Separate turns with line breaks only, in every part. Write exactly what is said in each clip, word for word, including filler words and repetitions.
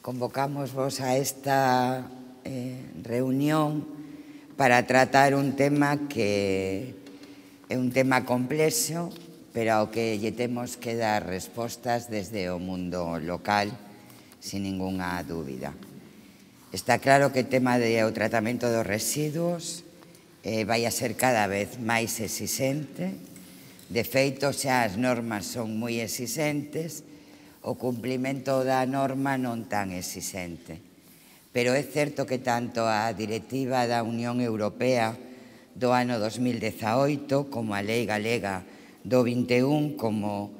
convocamos vos a esta eh, reunión para tratar un tema que é un tema complexo, pero ao que lle temos que dar respostas desde o mundo local, sin ningunha dúbida. Está claro que o tema do tratamento dos residuos eh, vai a ser cada vez máis exixente. De feito, xa as normas son moi exixentes, o cumplimento da norma non tan exixente. Pero é certo que tanto a Directiva da Unión Europea do ano dos mil dezaoito como a Lei Galega do vinte e un, como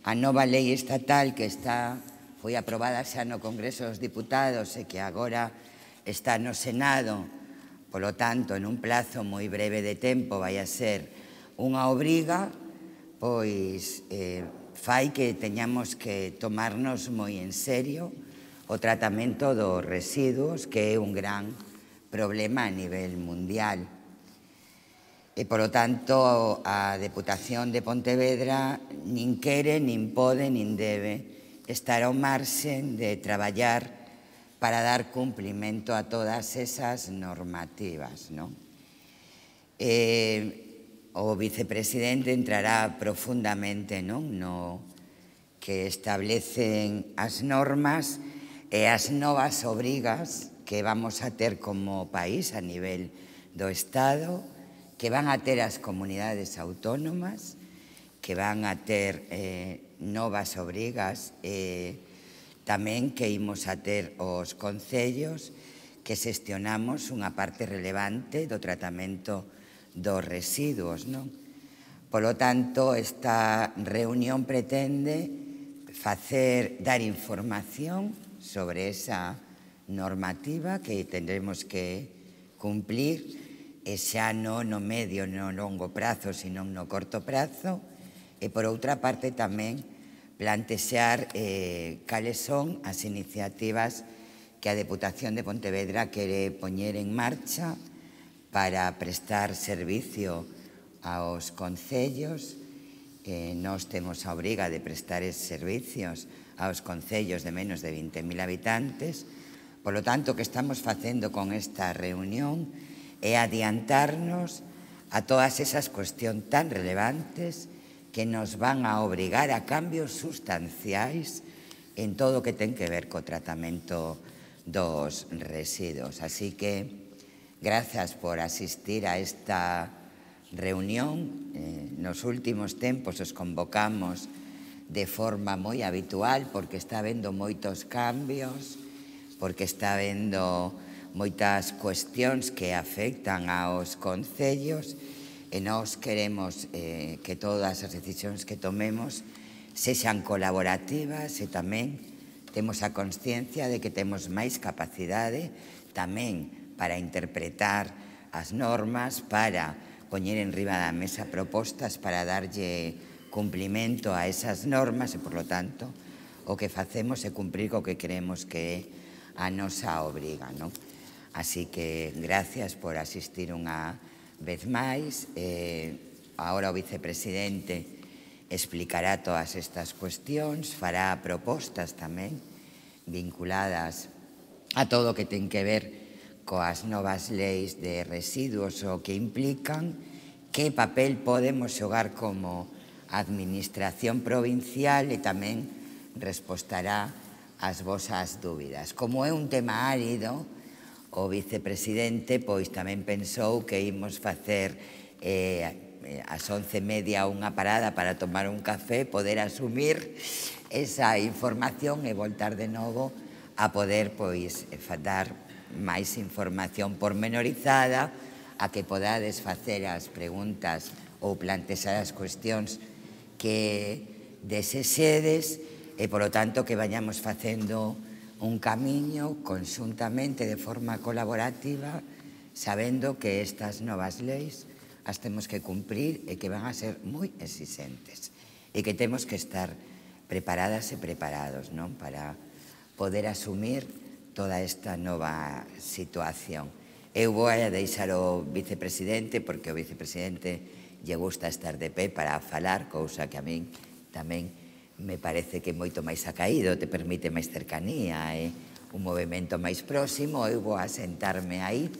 a nova lei estatal que está foi aprobada xa no Congreso dos Diputados e que agora está no Senado, polo tanto, en un plazo moi breve de tempo vai a ser unha obriga, pois eh, fai que teñamos que tomarnos moi en serio o tratamento dos residuos, que é un gran problema a nivel mundial. E, polo tanto, a Deputación de Pontevedra nin quere, nin pode, nin debe estar ao marxen de traballar para dar cumprimento a todas esas normativas, non? Eh, o vicepresidente entrará profundamente, non, no que establecen as normas e as novas obrigas que vamos a ter como país a nivel do Estado, que van a ter as comunidades autónomas, que van a ter eh, novas obrigas e tamén que imos a ter os concellos que xestionamos unha parte relevante do tratamento dos residuos, non? Polo tanto, esta reunión pretende facer, dar información sobre esa normativa que tendremos que cumplir, e xa non no medio, no longo prazo, sino no corto prazo, e por outra parte tamén plantexar eh, cales son as iniciativas que a Deputación de Pontevedra quere poñer en marcha para prestar servicio aos concellos. Eh, nós temos a obriga de prestar eses servicios aos concellos de menos de vinte mil habitantes. Polo tanto, o que estamos facendo con esta reunión é adiantarnos a todas esas cuestións tan relevantes que nos van a obrigar a cambios sustanciais en todo o que ten que ver co tratamento dos residuos. Así que, grazas por asistir a esta reunión. Eh, nos últimos tempos os convocamos de forma moi habitual porque está habendo moitos cambios, porque está habendo moitas cuestións que afectan aos concellos e nós queremos eh, que todas as decisións que tomemos sexan colaborativas e tamén temos a consciencia de que temos máis capacidade tamén para interpretar as normas, para poñer en riba da mesa propostas para darlle cumplimento a esas normas e, por lo tanto, o que facemos é cumprir co que creemos que é a nosa obriga, non? Así que, gracias por asistir unha vez máis. Eh, agora o vicepresidente explicará todas estas cuestións, fará propostas tamén vinculadas a todo o que ten que ver coas novas leis de residuos o que implican, que papel podemos xogar como administración provincial e tamén respostará ás vosas dúbidas. Como é un tema árido, o vicepresidente pois tamén pensou que imos facer eh, ás once e media unha parada para tomar un café, poder asumir esa información e voltar de novo a poder pois dar máis información pormenorizada, a que podades facer as preguntas ou plantexar as cuestións que desexedes e, polo tanto, que vayamos facendo un camiño conxuntamente de forma colaborativa, sabendo que estas novas leis as temos que cumprir e que van a ser moi exixentes e que temos que estar preparadas e preparados, non, para poder asumir toda esta nova situación. Eu vou a deixar o vicepresidente, porque o vicepresidente lle gusta estar de pé para falar, cousa que a min tamén me parece que moito máis acaído, te permite máis cercanía e un movimento máis próximo, eu vou a sentarme aí.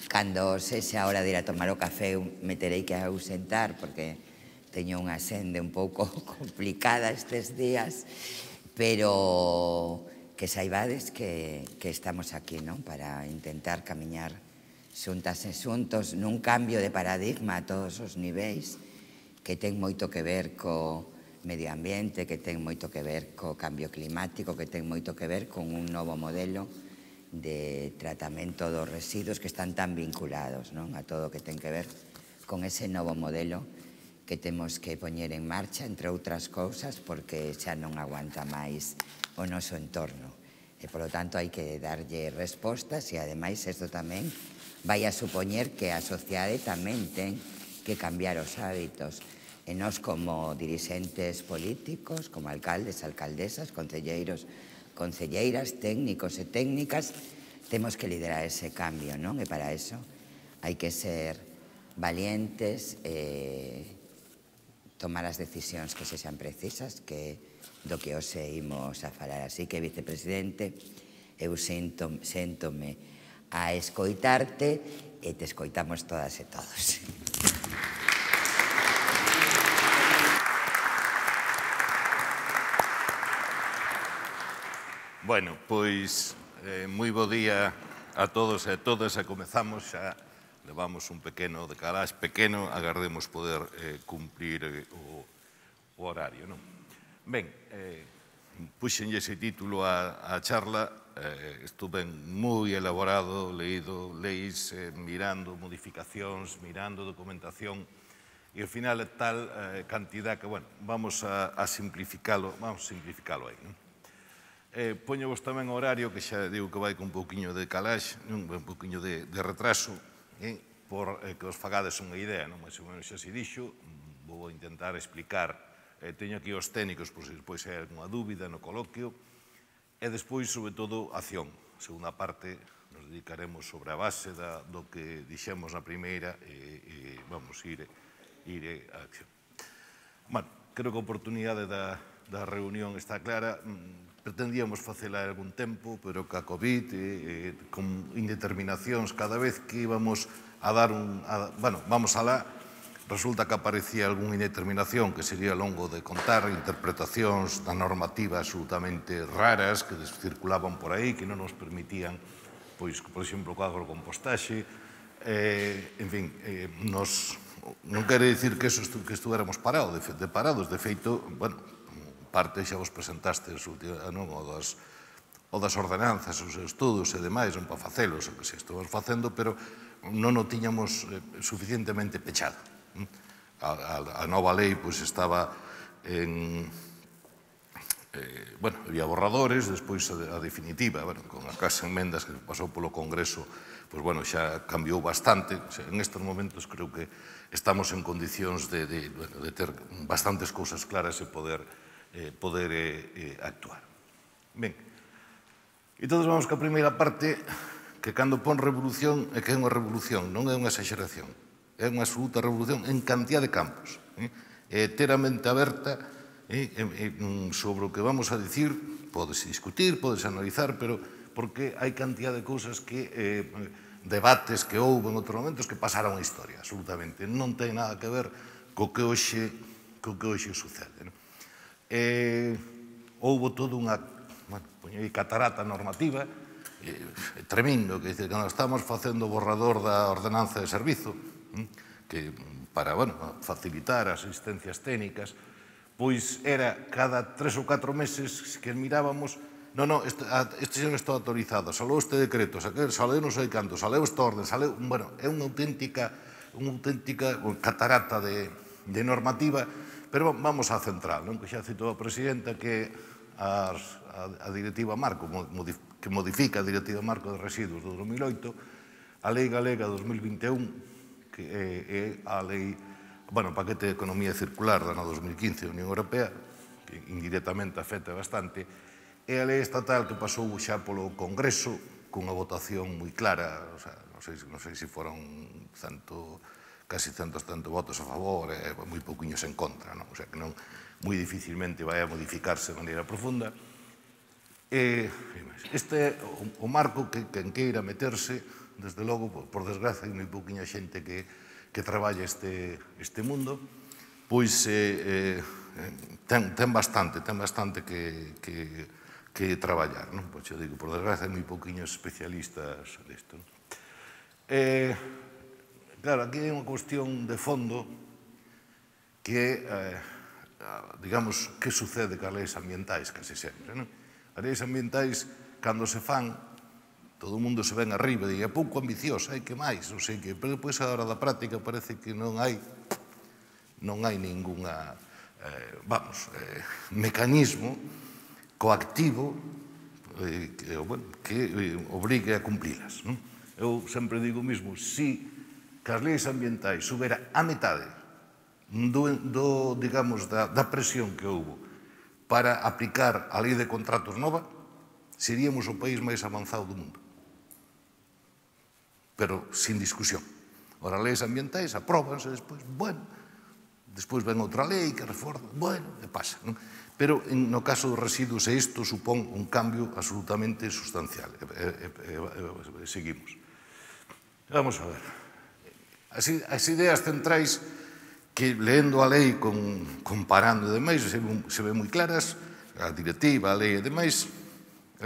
Cando sexa a hora de ir a tomar o café, me terei que ausentar, porque teño unha sende un pouco complicada estes días, pero que saibades que, que estamos aquí, non? Para intentar camiñar xuntas e xuntos nun cambio de paradigma a todos os niveis, que ten moito que ver co medio ambiente, que ten moito que ver co cambio climático, que ten moito que ver con un novo modelo de tratamento dos residuos que están tan vinculados, non? A todo o que ten que ver con ese novo modelo que temos que poñer en marcha, entre outras cousas, porque xa non aguanta máis o noso entorno. E, polo tanto, hai que darlle respostas e, ademais, isto tamén vai a supoñer que a sociedade tamén ten que cambiar os hábitos. E nós, como dirixentes políticos, como alcaldes, alcaldesas, concelleiros, concelleiras, técnicos e técnicas, temos que liderar ese cambio, non? E para eso hai que ser valientes e tomar as decisións que sexan precisas, que do que hoxe imos a falar. Así que, vicepresidente, eu séntome a escoitarte e te escoitamos todas e todos.
Bueno, pois, eh, moi bo día a todos e a todas, e comezamos xa, levamos un pequeno decalaxe pequeno, agardemos poder eh, cumprir eh, o, o horario, non? Ben, eh, puxenlle ese título a, a charla, eh, estuve moi elaborado, leído leis, eh, mirando modificacións, mirando documentación, e ao final é tal eh, cantidad que, bueno, vamos a, a simplificalo, vamos a simplificalo aí, non? Eh, Poño-vos tamén o horario, que xa digo que vai con un pouquiño de calaxe, un pouquiño de, de retraso, eh, por eh, que os fagades unha idea, non? Mais ou menos xa se dixo, vou intentar explicar, eh, teño aquí os técnicos, por se despois hai alguna dúbida no coloquio, e despois, sobre todo, acción. A segunda parte nos dedicaremos sobre a base da, do que dixemos na primeira, e, e vamos ir, ir a acción. Bueno, creo que a oportunidade da, da reunión está clara. Pretendíamos facela algún tempo, pero ca COVID, eh, con indeterminacións, cada vez que íbamos a dar un... A, bueno, vamos alá, resulta que aparecía algunha indeterminación que sería longo de contar, interpretacións da normativa absolutamente raras que circulaban por aí, que non nos permitían, pois, por exemplo, o agrocompostaxe, eh, en fin, eh, nos... Non quere dicir que, eso estu, que estuéramos parados, de, de parados, de feito, bueno, parte xa vos presentastes o das, o das ordenanzas, os estudos e demais, non para facelos, o que se estamos facendo, pero non o tiñamos suficientemente pechado. A, a, a nova lei pois, estaba en... Eh, bueno, había borradores, despois a, a definitiva, bueno, con as casas enmendas que pasou polo Congreso, pois, bueno, xa cambiou bastante. O sea, en estes momentos creo que estamos en condicións de, de, bueno, de ter bastantes cousas claras e poder Eh, poder eh, eh, actuar. Ben, entón vamos ca primeira parte, que cando pon revolución é que é unha revolución, non é unha exageración, é unha absoluta revolución en cantidad de campos. Eh? É ter a mente aberta eh, eh, sobre o que vamos a dicir, podese discutir, podese analizar, pero porque hai cantidad de cousas que, eh, debates que houve en outros momentos que pasaron a historia, absolutamente. Non ten nada que ver co que hoxe, co que hoxe sucede, non? Eh, houve toda unha, bueno, poñei catarata normativa, eh, tremendo, que dice, cando estamos facendo o borrador da ordenanza de servizo, eh, que para, bueno, facilitar as asistencias técnicas, pois era cada tres ou catro meses que mirábamos, non, non, este, este xa non está autorizado, salou este decreto, saleu non sei canto, saleu esta orden, saleu, bueno, é unha auténtica, unha auténtica catarata de, de normativa. Pero vamos á central, non? Que xa citou a presidenta, que a, a, a directiva marco, que modifica a directiva marco de residuos do dos mil oito, a lei galega dos mil vinte e un, que é, é a lei, bueno, o paquete de economía circular do ano dos mil quince da Unión Europea, que indirectamente afecta bastante, e a lei estatal que pasou xa polo Congreso, cunha votación moi clara, o sea, non sei, non sei se foron cento... casi ciento setenta votos a favor e moi pouquiños en contra, non? O sea, que non, moi dificilmente vai a modificarse de maneira profunda. E Este é o marco que quen queira meterse, desde logo, por desgraza, hai moi pouquinha xente que traballa este mundo, pois ten bastante, ten bastante que traballar. Pois eu digo, por desgraza, hai moi pouquiños especialistas nisto. Claro, aquí hai unha cuestión de fondo que é, digamos, que sucede cas leis ambientais casi sempre. As leis ambientais, cando se fan, todo o mundo se ven arriba e é pouco ambiciosa, hai que máis, non sei que, pero depois a hora da práctica parece que non hai non hai ninguna, vamos, mecanismo coactivo que obrigue a cumprilas. Eu sempre digo o mesmo, se as leis ambientais subera a metade do, digamos, da presión que houve para aplicar a lei de contratos nova, seríamos o país máis avanzado do mundo. Pero sin discusión. Ora, as leis ambientais apróbanse despois, bueno, despois ven outra lei que reforza, bueno, e pasa. Pero no caso dos residuos, isto supón un cambio absolutamente sustancial. Seguimos. Vamos a ver. As ideas centrais que, leendo a lei, comparando e demais, se ven moi claras, a directiva, a lei e demais,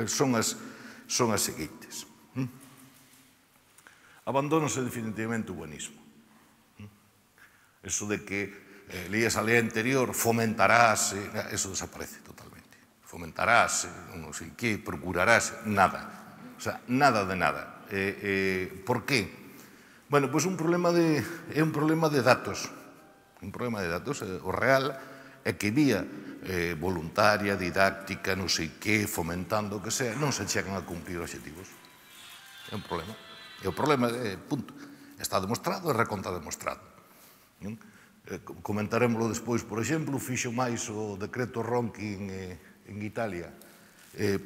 son as seguintes. Abandónase definitivamente o buenismo. Eso de que leías a lei anterior, fomentarase, eso desaparece totalmente. Fomentarase, non sei que, procurarase, nada. O sea, nada de nada. Por qué? Bueno, pois un problema de, é un problema de datos. Un problema de datos. O real é que vía voluntaria, didáctica, non sei que, fomentando o que sea, non se chegan a cumprir obxectivos. É un problema. E o problema é, punto, está demostrado e reconta demostrado. Comentaremoslo despois, por exemplo, fixo máis o decreto Ronchi en Italia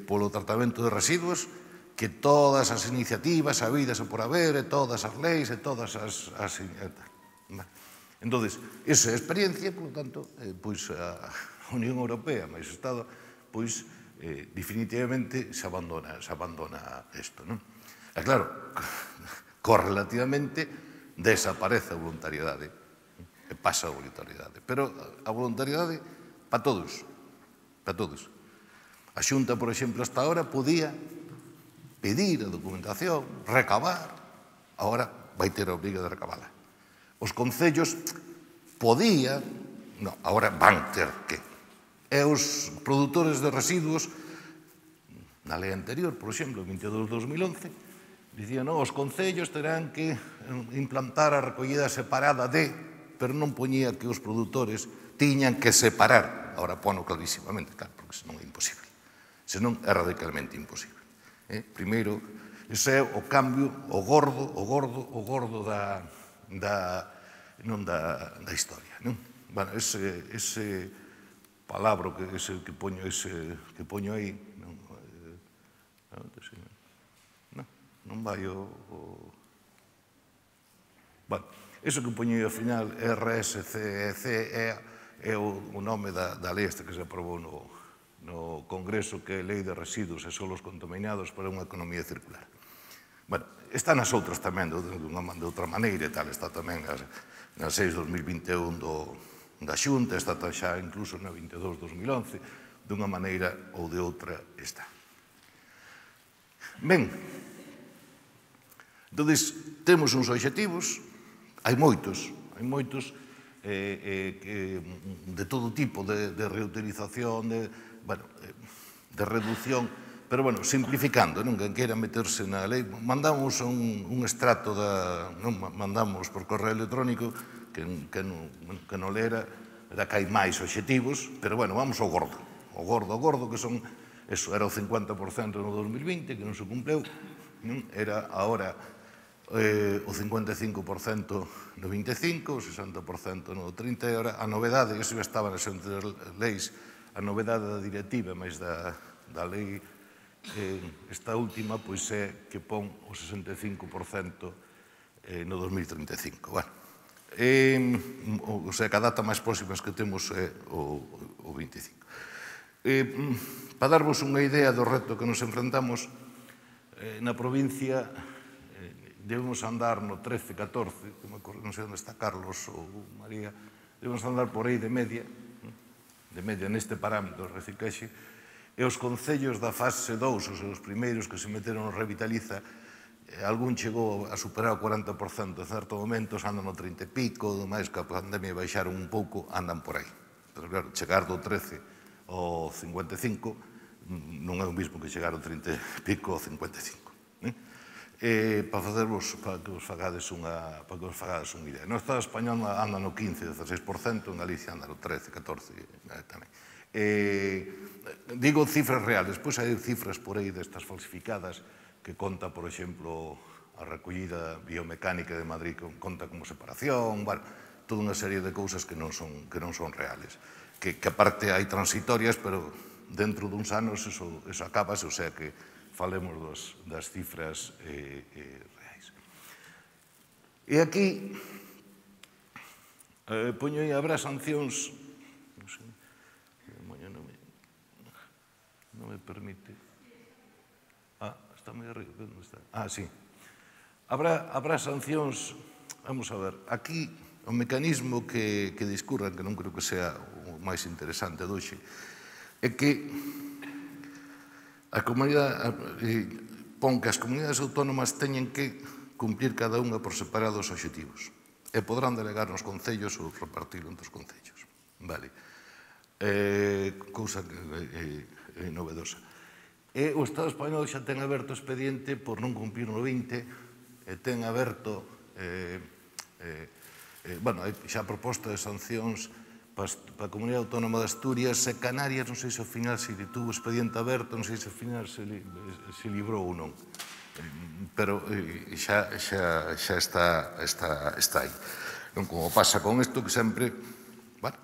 polo tratamento de residuos que todas as iniciativas habidas e por haber, e todas as leis, e todas as... Entón, esa experiencia, por lo tanto, pois a Unión Europea, máis o Estado, pois definitivamente se abandona isto, non? E claro, correlativamente desaparece a voluntariedade, e pasa a voluntariedade. Pero a voluntariedade para todos, para todos. A Xunta, por exemplo, hasta ahora podía pedir a documentación, recabar, agora vai ter a obriga de recabala. Os concellos podían, non, agora van ter que. E os produtores de residuos, na lei anterior, por exemplo, veintidós barra dos mil once, dicían, non, os concellos terán que implantar a recollida separada de, pero non poñía que os produtores tiñan que separar. Agora pono clarísimamente, claro, porque senón é imposible. Senón é radicalmente imposible. Primeiro, ese é o cambio, o gordo, o gordo, o gordo da historia. Bueno, ese palabra que poño aí, non vai o... Bueno, eso que poño aí ao final, R S C E C, é o nome da lei esta que se aprobou no Congreso, que é a Lei de Residuos e Solos Contaminados para unha economía circular. Bueno, está nas outras tamén, de outra maneira e tal, está tamén na seis barra dos mil vinte e un da Xunta, está xa incluso na veintidós barra dos mil once, dunha maneira ou de outra está. Ben, entón, temos uns obxectivos, hai moitos, hai moitos de todo tipo, de reutilización, de reducción, pero, bueno, simplificando, non quen queira meterse na lei, mandamos un extracto, mandamos por correo electrónico, que non lera, era que hai máis obxectivos, pero, bueno, vamos ao gordo, ao gordo, ao gordo, que son, eso, era o cincuenta por cento no dos mil vinte, que non se cumpleu, era, agora, o cincuenta e cinco por cento no vinte e cinco, o sesenta por cento no trinta, e agora a novedade, que se estaba nas leis, a novedade da directiva, máis da lei, esta última, pois é que pon o sesenta e cinco por cento no dos mil trinta e cinco. Bueno, o sea, que a data máis próxima que temos é o vinte e cinco. Eh, para darvos unha idea do reto que nos enfrentamos, eh, na provincia eh, debemos andar no trece, catorce, non sei onde está Carlos ou María, debemos andar por aí de media, de media neste parámetro de reciclaxe, e os concellos da fase dous, os primeiros que se meteron no Revitaliza, algún chegou a superar o corenta por cento, en certo momento andan no trinta e pico, máis que a pandemia baixaron un pouco, andan por aí. Pero claro, chegar do trece ao cincuenta e cinco non é o mismo que chegar ao trinta e pico ao cincuenta e cinco. Eh, para facervos, para que vos fagades unha, para que vos fagades unha idea. No Estado español anda no quince, dezasseis por cento, en Galicia anda no trece, catorce eh, tamén. Eh, digo cifras reales, despois hai cifras por aí destas falsificadas que conta, por exemplo, a recollida biomecánica de Madrid, que conta como separación, bueno, toda unha serie de cousas que non son, que non son reales. Que, que aparte hai transitorias, pero dentro duns anos eso, eso acabase, o sea que falemos dos, das cifras eh, eh, reais. E aquí, eh, poño aí, habrá sancións, non sei, non me, non me permite... Está moi arriba, onde está? Ah, sí. Habrá, habrá sancións, vamos a ver, aquí o mecanismo que, que discurran, que non creo que sea o máis interesante doxe, é que a comunidade eh, pon que as comunidades autónomas teñen que cumplir cada unha por separado os obxectivos e podrán delegar nos concellos ou repartirlo entre os concellos. Vale. Eh, cousa que é eh, eh, novedosa. E o Estado español xa ten aberto expediente por non cumplir no vinte, e ten aberto, eh, eh, eh, bueno, xa proposta de sancións para a Comunidade Autónoma de Asturias e Canarias, non sei se ao final se tuvo expediente aberto, non sei se ao final se, li, se librou ou non. Pero eh, xa, xa, xa está, está, está aí. Non como pasa con isto que sempre, bueno,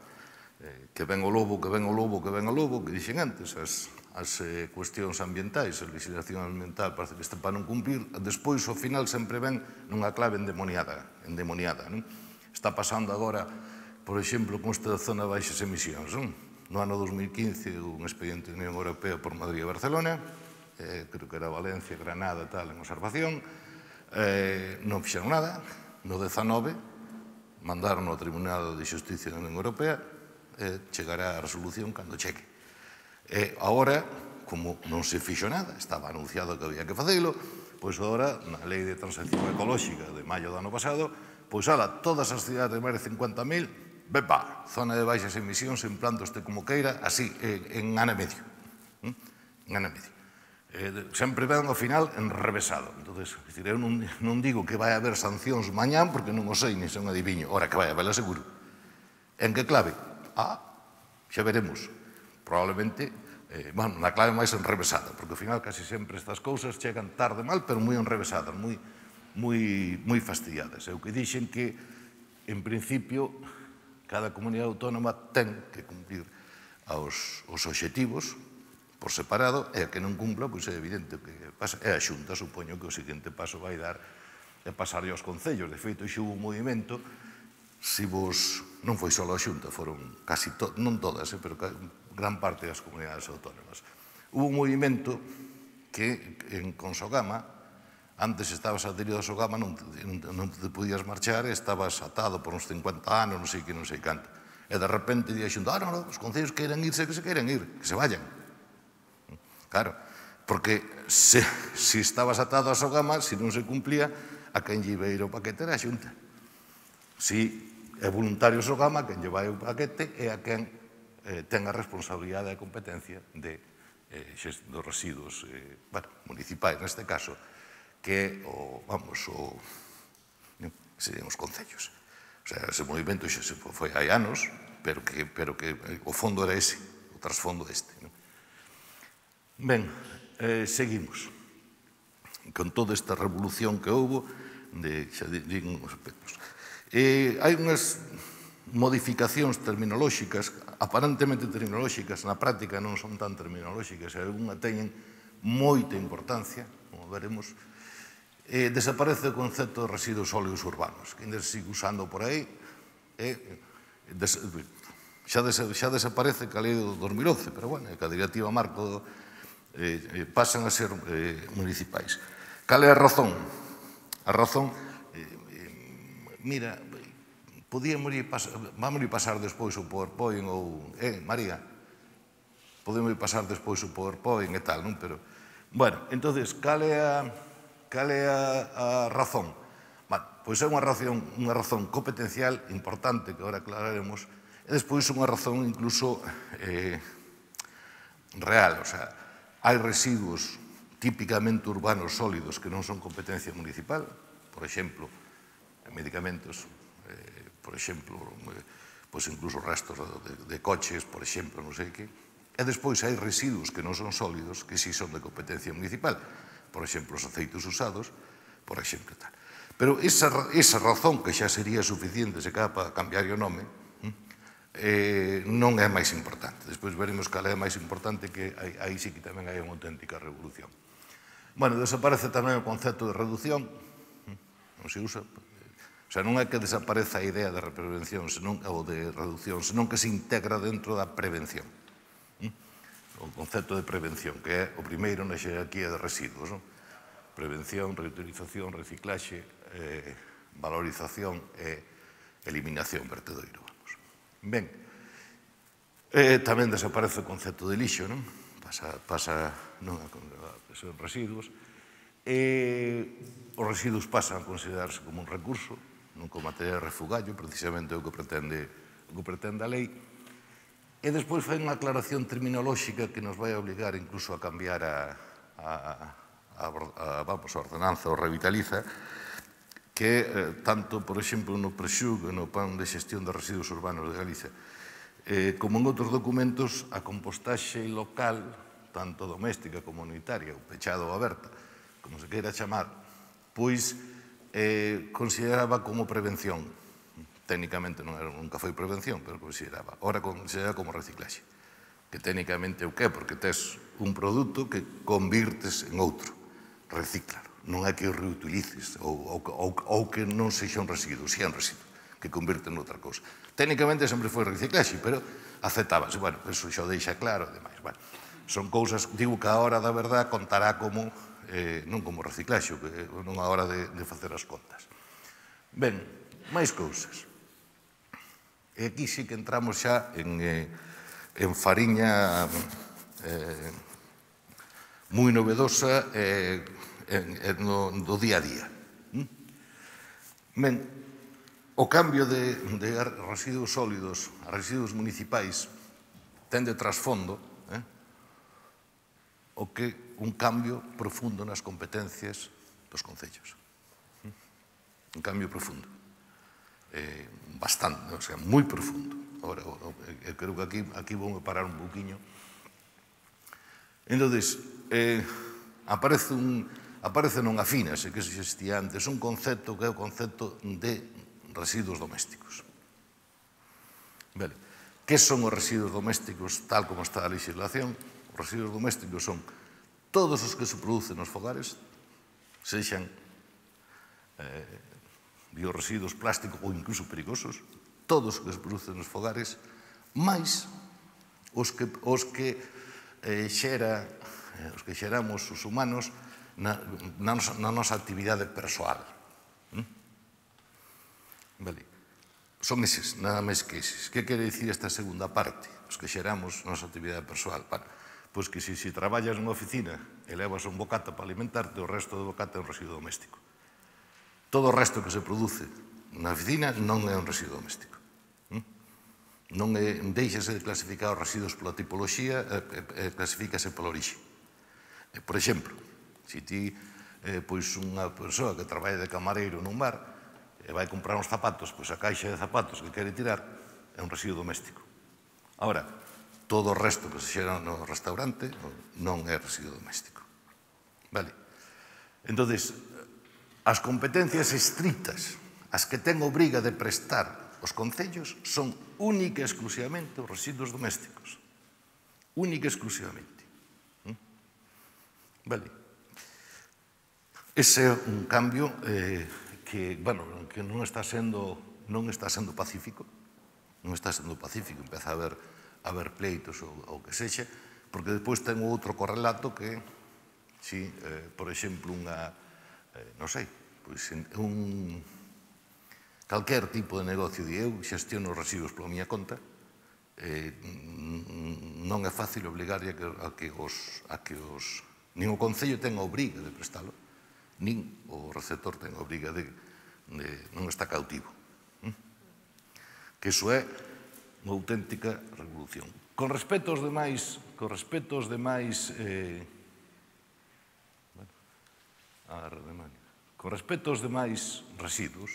eh, que ven o lobo, que ven o lobo, que ven o lobo, que dixen antes, as... as eh, cuestións ambientais, a legislación ambiental parece que está para non cumplir, despois ao final sempre ven nunha clave endemoniada, endemoniada, non? Está pasando agora, por exemplo, con esta zona de baixas emisións, non? No ano dos mil quince, un expediente da Unión Europea por Madrid e Barcelona, eh, creo que era Valencia, Granada, tal, en observación, eh, non fixeron nada, no dezanove, mandaron ao Tribunal de Xusticia da Unión Europea, eh, chegará a resolución cando cheque. E agora, como non se fixo nada, estaba anunciado que había que facelo, pois agora, na Lei de Transición Ecolóxica de maio do ano pasado, pois ala, todas as cidades de máis de cincuenta mil, bepa, zona de baixas emisións, en plan este como queira, así, en ano e medio. En ano e medio. Sempre ven ao final enrevesado. Entón, eu non digo que vai haber sancións mañán, porque non o sei, ni son adiviño. Ora, que vai haber, seguro. En que clave? Ah, xa veremos. Probablemente, eh, bueno, na clave máis enrevesada, porque ao final casi sempre estas cousas chegan tarde mal, pero moi enrevesadas, moi, moi, moi fastidiadas. É o que dixen que, en principio, cada comunidade autónoma ten que cumplir aos, os obxectivos por separado, e a que non cumpla, pois é evidente que pasa. É a Xunta, supoño que o seguinte paso vai dar é pasarlle aos concellos. De feito, xe hubo un movimento, se vos, non foi só a Xunta, foron casi, to, non todas, eh, pero gran parte das comunidades autónomas. Hubo un movimento que en Consogama, antes estabas adherido a Sogama, non te, non te podías marchar, estabas atado por uns cincuenta anos, non sei que, non sei canto. E de repente di a Xunta, ah, non, non, os concellos queiran irse, que se queiran ir, que se vayan. Claro, porque se, se estabas atado a Sogama, se non se cumplía, a quen lle iba a ir o paquete era a Xunta. Si é voluntario Sogama, quen lle vai o paquete é a quen eh, ten a responsabilidade e a competencia de, eh, dos residuos eh, bueno, municipais, neste caso, que o, vamos, o, serían os concellos. O sea, ese movimento xa se foi hai anos, pero que, pero que o fondo era ese, o trasfondo este. Non? Ben, eh, seguimos. Con toda esta revolución que houve, de, xa digo uns aspectos. Eh, hai unhas modificacións terminolóxicas, aparentemente terminolóxicas, na práctica non son tan terminolóxicas, e alguna teñen moita importancia, como veremos. Eh, desaparece o concepto de residuos sólidos urbanos, que ainda se sigue usando por aí, e des, xa, des, xa desaparece ca lei do dos mil once, pero, bueno, ca directiva marco eh, pasan a ser eh, municipais. Cal é a razón? A razón, eh, eh, mira, podíamos ir pasar, vamos ir pasar despois o PowerPoint ou, eh, María, podemos ir pasar despois o PowerPoint e tal, non? Pero, bueno, entonces, cal é a, cal é a, a razón? Bueno, pois é unha razón, unha razón competencial importante que agora aclararemos, e despois unha razón incluso eh, real, o sea, hai residuos típicamente urbanos sólidos que non son competencia municipal, por exemplo, medicamentos, eh, por exemplo, eh, pois incluso restos de, de coches, por exemplo, non sei que, e despois hai residuos que non son sólidos que sí son de competencia municipal, por exemplo, os aceites usados, por exemplo, tal. Pero esa, esa razón que xa sería suficiente se cada para cambiar o nome, eh, non é máis importante. Despois veremos cal é máis importante, que aí, aí sí que tamén hai unha auténtica revolución. Bueno, desaparece tamén o concepto de reducción, non se usa, o sea, non é que desapareza a idea de prevención senón, ou de reducción, senón que se integra dentro da prevención. O concepto de prevención, que é o primeiro na xerarquía de residuos, non? Prevención, reutilización, reciclaxe, eh, valorización e eliminación, vertedoiro, vamos. Ben, eh, tamén desaparece o concepto de lixo, non? Pasa, pasa non, a son residuos, e os residuos pasan a considerarse como un recurso, non como material refugallo, precisamente o que pretende, o que pretende a lei, e despois fai unha aclaración terminolóxica que nos vai obligar incluso a cambiar a, a, a, a, vamos, a ordenanza, o revitaliza, que eh, tanto, por exemplo, no Prexug, no Plan de Xestión de Residuos Urbanos de Galicia, eh, como en outros documentos, a compostaxe local, tanto doméstica como comunitaria, ou pechada ou aberta, como se queira chamar, pois eh, consideraba como prevención. Técnicamente non era, nunca foi prevención, pero consideraba. Ora consideraba como reciclaxe. Que técnicamente o que é? Porque tes un produto que convirtes en outro. Recíclalo. Non é que o reutilices ou, ou, ou, ou que non sexa un residuo, si é un residuo, que convirte en outra cousa. Técnicamente sempre foi reciclaxe, pero aceptábase. Bueno, eso xa o deixa claro, demais. Bueno, son cousas, digo que a hora da verdad contará como, eh, non como reciclaxe, que non a hora de, de facer as contas. Ben, máis cousas. E aquí sí que entramos xa en, eh, en fariña eh, moi novedosa eh, en, en, no, do día a día. Ben, o cambio de, de residuos sólidos a residuos municipais ten de trasfondo eh, o que un cambio profundo nas competencias dos concellos. Un cambio profundo. Eh, bastante, o sea, moi profundo. Ahora, eu creo que aquí, aquí vou parar un pouquiño. Entón, eh, aparece un, aparece non afínase, que se existía antes, un concepto que é o concepto de residuos domésticos. Vale. Que son os residuos domésticos tal como está a legislación? Os residuos domésticos son todos os que se producen nos fogares, sexan eh, biorresiduos plásticos ou incluso perigosos, todos os que se producen nos fogares, máis os que, os que, eh, xera, eh, os que xeramos os humanos na, na, nosa, na nosa actividade persoal. ¿Mm? Vale. Son eses, nada máis que eses. Que quere dicir esta segunda parte? Os que xeramos na nosa actividade persoal. Bueno, pois que se si, si traballas nunha oficina e levas un bocata para alimentarte, o resto do bocata é un residuo doméstico. Todo o resto que se produce na oficina non é un residuo doméstico. Non é, deixase de clasificar os residuos pola tipoloxía e, e clasifícase pola orixe. Por exemplo, se ti, eh, pois unha persoa que traballa de camareiro nun bar e vai comprar uns zapatos, pois a caixa de zapatos que quere tirar é un residuo doméstico. Ahora, todo o resto que se xera no restaurante non é residuo doméstico. Vale? Entón, as competencias estritas, as que ten obriga de prestar os concellos, son única e exclusivamente os residuos domésticos. Única e exclusivamente. Vale. Ese é un cambio eh, que, bueno, que non está sendo, non está sendo pacífico, non está sendo pacífico, empeza a haber, a haber pleitos ou o que sexa, porque despois ten outro correlato que, si, eh, por exemplo, unha, eh, non sei, pois un, calquer tipo de negocio de eu xestiono os residuos pola miña conta, eh, non é fácil obligar a que, a que os, a que os, nin o Concello ten a obriga de prestalo, nin o receptor ten a obriga de, de non está cautivo. ¿Mm? Que iso é unha auténtica revolución. Con respecto aos demais, con respecto aos demais, eh, bueno, a con respecto aos demais residuos,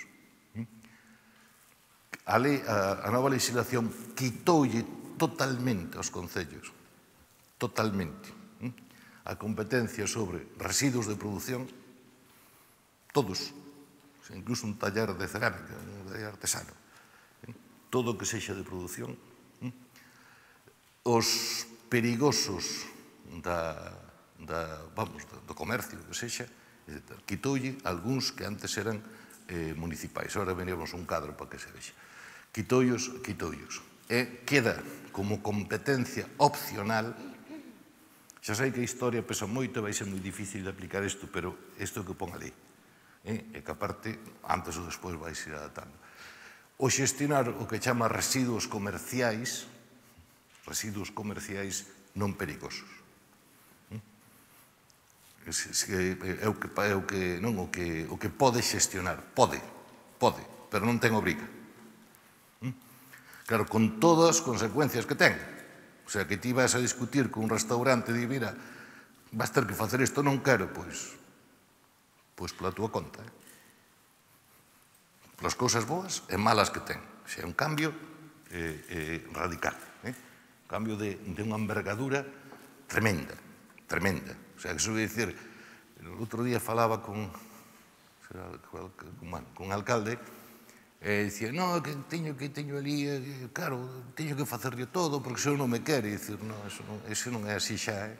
a, lei, a, a nova legislación quitoulle totalmente aos concellos, totalmente, ¿eh? a competencia sobre residuos de produción, todos, incluso un taller de cerámica, un taller artesano, ¿eh? todo o que sexa de produción, ¿eh? os perigosos da, da, vamos, do comercio, que sexa, quitoulle algúns que antes eran eh, municipais. Ahora veníamos un cadro para que se vexa. Quitoullos, quitoullos. E queda como competencia opcional. Xa sei que a historia pesa moito, vai ser moi difícil de aplicar isto, pero isto que pon a lei. E que aparte, antes ou despois vai ser adaptando. O xestionar o que chama residuos comerciais, residuos comerciais non perigosos. É o que, é o que, non, o que, o que pode xestionar. Pode, pode, pero non ten obriga. Claro, con todas as consecuencias que ten. O sea, que ti vas a discutir con un restaurante e di, mira, vas ter que facer isto, non quero, pois, pois pola túa conta. Eh? Polas cousas boas e malas que ten. O sea, é un cambio eh, eh, radical. Eh? Un cambio de, de unha envergadura tremenda, tremenda. O sea, que se vai dicir, o outro día falaba con, con, con un alcalde, e dicía, no, que teño que teño ali, claro, teño que facerlle todo, porque se eu non me quere, e dicir, no, eso non, eso non é así xa, eh?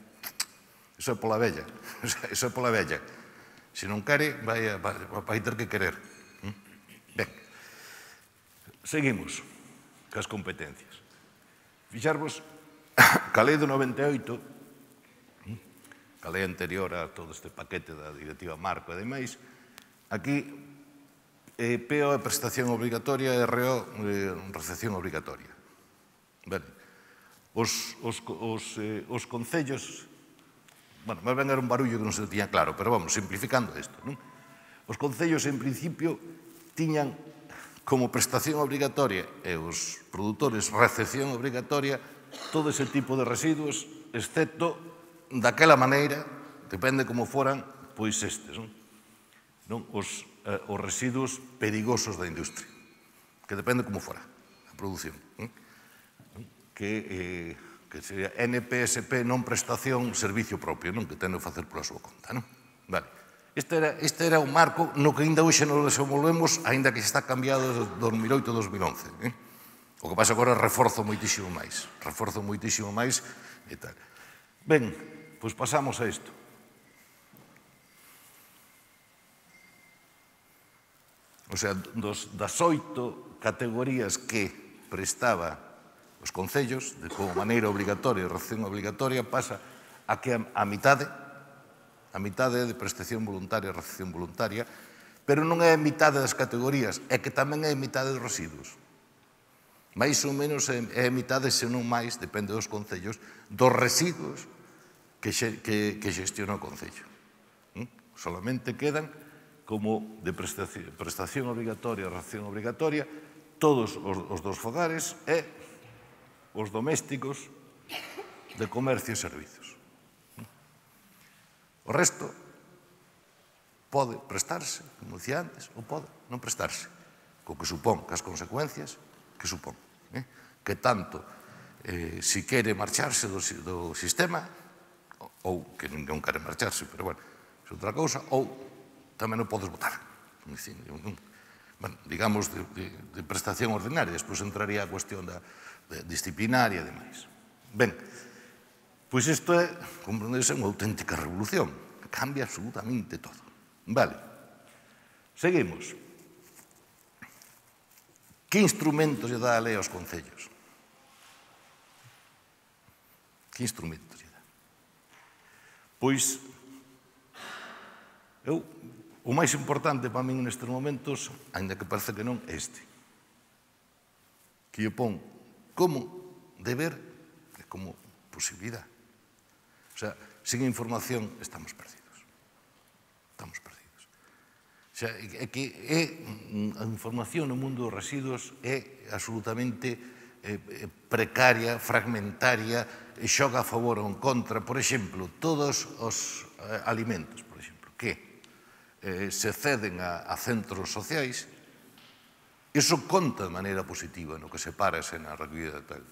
Eso é pola vella, eso é pola vella. Se non quere, vai, vai, vai ter que querer. Ben, seguimos cas competencias. Fixarvos, ca lei do noventa e oito, a lei anterior a todo este paquete da Directiva Marco e demais, aquí eh, P O é prestación obrigatoria e R O eh, recepción obrigatoria. Ben, os, os, os, eh, os concellos, bueno, máis ben era un barullo que non se tiña claro, pero vamos, simplificando isto, non? Os concellos, en principio, tiñan como prestación obrigatoria e os produtores recepción obrigatoria todo ese tipo de residuos, excepto daquela maneira, depende como foran, pois estes, non? Non? Os, eh, os residuos perigosos da industria, que depende como fora a produción. Non? Que, eh, que sería N P S P, non prestación, servicio propio, non? Que ten que facer pola súa conta. Non? Vale. Este era, este era un marco no que ainda hoxe nos desenvolvemos, ainda que está cambiado desde dos mil oito a dos mil once. Eh? O que pasa agora é reforzo moitísimo máis. Reforzo moitísimo máis e tal. Ben, pois pasamos a isto. O sea, dos, das oito categorías que prestaba os concellos, de como maneira obligatoria, recepción obligatoria, pasa a que a, a mitade, a mitade de prestación voluntaria e recepción voluntaria, pero non é a mitade das categorías, é que tamén é a mitade dos residuos. Mais ou menos é a mitade, se non máis, depende dos concellos, dos residuos que, xe, que, que xestiona o concello. ¿Mm? Solamente quedan como de prestación, prestación obrigatoria, recepción obrigatoria, todos os, os dos fogares e os domésticos de comercio e servizos. O resto pode prestarse, como dicía antes, ou pode non prestarse, co que supón, que as consecuencias que supón. Eh? Que tanto, eh, si quere marcharse do, do sistema, ou que non quere marcharse, pero bueno, é outra cousa, ou tamén non podes votar. Bueno, digamos, de, de, de prestación ordinaria. Despois entraría a cuestión da de disciplinaria e demais. Ben, pois isto é, comprenderse, unha auténtica revolución. Cambia absolutamente todo. Vale. Seguimos. Que instrumentos lle dá a lei aos concellos? Que instrumentos lle dá? Pois, eu, o máis importante para min nestes momentos, ainda que parece que non, é este. Que lle pon como deber e como posibilidade. O sea, sin información estamos perdidos. Estamos perdidos. O sea, é que é, a información no mundo dos residuos é absolutamente eh, precaria, fragmentaria, e xoga a favor ou en contra. Por exemplo, todos os eh, alimentos, por exemplo, que eh, se ceden a, a centros sociais, iso conta de maneira positiva no que se parase na recollida de tal.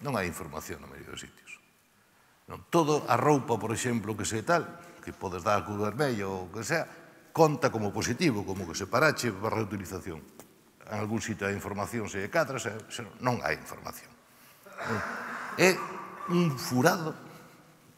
Non hai información na maioría dos sitios. Non, todo a roupa, por exemplo, que se tal, que podes dar a Cruz Vermella ou o que sea, conta como positivo, como que se parache para reutilización. En algún sitio hai información, se é cadra, se, se non hai información. É un furado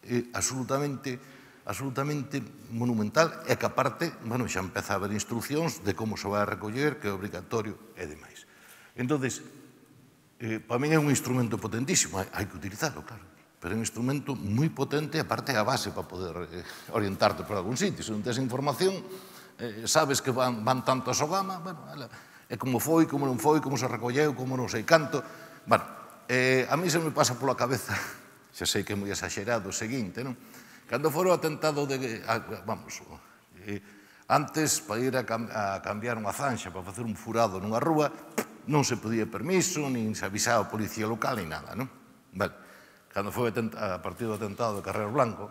é absolutamente, absolutamente monumental e que aparte, bueno, xa empeza a haber instruccións de como se vai a recoller, que é obrigatorio e demais. Entón, eh, para mí é un instrumento potentísimo, hai, hai que utilizarlo, claro. Pero é un instrumento moi potente, aparte é a base para poder eh, orientarte por algún sitio. Se non tens información, eh, sabes que van, van tanto a Sogama, bueno, é como foi, como non foi, como se recolleu, como non sei canto. Bueno, eh, a mí se me pasa pola cabeza, xa sei que é moi exagerado, o seguinte, non? Cando fora o atentado de, a, vamos, eh, antes, para ir a, cam, a cambiar unha zanxa, para facer un furado nunha rúa, non se podía permiso, nin se avisaba a policía local, nin nada, non? Vale. Cando foi a partir do atentado de Carrero Blanco,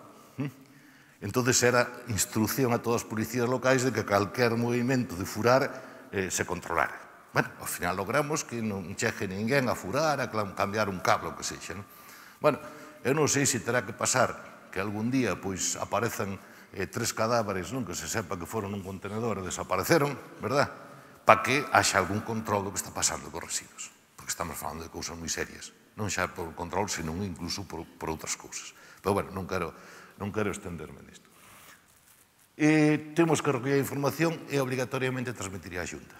entonces era instrucción a todas as policías locais de que calquer movimento de furar eh, se controlara. Bueno, ao final logramos que non chegue ninguén a furar, a cambiar un cable, o que sexa. Non? Bueno, eu non sei se terá que pasar que algún día pois, aparezan eh, tres cadáveres non? Que se sepa que foron nun contenedor e desapareceron, verdad? Para que haxa algún control do que está pasando cos residuos. Porque estamos falando de cousas moi serias. Non xa por control, senón incluso por, por outras cousas. Pero, bueno, non quero, non quero estenderme nisto. E temos que recoller a información e obrigatoriamente transmitir a Xunta.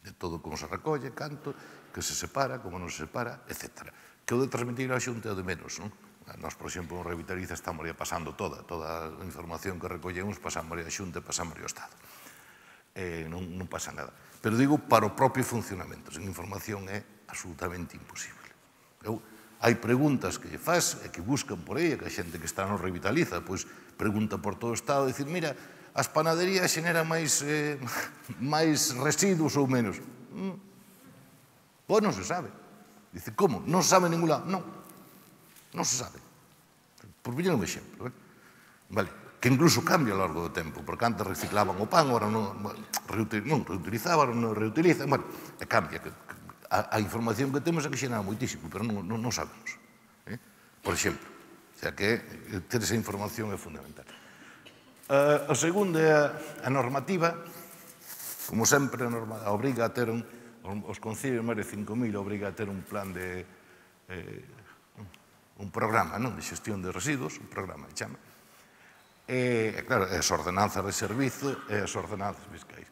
De todo como se recolle, canto, que se separa, como non se separa, etcétera. Que o de transmitir a Xunta é o de menos, non? Nós, por exemplo, en Revitaliza estamos pasando toda, toda a información que recollemos, pasamos a Xunta e pasamos ao Estado. Eh, non, non pasa nada. Pero digo para o propio funcionamento. Sen información é absolutamente imposible. Eu, hai preguntas que lle faz e que buscan por aí, que a xente que está no Revitaliza, pois pregunta por todo o Estado, e dicir, mira, as panaderías xeneran máis, eh, máis residuos ou menos. Mm. Pois non se sabe. Dice, como? Non se sabe en ningún lado. Non, non se sabe. Por poñer un exemplo, eh? Vale. Que incluso cambia ao largo do tempo, porque antes reciclaban o pan, agora non, non reutilizaban, non reutilizan, bueno, e cambia. A, a información que temos é que xenera moitísimo, pero non, non, non sabemos. Eh? Por exemplo, o sea que ter esa información é fundamental. Uh, a segunda é a, a normativa, como sempre, a norma, a obriga a ter un, os concellos máis de cinco mil obriga a ter un plan de, eh, un programa, non, de xestión de residuos, un programa, chama. E, claro, as ordenanzas de servizo e as ordenanzas fiscais.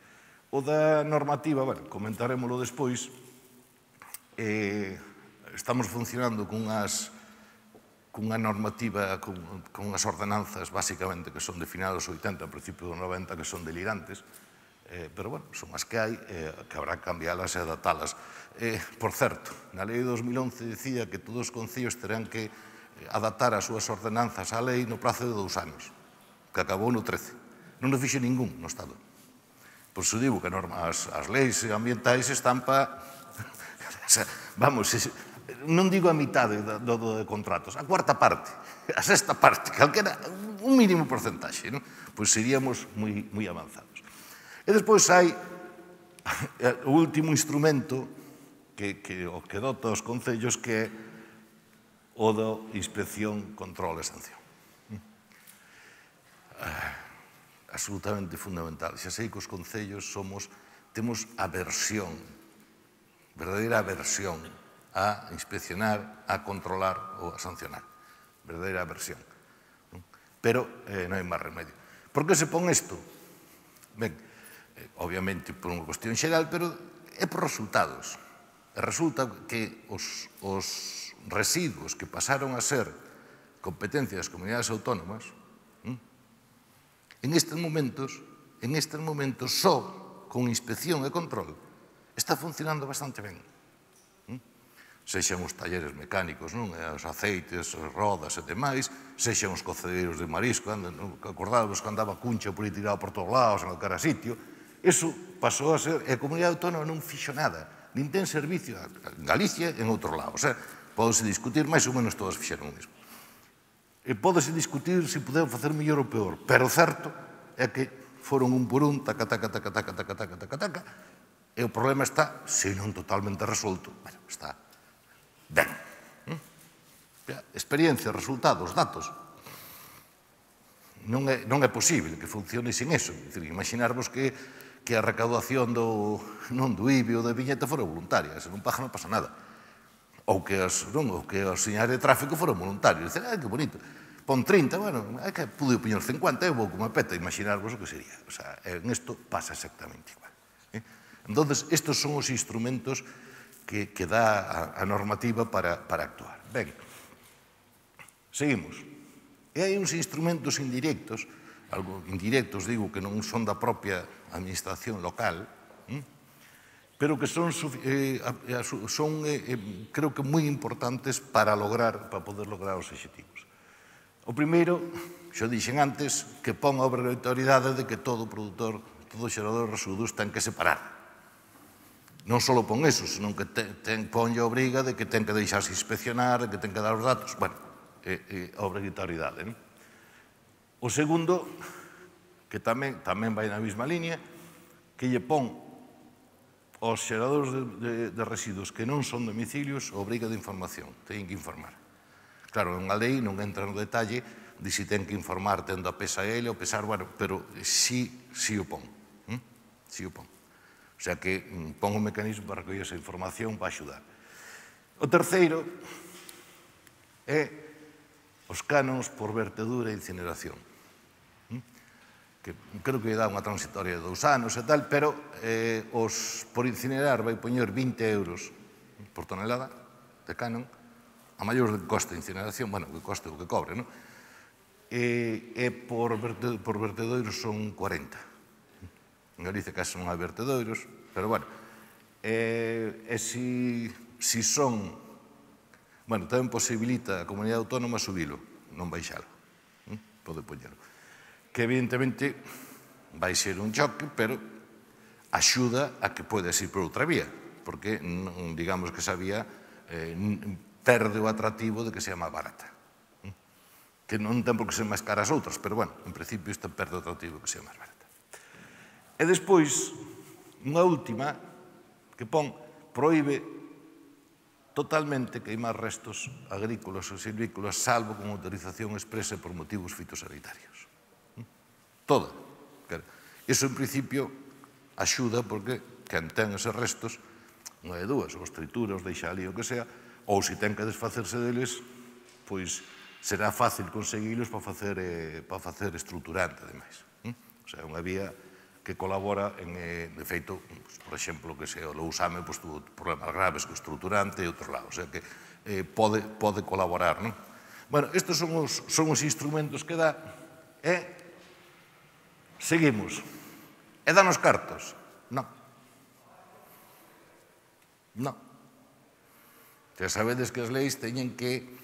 O da normativa, bueno, comentaremoslo despois, eh, estamos funcionando cunhas, cunha normativa, con, con unhas ordenanzas, basicamente, que son de final dos oitenta, a principio dos noventa, que son delirantes, eh, pero, bueno, son as que hai, eh, que habrá que cambialas e adaptalas. Eh, por certo, na lei de dos mil once dicía que todos os concellos terán que adaptar as súas ordenanzas á lei no prazo de dous anos, que acabou no trece. Non o fixe ningún no Estado. Por iso digo que as, as leis ambientais están para... Vamos, non digo a mitade do, do de contratos, a cuarta parte, a sexta parte, calquera, un mínimo porcentaxe, non? Pois seríamos moi, moi avanzados. E despois hai o último instrumento que, que o que dota os concellos, que é o da inspección, control e sanción. Absolutamente fundamental. Xa sei que os concellos somos, temos aversión, verdadeira aversión a inspeccionar, a controlar ou a sancionar. Verdadeira aversión. Pero eh, non hai máis remedio. Por que se pon isto? Ben, eh, obviamente por unha cuestión xeral, pero é por resultados. E resulta que os, os residuos que pasaron a ser competencia das comunidades autónomas, en estes momentos, en estes momentos, só con inspección e control, está funcionando bastante ben. Sexan os talleres mecánicos, non? Os aceites, as rodas e demais, sexan os cocedeiros de marisco, acordádamos que andaba cuncha por aí tirado por todos lados, en cada sitio. Eso pasou a ser, e a comunidade autónoma non fixo nada, nin ten servicio en Galicia e en outros lados. Pódese discutir, máis ou menos todas fixeron o mesmo. E pódese discutir se puderon facer mellor ou peor, pero o certo é que foron un por un, taca, taca, taca, taca, taca, taca, taca, taca, e o problema está, se non totalmente resolto, bueno, está ben. Experiencia, resultados, datos. Non é, non é posible que funcione sin eso. Imaginarvos que, que a recaudación do, non do I B I ou da viñeta fora voluntaria, se non paga non pasa nada. Ou que os, non, ou que os señales de tráfico foran voluntarios. Dicen, ah, que bonito. Pon trinta, bueno, é que pude poñer cincuenta, eu vou como peta, imaginarvos o que sería. O sea, en isto pasa exactamente igual. Eh? Entonces, estos son os instrumentos que, que dá a, a normativa para, para actuar. Ben, seguimos. E hai uns instrumentos indirectos, algo indirectos, digo, que non son da propia administración local, hm? pero que son, eh, son eh, creo que moi importantes para lograr, para poder lograr os obxectivos. O primeiro, xo dixen antes, que pon a obrigatoriedade de que todo produtor, todo xerador de residuos ten que separar. Non só pon eso, senón que ten, pon a obriga de que ten que deixarse inspeccionar, de que ten que dar os datos, bueno, é a obrigatoriedade. O segundo, que tamén, tamén vai na mesma línea, que lle pon aos xeradores de, de, de residuos que non son domicilios obriga de información, teñen que informar. Claro, unha lei non entra no detalle de si ten que informar tendo a pesa ele ou pesar, bueno, pero sí, sí o pon. ¿Mm? Sí o pon. O sea que pon un mecanismo para recoller esa información para axudar. O terceiro é os canons por vertedura e incineración. ¿Mm? Que creo que dá unha transitoria de dous anos e tal, pero eh, os por incinerar vai poñer vinte euros por tonelada de canon, a maior que coste de incineración, bueno, que coste o que cobre, non? E, e por, verte, por vertedoiros son cuarenta. En Galicia casi non hai vertedoiros, pero bueno. E, e si, si son... Bueno, tamén posibilita a comunidade autónoma subilo, non baixalo. ¿Mm? Pode poñelo. Que evidentemente vai ser un choque, pero axuda a que podes ir por outra vía, porque digamos que esa vía eh, perde o atractivo de que sea máis barata. Que non ten por que ser máis cara as outras, pero, bueno, en principio isto perde o atractivo de que sea máis barata. E despois, unha última, que pon, proíbe totalmente queimar restos agrícolas ou silvícolas, salvo con autorización expresa por motivos fitosanitarios. Toda. Iso, en principio, axuda porque quen ten eses restos, unha de dúas, os tritura, os deixa ali o que sea, ou se ten que desfacerse deles, pois será fácil conseguilos para facer, eh, para facer estruturante, ademais. O sea, unha vía que colabora en, eh, de feito, pues, por exemplo, que se o Lousame pues, tuvo problemas graves co estruturante e outros lados, o sea que eh, pode, pode colaborar, non? Bueno, estes son os, son os instrumentos que dá, e seguimos. E dan os cartos? Non. Non. Ya sabedes que as leis teñen que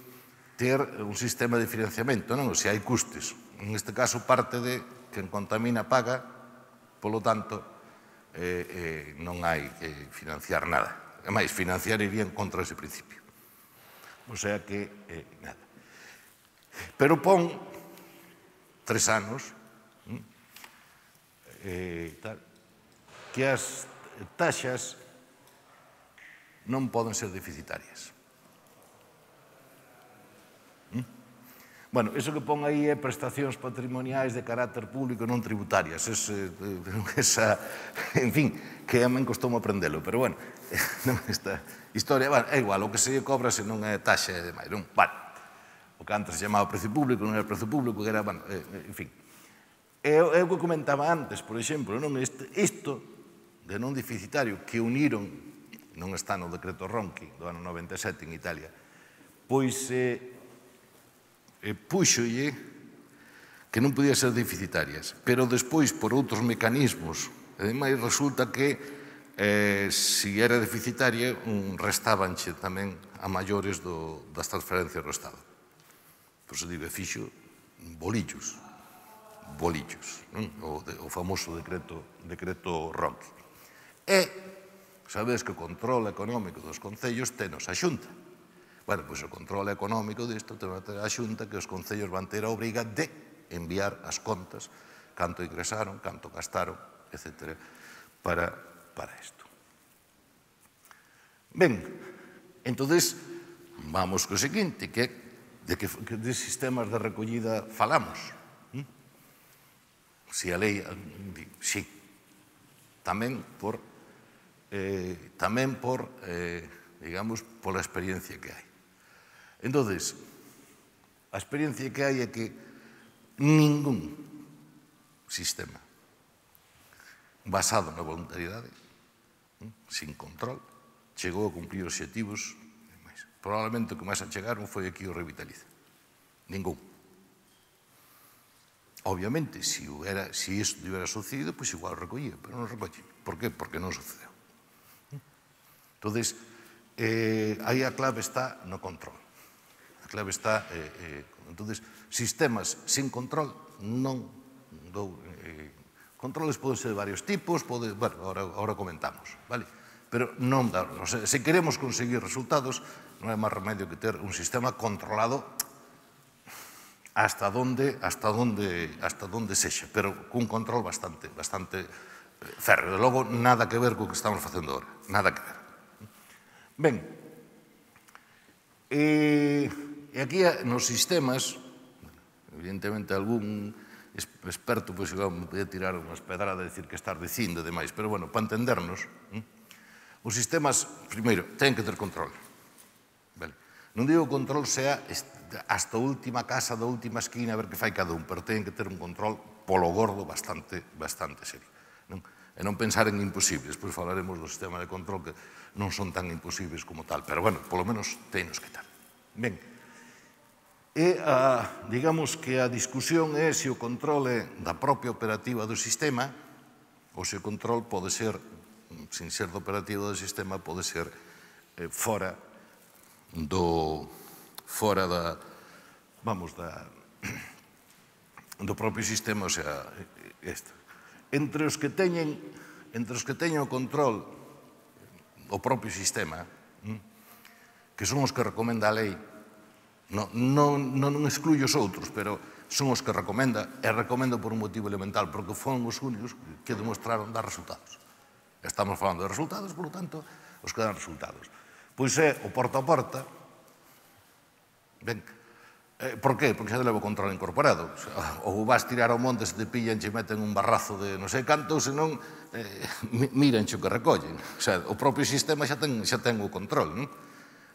ter un sistema de financiamento, non? Se hai custes. En este caso, parte de quen contamina paga, polo tanto, eh, eh, non hai que financiar nada. É máis, financiar irían contra ese principio. O sea que, eh, nada. Pero pon tres anos eh, tal, que as taxas non poden ser deficitarias. ¿Mm? Bueno, iso que pon aí é prestacións patrimoniais de carácter público non tributarias. Ese, esa, en fin, que a men costoume aprendelo, pero bueno, esta historia, bueno, é igual, o que se cobra se non é taxa e demais, non? Vale, o que antes se chamaba precio público, non era precio público, que era, bueno, en fin. É o que comentaba antes, por exemplo, non? Isto de non deficitario que uniron, non está no decreto Ronchi do ano noventa e sete en Italia, pois eh, eh, púxolle que non podía ser deficitarias, pero despois, por outros mecanismos, ademais resulta que eh, si era deficitaria, un restabanche tamén a maiores do, das transferencias do Estado. Por se digo, fixo bolillos, bolillos, non? O, de, o famoso decreto, decreto Ronchi. E, sabedes que o control económico dos concellos tenos a Xunta. Bueno, pois o control económico disto ten a Xunta que os concellos van ter a obriga de enviar as contas, canto ingresaron, canto gastaron, etcétera, para, para isto. Ben, entonces, vamos co seguinte, que de que de sistemas de recollida falamos. Si a lei, sí, tamén por, eh, tamén por, eh, digamos, pola experiencia que hai. Entonces, a experiencia que hai é que ningún sistema basado na voluntariedade, sin control, chegou a cumprir obxectivos. Probablemente o que máis achegaron foi aquí o Revitaliza. Ningún. Obviamente, se si isto tivera sucedido, pois igual recollía, pero non recolle. Por qué? Porque non sucedeu. Entón, eh, aí a clave está no control. A clave está... Eh, eh, entón, sistemas sin control non dou... Eh, controles poden ser de varios tipos, pode, bueno, ahora, ahora comentamos, vale? Pero non dá, o sea, se queremos conseguir resultados, non é máis remedio que ter un sistema controlado hasta donde, hasta donde, hasta donde sexa, pero cun control bastante, bastante férreo. De logo, nada que ver co que estamos facendo agora, nada que ver. Ben, e, e aquí nos sistemas, evidentemente algún experto pois igual me podía tirar unhas pedradas e decir que estás dicindo e demais, pero bueno, para entendernos, os sistemas, primeiro, ten que ter control. Vale. Non digo control sea hasta a última casa da última esquina a ver que fai cada un, pero ten que ter un control polo gordo bastante, bastante serio. Non? E non pensar en imposibles, pois falaremos do sistema de control que non son tan imposibles como tal, pero bueno, polo menos tenos que tal. Ben, e a, digamos que a discusión é se o control é da propia operativa do sistema ou se o control pode ser, sin ser do operativo do sistema, pode ser eh, fora do fora da vamos, da do propio sistema, o sea, isto. Entre os que teñen entre os que teñen o control o propio sistema, que son os que recomenda a lei, non, non, non excluyo os outros, pero son os que recomenda, e recomendo por un motivo elemental, porque foron os únicos que demostraron dar resultados. Estamos falando de resultados, por lo tanto, os que dan resultados. Pois é o porta a porta. Ben, eh, por qué? Porque xa te levo control incorporado. O sea, ou vas tirar ao monte, se te pillan, che meten un barrazo de non sei canto, senón eh, miran o que recollen. O sea, o propio sistema xa ten, xa ten o control, non?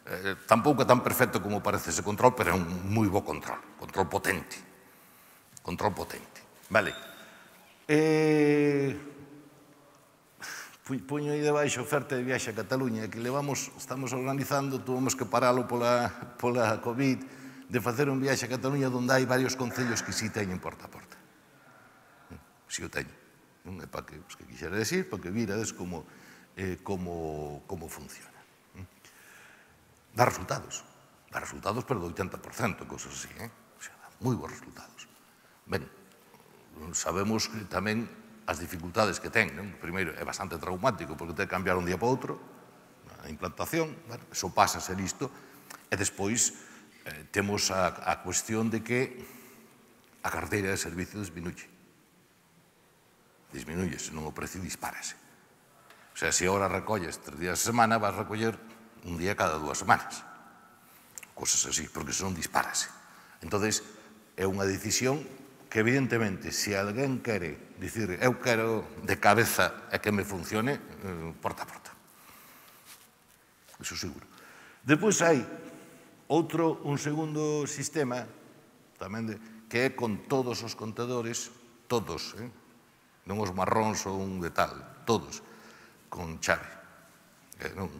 Eh, tampouco é tan perfecto como parece ese control, pero é un moi bo control. Control potente. Control potente. Vale. Eh... Puño aí debaixo oferta de viaxe a Cataluña, que levamos, estamos organizando, tuvemos que paralo pola, pola COVID, de facer un viaxe a Cataluña onde hai varios concellos que si teñen porta a porta. Si o teñen. Non é para que, pues, que quixera decir, para que virades como, eh, como, como funciona. Dá resultados. Dá resultados, pero do oitenta por cento, cosas así, eh? O sea, dá moi bons resultados. Ben, sabemos que tamén as dificultades que ten, non? Primeiro, é bastante traumático, porque ten que cambiar un día para outro, a implantación, bueno, eso pasa a ser isto, e despois eh, temos a, a cuestión de que a carteira de servicio disminuye. Disminuye, senón o precio dispárase. O sea, se agora recolles tres días a semana, vas a recoller un día cada dúas semanas. Cosas así, porque senón dispárase. Entón, é unha decisión que evidentemente, se alguén quere dicir, eu quero de cabeza e que me funcione, porta a porta. Iso seguro. Depois hai outro, un segundo sistema, tamén de, que é con todos os contadores, todos, eh? Non os marróns ou un de tal, todos, con chave,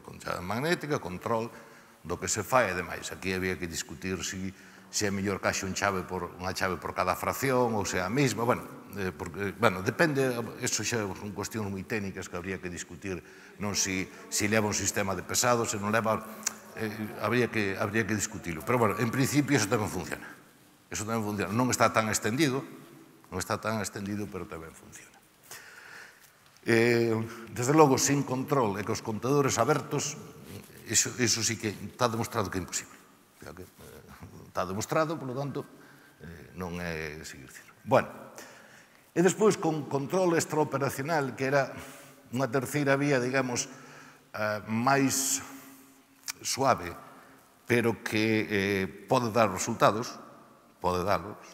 con chave magnética, control do que se fai e demais. Aquí había que discutir se é mellor que haxe unha chave por cada fracción ou se é a mesma, bueno, porque, bueno, depende, eso xa son cuestións moi técnicas que habría que discutir, non se leva un sistema de pesado, se non leva, habría que discutirlo. Pero, bueno, en principio, eso tamén funciona. Eso tamén funciona. Non está tan extendido, non está tan extendido, pero tamén funciona. Desde logo, sin control e cos contadores abertos, iso sí que está demostrado que é imposible. Está demostrado, por lo tanto, non é seguir dicindo. Bueno, e despois con control extraoperacional, que era unha terceira vía, digamos, máis suave, pero que pode dar resultados, pode darlos,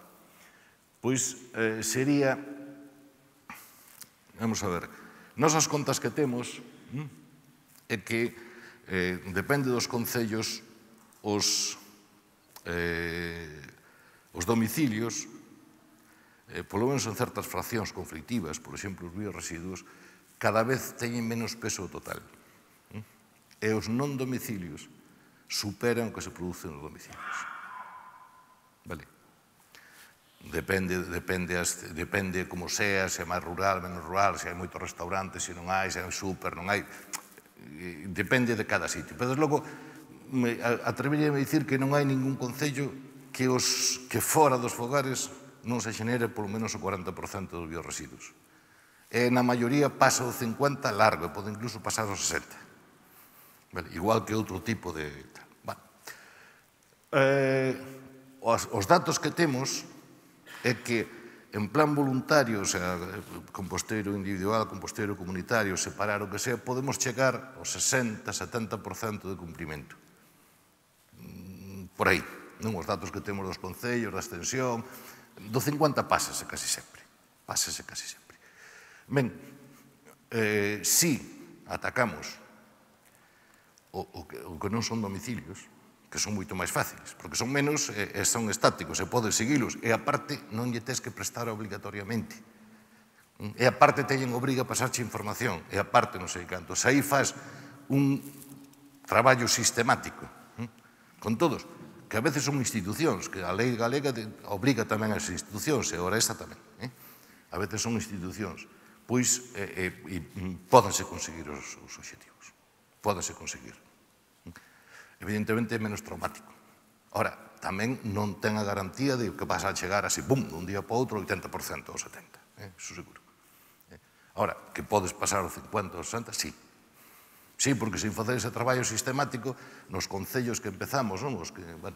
pois sería, vamos a ver, nosas contas que temos é que depende dos concellos os domicilios, polo menos en certas fraccións conflictivas, por exemplo, os bioresiduos, cada vez teñen menos peso total. E os non domicilios superan o que se produce nos domicilios. Vale? Depende como sea, se é máis rural, menos rural, se hai moitos restaurantes, se non hai, se hai súper, non hai... Depende de cada sitio. Pero, desde logo, atreveríame a dicir que non hai ningún concello que fora dos fogares non se xenere polo menos o cuarenta por cento dos bioresiduos. E na maioría pasa o cincuenta por cento largo, e pode incluso pasar o sesenta por cento. Igual que outro tipo de... Os datos que temos é que en plan voluntario, o sea, composteiro individual, composteiro comunitario, separar o que sea, podemos chegar ao sesenta, setenta por cento de cumprimento. Por aí, non? Os datos que temos dos concellos, da extensión, do cincuenta pásase casi sempre. Pásase casi sempre. Ben, si atacamos o que non son domicilios, que son moito máis fáciles, porque son menos e son estáticos, e podes seguilos, e aparte non lle tes que prestar obligatoriamente. E aparte teñen obriga a pasarche información, e aparte non sei canto. Se aí faz un traballo sistemático con todos, que a veces son institucións, que a lei galega obriga tamén as institucións, e ora esta tamén. A veces son institucións, pois pódense conseguir os obxectivos. Pódense conseguir. Evidentemente é menos traumático. Ora, tamén non ten a garantía de que vas a chegar así, bum, dun día para outro, oitenta por cento ou setenta por cento, iso seguro. Ora, que podes pasar o cincuenta por cento ou sesenta por cento, sí. Sí, porque sin facer ese traballo sistemático, nos concellos que empezamos, os que, bueno,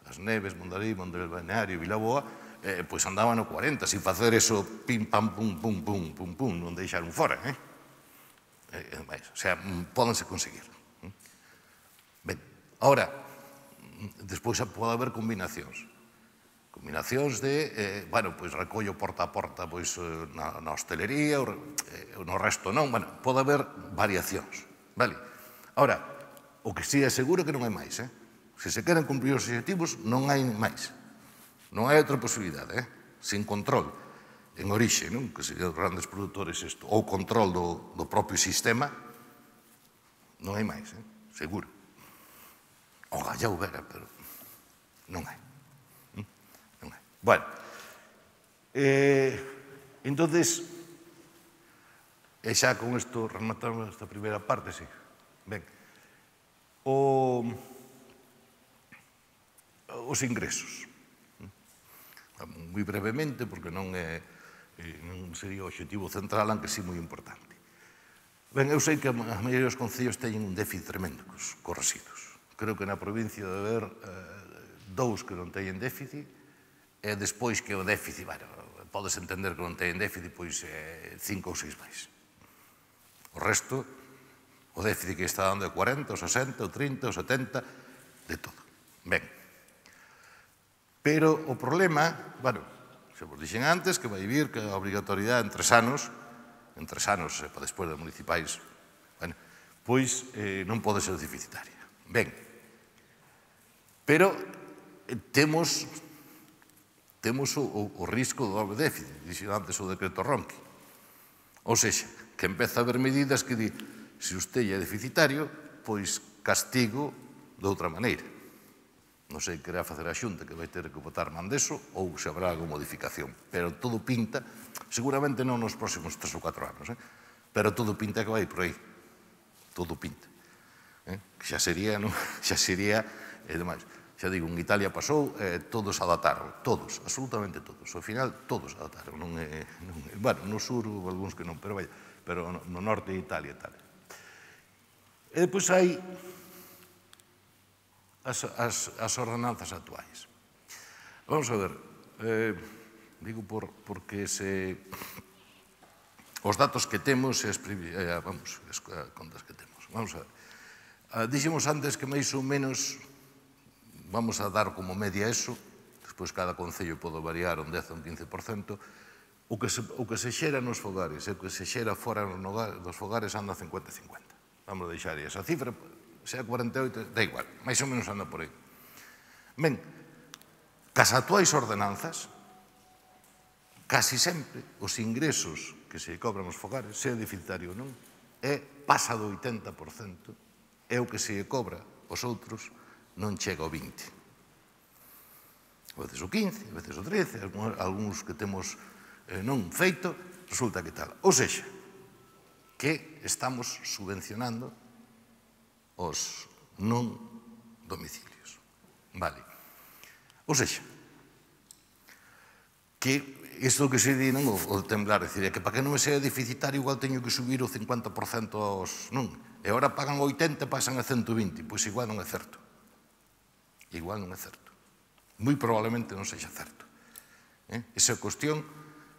As Neves, Mondariz, Mondariz Balneario, Vilaboa, pois andaban no cuarenta, sin facer eso, pim, pam, pum, pum, pum, pum, pum, non deixaron fora, eh? O sea, pódense conseguir. Ben, ahora, despois pode haber combinacións. Combinacións de, bueno, pois recollo porta a porta na hostelería, no resto non, bueno, pode haber variacións, vale? Ahora, o que sí é seguro que non hai máis, eh? Se se queren cumprir os objetivos, non hai máis. Non hai outra posibilidade, eh? Sin control, en orixe, non? Que serían os grandes produtores isto, ou control do propio sistema, non hai máis, eh? Seguro. Ojalá houbera, pero non hai. Non hai. Bueno, entonces, e xa con isto rematamos esta primeira parte, sí. Ben, os ingresos. Moi brevemente, porque non sería o obxectivo central, aunque sí moi importante. Ben, eu sei que a maioría dos concellos teñen un déficit tremendo cos residuos. Creo que na provincia debe haber dous que non teñen déficit, e despois que o déficit, bueno, podes entender que non teñen déficit, pois cinco ou seis máis. O resto, o déficit que está dando é cuarenta, o sesenta, o trinta, o setenta, de todo. Ben. Pero o problema, bueno, se vos dixen antes, que vai vir que a obrigatoriedade en tres anos, en tres anos, para despois das municipais, bueno, pois non pode ser deficitaria. Ben, pero temos temos o risco do doble déficit, dixen antes o decreto Ronqui. Ou seja, que empeza a haber medidas que di, se usted é deficitario, pois castigo de outra maneira. Non sei que irá facer a Xunta, que vai ter que votar man deso, ou se habrá alguna modificación. Pero todo pinta, seguramente non nos próximos tres ou catro anos, eh? pero todo pinta que vai por aí. Todo pinta. Eh? Xa sería, non? Xa sería, e demais. Xa digo, en Italia pasou, eh, todos adaptaron, todos, absolutamente todos. Ao final, todos adaptaron. Non é, non é, bueno, no sur, algúns que non, pero vai, pero no, no norte de Italia e tal. E depois hai as, as, as ordenanzas actuais. Vamos a ver, eh, digo por, porque se, os datos que temos, as, eh, vamos, as contas que temos. Vamos a ver. Ah, dixemos antes que máis ou menos, vamos a dar como media eso, despois cada concello pode variar un dez ou un quince por cento, o que se, o que se xera nos fogares e o que se xera fora dos fogares anda cincuenta a cincuenta. Vamos a deixar esa cifra, sea cuarenta e oito, da igual, máis ou menos anda por aí. Ben, cas actuais ordenanzas, casi sempre os ingresos que se cobran os fogares, sea deficitario ou non, é pasa do oitenta por cento, é o que se cobra os outros non chega ao vinte. A veces o quince, a veces o trece, algúns que temos eh, non feito, resulta que tal. Ou seja, que estamos subvencionando os non domicilios. Vale. Ou seja, que isto que se di, non, o temblar, decir, é que para que non me sea deficitario igual teño que subir o cincuenta por cento aos, non, e agora pagan oitenta e pasan a ciento vinte, pois igual non é certo. Igual non é certo. Moi probablemente non sexa certo. Eh? Esa é a cuestión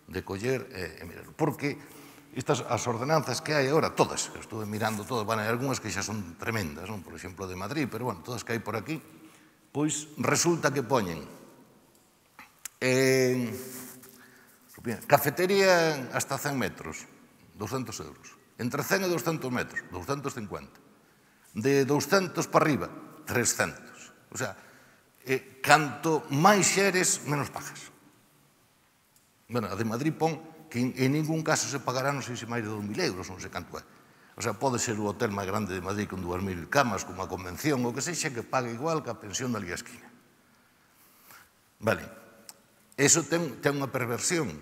de coller e, e mirar. Porque estas, as ordenanzas que hai agora, todas, estou mirando todas, van, hai algunhas que xa son tremendas, non? Por exemplo, de Madrid, pero, bueno, todas que hai por aquí, pois resulta que poñen en cafetería hasta cen metros, doscentos euros. Entre cen e doscentos metros, doscentos cincuenta. De doscentos para arriba, trescentos. O sea, eh, canto máis xeres, menos pagas. Bueno, a de Madrid pon que en, en ningún caso se pagará, non sei se máis de dos mil euros, non sei canto é. O sea, pode ser o hotel máis grande de Madrid con dúas mil camas, como a convención, ou que sexa, que pague igual que a pensión da Liga Esquina. Vale. Eso ten, ten unha perversión,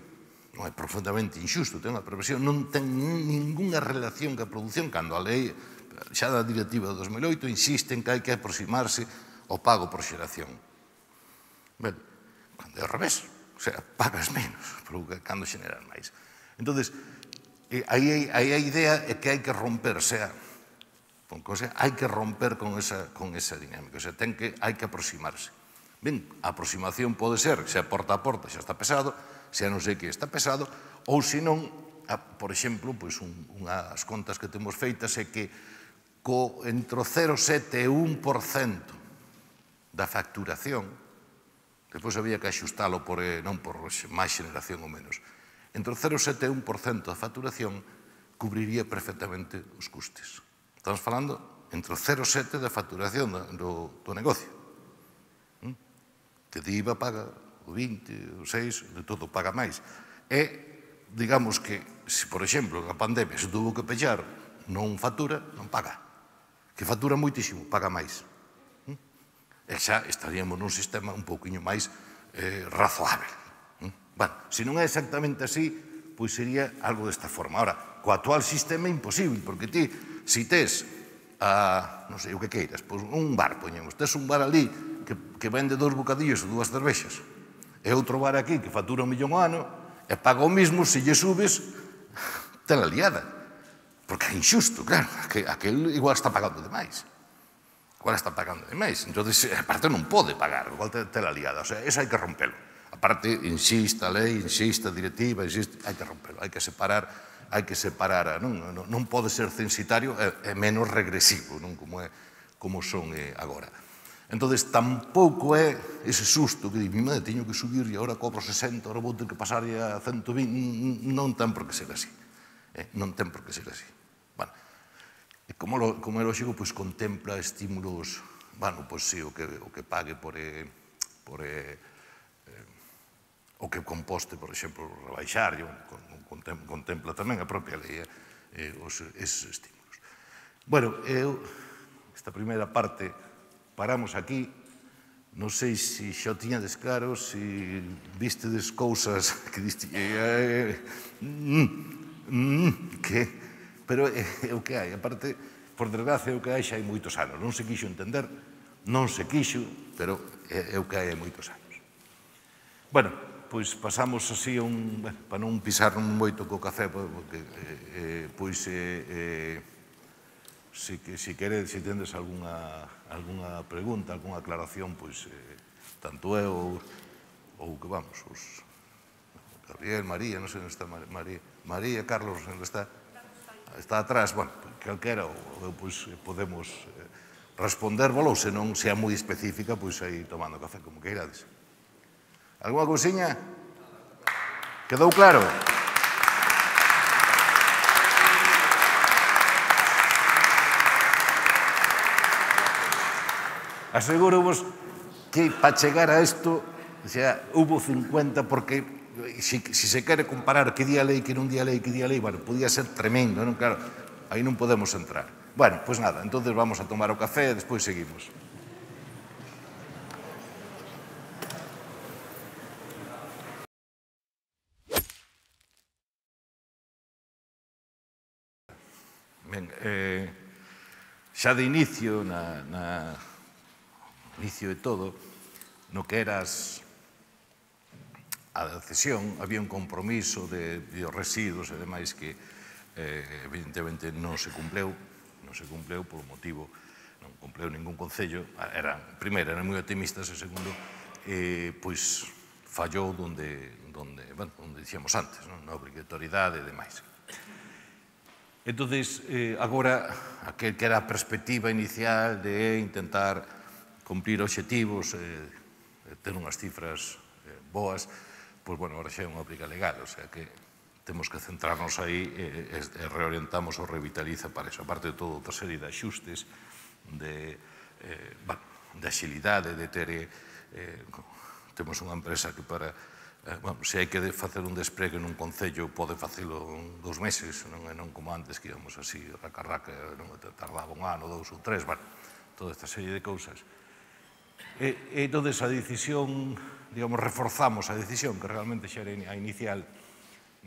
non é profundamente injusto, ten unha perversión, non ten ninguna relación ca produción, cando a lei, xa da directiva de dos mil oito, insiste en que hai que aproximarse ao pago por xeración. Ben, cando é ao revés, o sea, pagas menos, pero cando xeneras máis. Entón, aí a idea é que hai que romper, o sea, hai que romper con esa, con esa dinámica, o sea, ten que, hai que aproximarse. Ben, a aproximación pode ser, se a porta a porta xa está pesado, se a non sei que está pesado, ou se non, por exemplo, pois unhas contas que temos feitas é que co entre o cero coma sete e un por cento da facturación, depois había que axustalo por, non por máis xeneración ou menos, entre o cero coma sete e un por cento da facturación cubriría perfectamente os custes. Estamos falando entre o cero coma sete da facturación do, do negocio. Que de I V A paga o vinte, o seis, de todo paga máis. E, digamos que, se por exemplo, na pandemia se tuvo que pechar, non factura, non paga. Que factura moitísimo, paga máis. E xa estaríamos nun sistema un pouquinho máis eh, razoável. Bueno, se non é exactamente así, pois sería algo desta forma. Ahora, co actual sistema é imposible, porque ti, se tes, a, non sei, o que queiras, pois un bar, poñemos, tes un bar ali que, que vende dous bocadillos ou dúas cervexas, e outro bar aquí que factura un millón ao ano, e paga o mismo, se lle subes, ten la liada. Porque é injusto, claro, que aquel igual está pagando demais. Igual está pagando demais. Entón, aparte non pode pagar, igual ten la liada. O sea, eso hai que rompelo. Aparte, insiste a lei, insiste a directiva, insiste, hai que rompelo, hai que separar, hai que separar, non, non, non pode ser censitario e, e menos regresivo, non como, é, como son eh, agora. Entón, tampouco é ese susto que di, mi madre, teño que subir e agora cobro sesenta, agora vou ter que pasar a ciento vinte, non ten por que ser así. Eh, non ten por que ser así. Bueno, e como, lo, como é lógico, pois contempla estímulos, bueno, pois sí, o que, o que pague por, eh, por eh, eh, o que composte, por exemplo, rebaixar, contempla tamén a propia lei, eh, esos estímulos. Bueno, eu, esta primeira parte, paramos aquí. Non sei se xa o tiñades claro, se vistedes cousas que diste... que... Pero é o que hai. A parte, por desgracia, é o que hai xa hai moitos anos. Non se quixo entender, non se quixo, pero é o que hai hai moitos anos. Bueno, pois pasamos así un... para non pisar moito co café, porque, pois, se queredes, se tendes algunha pregunta, algunha aclaración, pois, tanto eu ou que vamos, os Gabriel, María, non sei onde está María, María, Carlos, onde está? Está atrás, bueno, calquera, pois podemos respondervolo, ou se non, se é moi específica, pois aí tomando café, como que irades. Alguna cousiña? Quedou claro? Aseguro-vos que para chegar a isto, xa, hubo cincuenta, porque se se quere comparar que día lei, que non día lei, que día lei, bueno, podía ser tremendo, non? Claro, aí non podemos entrar. Bueno, pois nada, entonces vamos a tomar o café e despois seguimos. Ben, eh, xa de inicio, na, na inicio de todo, no que eras a cesión, había un compromiso de biorresiduos e demais que evidentemente non se cumpleu, non se cumpleu por motivo, non cumpleu ningún concello, era, primeiro, eran moi optimistas, e segundo, pois fallou donde, bueno, onde dicíamos antes, na obrigatoriedade e demais. Entonces, agora, aquel que era a perspectiva inicial de intentar cumprir obxectivos, ter unhas cifras boas, pois, bueno, agora xa é unha obriga legal, o sea que temos que centrarnos aí e reorientamos o Revitaliza para eso. Aparte de todo, outra serie de axustes, de axilidade, de ter... Temos unha empresa que para... Se hai que facer un despregue nun concello, pode facelo en dous meses, non como antes, que íbamos así, raca-raca, tardaba un ano, dous ou tres, bueno, toda esta serie de cousas. E, entón, a decisión, digamos, reforzamos a decisión, que realmente xa era a inicial,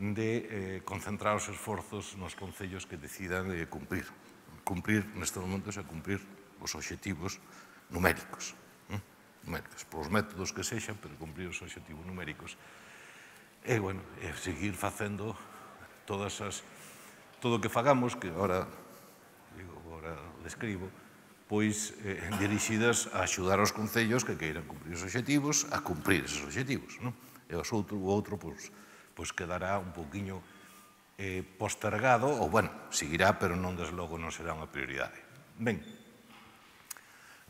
de concentrar os esforzos nos concellos que decidan cumprir. Cumprir, nestes momentos, é cumprir os obxectivos numéricos. Numéricos, polos métodos que sexan, pero cumprir os obxectivos numéricos. E, bueno, seguir facendo todas as... todo o que fagamos, que agora, digo, agora describo, pois dirixidas a axudar aos concellos que queiran cumprir os obxectivos a cumprir esos obxectivos. E o outro, pois, quedará un poquinho postergado, ou, bueno, seguirá, pero non, desde logo, non será unha prioridade. Ben,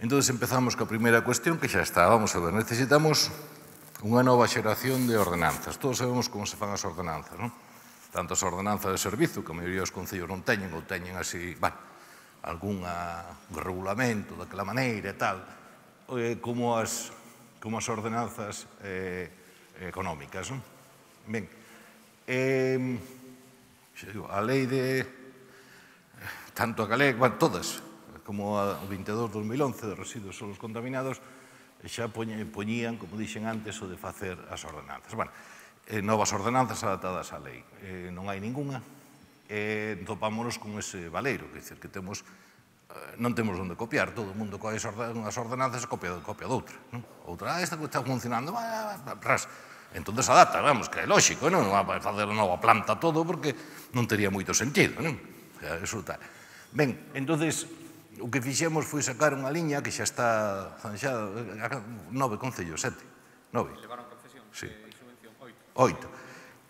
entón, empezamos coa primeira cuestión, que xa está, vamos a ver, necesitamos unha nova xeración de ordenanzas. Todos sabemos como se fan as ordenanzas, non? Tanto as ordenanzas de servizo, que a maioría dos concellos non teñen, ou teñen así, bueno, algún regulamento daquela maneira e tal, como as ordenanzas económicas. Ben, a lei de, tanto a galega, todas, como a vinte e dous barra dos mil once de residuos solos contaminados, xa poñían, como dixen antes, o de facer as ordenanzas. Bueno, novas ordenanzas adaptadas á lei. Non hai ninguna. E topámonos con ese valeiro, que dicer que temos, non temos onde copiar, todo o mundo coe as ordenanzas e copia doutra. Outra, ah, esta que está funcionando, ras. Entón adapta, vamos, que é lógico, non vai facer nova planta todo, porque non tería moito sentido, non? Eso tal. Ben, entón, o que fixemos foi sacar unha liña que xa está zanxada, nove concellos, sete, nove.
Levaron concesión de subvención, oito.
Oito.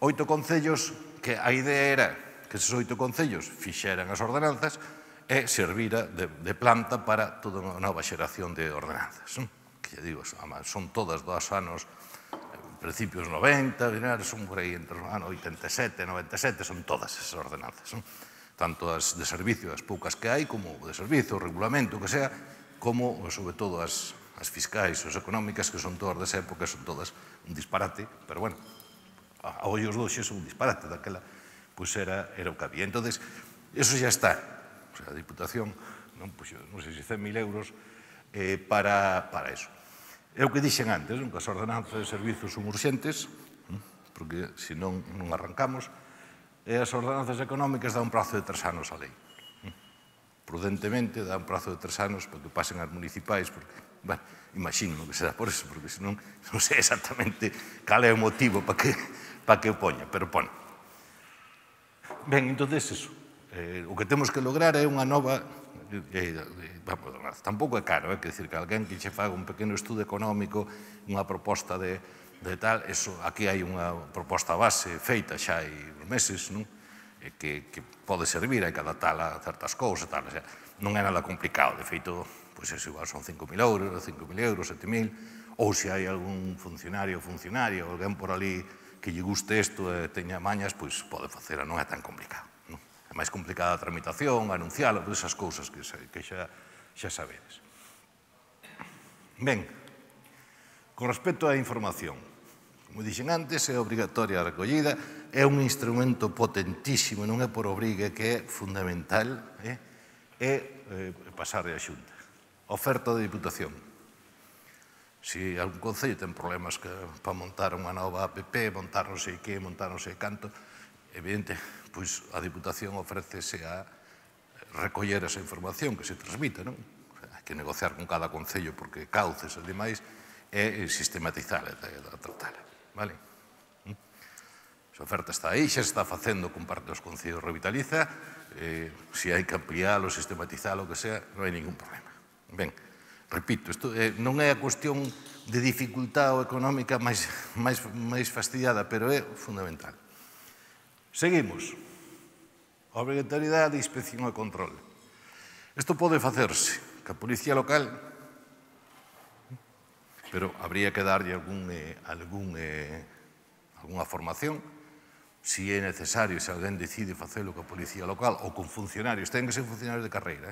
Oito concellos que a idea era que esos oito concellos fixeran as ordenanzas e servira de planta para toda unha nova xeración de ordenanzas. Que, ya digo, son todas dos anos, principios noventa, son por aí entre os anos oitenta e sete, noventa e sete, son todas esas ordenanzas. Tanto as de servicio, as poucas que hai, como de servicio, o regulamento, que sea, como, sobre todo, as fiscais, as económicas, que son todas desa época, son todas un disparate, pero, bueno, a ollos doxes son un disparate, daquela, pois era o que había. Entón, Eso xa está. O sea, a Diputación, non, pues, non sei se cen mil euros eh, para, para eso. É o que dixen antes, non? Que as ordenanzas de servizos son urxentes, porque se non, non arrancamos, e as ordenanzas económicas dá un prazo de tres anos a lei. Prudentemente dá un prazo de tres anos para que pasen as municipais, porque, bueno, imagino que será por eso, porque senón non sei exactamente cal é o motivo para que, para que o poña, pero pon. Ben, entón, eso. Eh, o que temos que lograr é unha nova... Eh, eh, vamos, tampouco é caro, é que decir que alguén que che faga un pequeno estudo económico, unha proposta de, de tal, eso, aquí hai unha proposta base feita xa hai meses, non? Eh, que, que pode servir, hai que adaptala a certas cousas, tal, o sea, non é nada complicado, de feito, pois pues, igual son cinco mil euros, cinco mil euros, sete mil, ou se hai algún funcionario ou funcionaria, ou alguén por ali que lle guste isto e teña mañas, pois pode facela, non é tan complicado. É máis complicada a tramitación, anunciala, todas esas cousas que, que xa, xa sabedes. Ben, con respecto á información, como dixen antes, é obrigatoria a recollida, é un instrumento potentísimo, non é por obrigue, que é fundamental, eh? é eh, pasar a Xunta. Oferta de Diputación. Se algún concello ten problemas que, para montar unha nova app, montar non sei que, montar non sei canto, evidente, pois a Diputación ofrécese a recoller esa información que se transmite, non? Hai que negociar con cada concello porque cauces e demais e sistematizala e tratala, vale? Esa oferta está aí, xa se está facendo con parte dos concellos Revitaliza, eh, se hai que ampliálo, sistematizalo, o que sea, non hai ningún problema. Ben, repito, isto eh, non é a cuestión de dificultad ou económica máis, máis, máis fastidiada, pero é fundamental. Seguimos. Obrigatoriedade de inspección e control. Isto pode facerse que a Policía Local, pero habría que darlle algún, eh, algún, eh, alguna formación, se é necesario, se alguén decide facelo con a Policía Local ou con funcionarios, ten que ser funcionarios de carreira.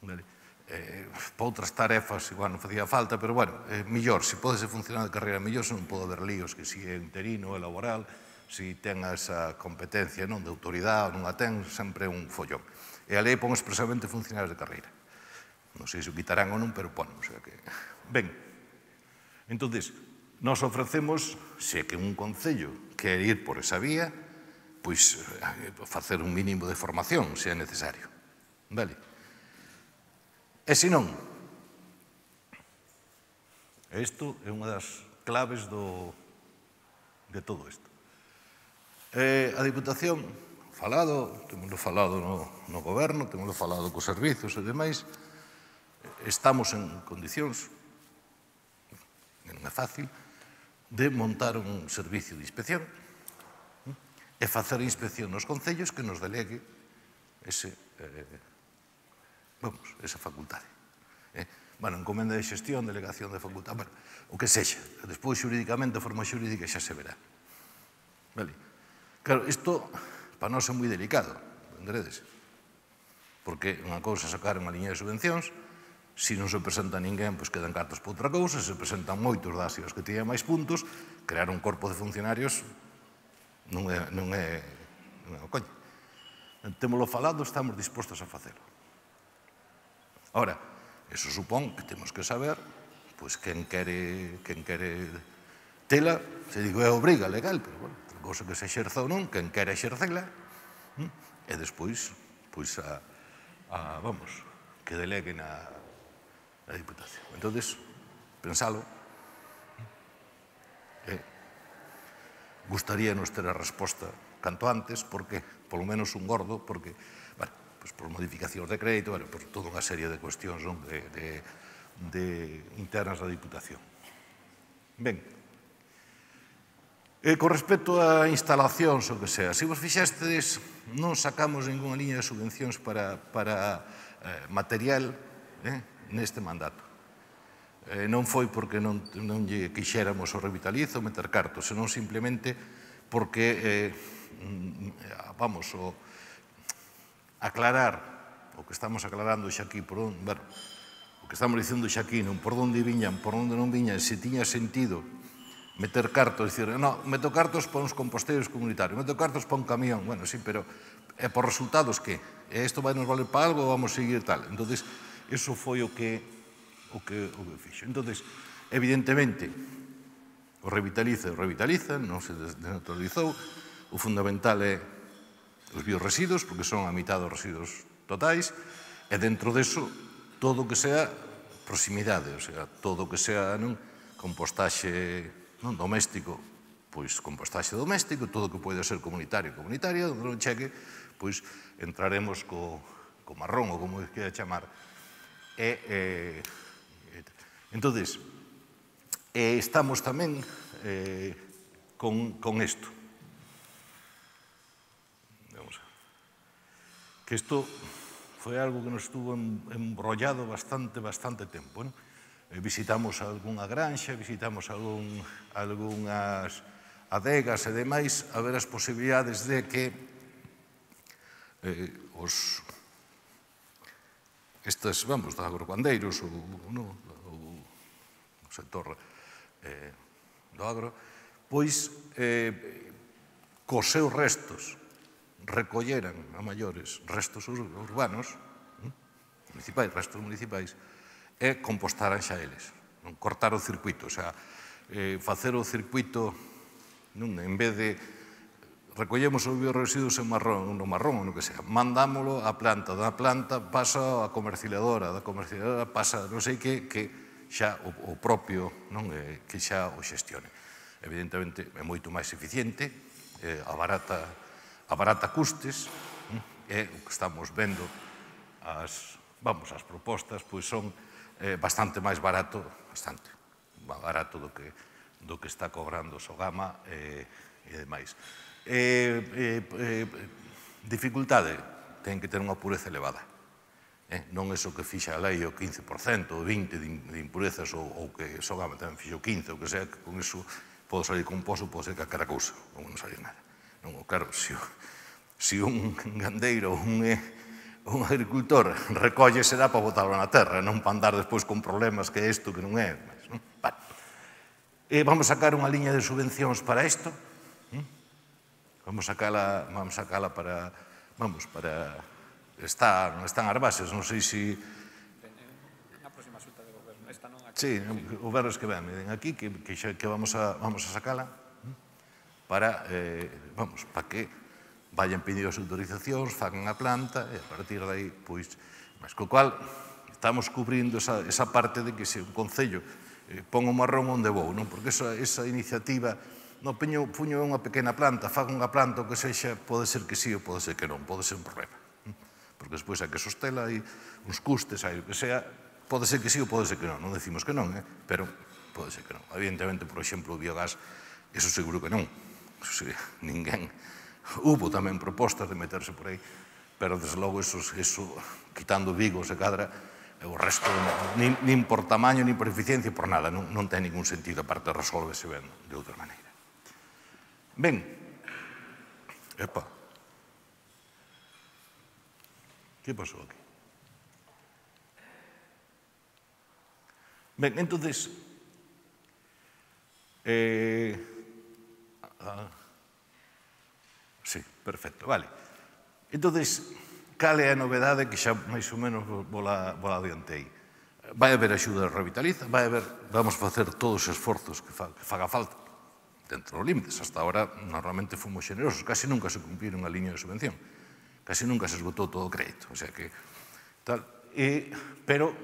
Vale. Eh, para outras tarefas, igual non facía falta, pero, bueno, eh, millor, se pode ser funcionario de carreira mellor, se non pode haber líos, que si é interino, é laboral, se ten esa competencia non de autoridade ou non a ten, sempre é un follón. E a lei pon expresamente funcionarios de carreira. Non sei se o quitarán ou non, pero pon. O sea que... Ben, entón, nos ofrecemos, se que un concello quer ir por esa vía, pois facer un mínimo de formación, se é necesario. Vale? E se non, isto é unha das claves do, de todo isto. Eh, a Diputación, falado, temos falado no, no goberno, temos falado cos servizos e demais, estamos en condicións, non é fácil, de montar un servicio de inspección e facer inspección nos concellos que nos delegue ese, eh, vamos, esa facultade. Eh? Bueno, encomenda de xestión, delegación de facultade, bueno, o que sexa. Despois, xurídicamente, a forma xurídica xa se verá. Vale? Claro, isto para nós é moi delicado, entenderedes? Porque unha cousa é sacar unha liña de subvencións, se non se presenta ninguén, pois quedan cartos para outra cousa, se presentan moitos das e os que teñen máis puntos, crear un corpo de funcionarios non é, non é, non é o coño. Témolo falado, estamos dispostos a facelo. Ahora, eso supón que temos que saber, pois, quen quere, quen quere tela, se digo é obriga legal, pero, bueno, cousa que se exerza ou non, quen quere exercela, e despois, pois, a, a, vamos, que deleguen a, a Diputación. Entón, pensalo, eh, gustaríanos ter a resposta canto antes, porque, polo menos un gordo, porque, bueno, pois por modificacións de crédito, bueno, por toda unha serie de cuestións, non, de, de, de internas da Diputación. Ben, E con respecto a instalacións, o que sea, se vos fixestes, non sacamos ninguna liña de subvencións para, para eh, material eh, neste mandato. Eh, non foi porque non, non lle quixéramos o Revitalizo meter cartos, senón simplemente porque, eh, vamos, o, aclarar o que estamos aclarando xa aquí, por onde, bueno, o que estamos dicendo xa aquí, non por onde viñan, por onde non viñan, se tiña sentido meter cartos, dicir, no, meto cartos para uns composteiros comunitarios, meto cartos para un camión, bueno, sí, pero e por resultados que? E isto vai nos valer para algo ou vamos seguir tal? Entonces, eso foi o que o que, o que fixo. Entonces, evidentemente, o revitaliza, o revitaliza, non se desnaturalizou, o fundamental é os biorresiduos, porque son a mitad dos residuos totais, e dentro deso, todo o que sea proximidade, o sea, todo o que sea non, compostaxe non, doméstico, pois compostaxe doméstico, todo o que pode ser comunitario, comunitaria, onde non cheque, pois entraremos co, co marrón, ou como queira chamar. E, eh, entonces, eh, estamos tamén eh, con, con isto. Vamos a ver. Que isto foi algo que nos estuvo embrollado bastante, bastante tempo, non? Visitamos algunha granxa, visitamos algún, algunhas adegas e demais a ver as posibilidades de que eh, os estes, vamos, dos agrocandeiros ou, no, o sector eh, do agro, pois eh, cos seus restos recolleran a maiores restos urbanos, municipais, restos municipais, e compostaran xa eles, non cortar o circuito, o sea, eh, facer o circuito, non, en vez de recollemos os biorresiduos en marrón, no marrón ou no que sea, mandámolo á planta, da planta pasa á comercializadora, da comercializadora pasa non sei que, que xa o, o propio, non, eh, que xa o xestione. Evidentemente é moito máis eficiente, eh, abarata, abarata custes, e o que estamos vendo, as, vamos, as propostas, pois son eh, bastante máis barato, bastante barato do que, do que está cobrando Sogama e, e demais. Eh, eh, eh, dificultade, ten que ter unha pureza elevada. Eh, non é o que fixa a lei o quince por cento, o vinte por cento de impurezas, ou, ou que Sogama tamén fixo quince por cento, ou que sea, que con iso pode salir composto, pode ser calquera cousa, ou non salir nada. Non, claro, se, se un gandeiro, un... Eh, un agricultor recolle será para botarlo na terra, non para andar despois con problemas que é isto, que non é. Non? Vale. E vamos sacar unha liña de subvencións para isto. Vamos sacala, vamos sacala para, vamos, para, está, están as bases, non sei se...
Na próxima xunta de goberno, esta non aquí.
Sí, o gobernos que ven, miren aquí, que, que, que vamos, a, vamos a sacala para, eh, vamos, para que vayan pedindo as autorizacións, fagan a planta, e a partir de aí, pois, mas co cual estamos cubrindo esa, esa parte de que se un concello eh, pon o marrón onde vou, non? Porque esa, esa iniciativa, no, peño, puño unha pequena planta, fago unha planta, o que sexa, pode ser que sí ou pode ser que non, pode ser un problema. Porque despois hai que sostela, hai uns custes, hai o que sea, pode ser que sí ou pode ser que non, non decimos que non, eh? Pero pode ser que non. Evidentemente, por exemplo, o biogás, eso seguro que non. Eso sí, ninguén... Hubo tamén propostas de meterse por aí, pero, desde logo, eso, eso quitando Vigo, se cadra, o resto, nin, nin por tamaño, nin por eficiencia, por nada, non, non ten ningún sentido, aparte resolvese ben de outra maneira. Ben, epa, que pasou aquí? Ben, entonces, eh, ah, sí, perfecto, vale. Entonces, cal é a novedade que xa máis ou menos vola, vola adiantei? Vai haber axuda de Revitaliza, vai haber, vamos facer todos os esforzos que, fa, que faga falta dentro dos límites. Hasta ahora, normalmente fomos generosos, casi nunca se cumpliron a liña de subvención, casi nunca se esgotou todo o crédito, o sea que, tal, e, pero,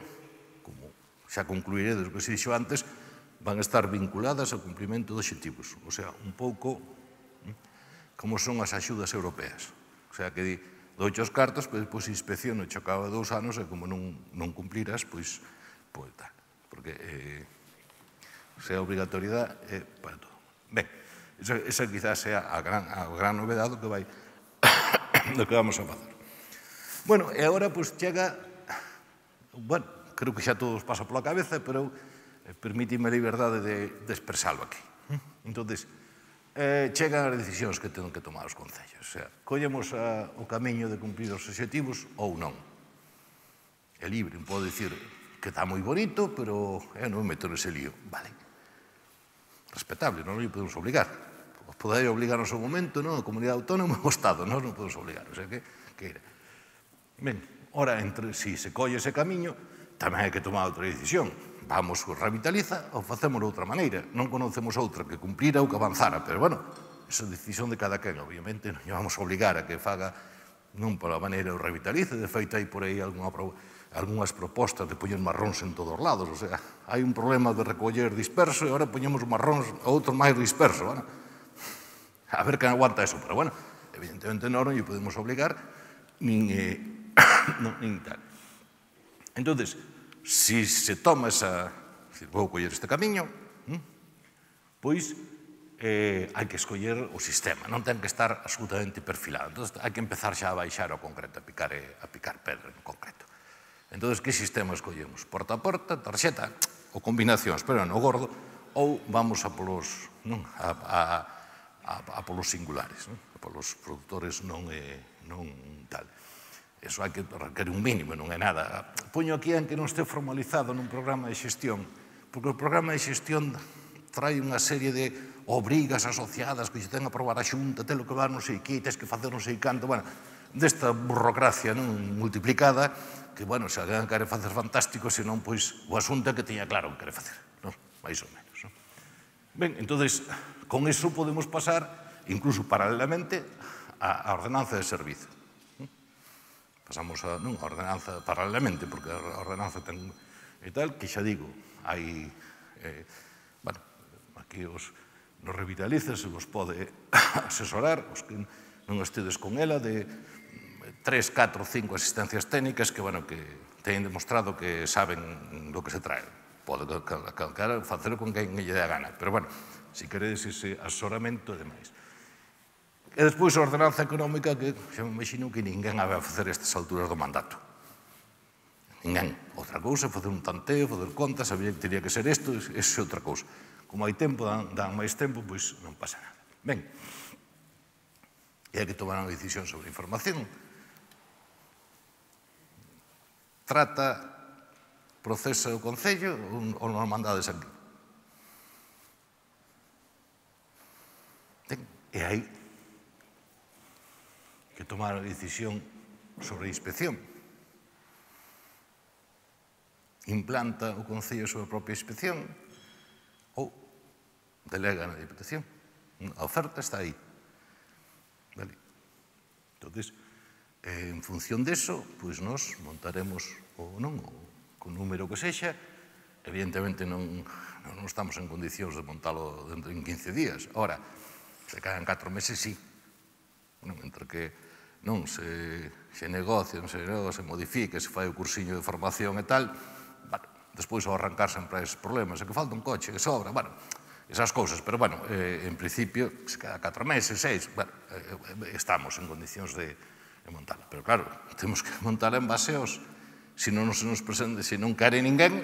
como xa concluiré do que se dixo antes, van a estar vinculadas ao cumprimento de obxectivos, o sea, un pouco como son as axudas europeas. O sea, que di, douche os cartos, pero depois inspecciono e chocaba dous anos e como non, non cumpliras, pois, pois tal. Porque eh, se a obrigatoriedade é para todo. Ben, esa, esa quizás sea a gran, a gran novedade do que vai do que vamos a facer. Bueno, e agora, pois, chega, bueno, creo que xa todos pasa pola cabeza, pero eh, permítime a liberdade de, de expresalo aquí. Entonces, eh, chegan as decisións que ten que tomar os concellos. O sea, collemos a, o camiño de cumprir os obxectivos ou non. É libre, pode dicir que está moi bonito, pero eu non me meto nese lío. Vale. respetable, non lle podemos obligar. Os podería obligar no seu momento, non? A comunidade autónoma e o Estado, non non podemos obligar. O sea que, que era. Ben, ora, entre si se colle ese camiño, tamén hai que tomar outra decisión. Vamos, revitaliza ou facemos de outra maneira. Non conocemos outra que cumplira ou que avanzara, pero, bueno, esa decisión de cada quen, obviamente, non vamos a obligar a que faga non pola maneira o revitalice. De feito, hai por aí algunhas propostas de poñer marróns en todos os lados. O sea, hai un problema de recoller disperso e agora poñemos marróns a outro máis disperso. Bueno, a ver quen aguanta eso. Pero, bueno, evidentemente non lle podemos obligar nin, eh, no, nin tal. Entón, si se toma esa... Si vou coller este camiño, pois eh, hai que escoller o sistema, non ten que estar absolutamente perfilado. Entón, hai que empezar xa a baixar ao concreto, a picar, a picar pedra en concreto. Entón, que sistema escollemos? Porta a porta, tarxeta, ou combinacións, pero no gordo, ou vamos a polos, non, a, a, a, a polos singulares, non? A polos produtores non, eh, non tal. Eso hai que requerir un mínimo, non é nada. Poño aquí en que non este formalizado nun programa de xestión, porque o programa de xestión trae unha serie de obrigas asociadas que xe ten a aprobar a Xunta, telo que va non sei que, tes que facer non sei canto, bueno, desta burocracia non multiplicada, que, bueno, se alguén quere facer fantástico, senón, pois, o asunto é que tiña claro o que quere facer, non? Mais ou menos, non? Ben, entonces, con iso podemos pasar, incluso paralelamente, a ordenanza de servizo. Pasamos a, non, a ordenanza paralelamente, porque a ordenanza ten e tal, que xa digo, hai, eh, bueno, aquí os, nos revitalizas, se vos pode asesorar, os que non estedes con ela, de tres, catro, cinco asistencias técnicas que, bueno, que teñen demostrado que saben do que se trae. Pode calcar facer con quen lle dé a gana, pero, bueno, se queredes ese asesoramento e demais. E despois a ordenanza económica, que xa me imagino que ninguén a vai facer estas alturas do mandato. Ninguén. Outra cousa, facer un tanteo, facer contas, sabía que teria que ser isto, eso é outra cousa. Como hai tempo, dan, dan máis tempo, pois non pasa nada. Ben, e hai que tomar unha decisión sobre a información. Trata, procesa o Concello ou non mandades aquí? Ben, e hai que tomar a decisión sobre a inspección. Implanta o Concello a súa propia inspección ou delega na Diputación. A oferta está aí. Vale. Entón, en función deso, pois nos montaremos ou non, o con número que sexa. Evidentemente non, non estamos en condicións de montalo dentro en quince días. Ora, se caen catro meses, sí. Non, entre que non se, se negocia, se, se modifique, se fai o cursiño de formación e tal, bueno, despois ao arrancar sempre hai esos problemas, é que falta un coche, que sobra, bueno, esas cousas, pero, bueno, eh, en principio, se cada catro meses, seis, bueno, eh, estamos en condicións de, de montarla. Pero, claro, temos que montarla en base aos, se non se nos presente, se non quere ninguén,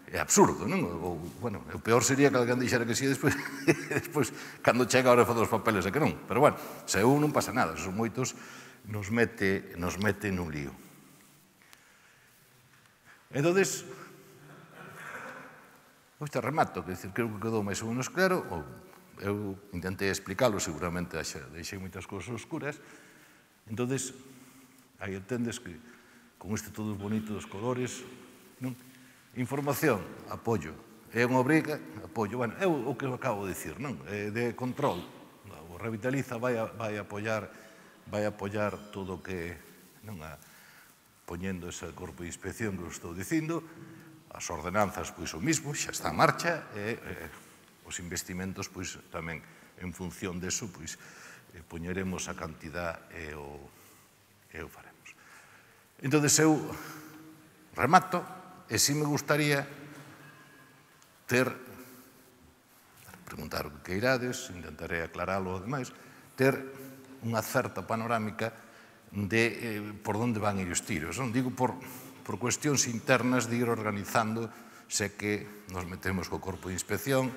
é absurdo, non? O, bueno, o peor sería que alguén dixera que sí, despois, despois cando chega a hora de fazer os papeles é que non. Pero, bueno, se un non pasa nada, se son moitos, nos mete, nos mete nun lío. Entón, hoxe remato, que decir, creo que quedou máis ou menos claro, ou eu intentei explicarlo, seguramente deixei moitas cousas oscuras. Entón, aí entendes que con este todo bonito dos colores, non? Información, apoio. É unha obriga, apoio. Bueno, é o que acabo de dicir, non? É de control. O Revitaliza vai, a, vai apoiar vai apoiar todo o que, non, a, poñendo ese corpo de inspección que estou dicindo, as ordenanzas, pois, o mismo, xa está en marcha, e eh, os investimentos, pois, tamén, en función deso, pois, eh, poñeremos a cantidad e o, e o faremos. Entón, eu remato, e si me gustaría ter, preguntar o que queirades, intentaré aclaralo e demais, ter unha certa panorámica de eh, por onde van ir os tiros. Non digo por, por cuestións internas de ir organizando, sé que nos metemos co corpo de inspección,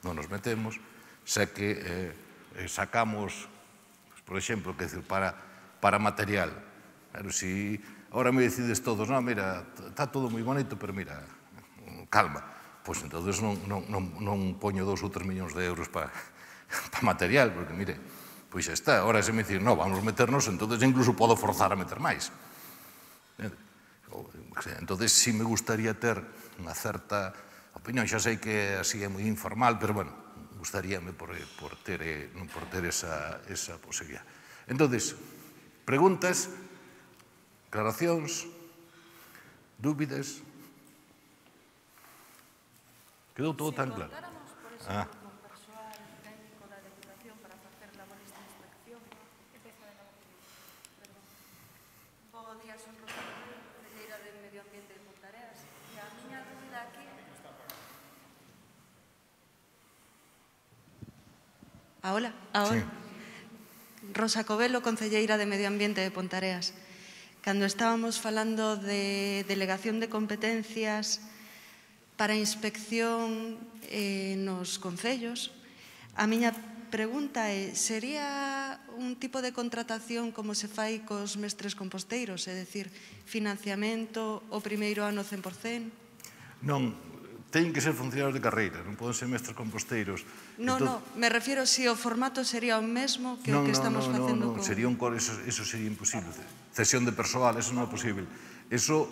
non nos metemos, sé que eh, sacamos, por exemplo, que decir, para, para material. Pero si ahora me decides todos, non, mira, está todo moi bonito, pero mira, calma. pois entonces non, non, non, non poño dos ou tres millóns de euros para pa material, porque, mire, pois xa está. Ahora se me dicir, no, vamos meternos, entonces incluso podo forzar a meter máis. Entonces, sí me gustaría ter unha certa opinión. Xa sei que así é moi informal, pero, bueno, gustaríame por, por ter, por ter esa, esa posibilidad. Entonces, preguntas, aclaracións, dúbidas. Quedou todo tan claro. Ah.
Ahora, ahora. Sí. Rosa Covelo, concelleira de Medio Ambiente de Pontareas. Cando estábamos falando de delegación de competencias para inspección eh, nos concellos, a miña pregunta é, sería un tipo de contratación como se fai cos mestres composteiros, é dicir, financiamento o primeiro ano cen por cen?
Non, teñen que ser funcionarios de carreira, non poden ser mestres composteiros.
No, no, me refiero si o formato sería o mesmo que o que estamos facendo con...
Non, non, sería un cor, eso sería imposible. Cesión de persoal, eso non é posible. Eso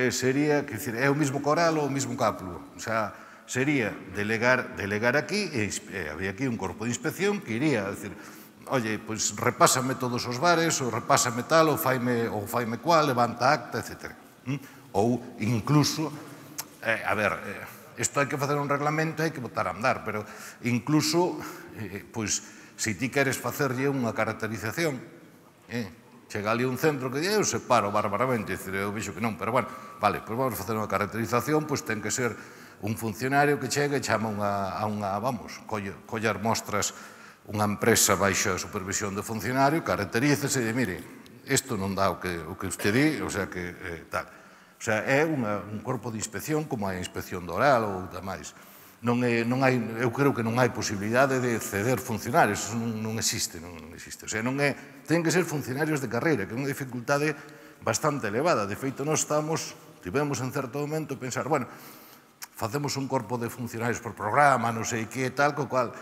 sería, que decir, é o mismo coral ou o mismo cáplulo. O sea, sería delegar, delegar aquí, e había aquí un corpo de inspección que iría, decir, oye, pois repásame todos os bares, ou repásame tal, ou faime, ou faime cual, levanta acta, etcétera. Ou incluso, eh, a ver, eh, isto hai que facer un reglamento, hai que botar a andar, pero incluso, eh, pois, se ti queres facerlle unha caracterización, eh, chega ali un centro que eu separo bárbaramente, eu vexo que non, pero bueno, vale, pois vamos a facer unha caracterización, pois ten que ser un funcionario que chega e chama a unha, vamos, collar mostras unha empresa baixo a supervisión do funcionario, caracterícese e mire, isto non dá o que usted di, o sea que tal. O sea, é un corpo de inspección como a inspección do oral ou demais. Non hai, eu creo que non hai posibilidade de ceder funcionarios, eso non existe, non existe. O sea, non é, ten que ser funcionarios de carreira, que é unha dificultade bastante elevada. De feito, nós estamos, tivemos en certo momento pensar, bueno, facemos un corpo de funcionarios por programa, non sei que tal, co cual,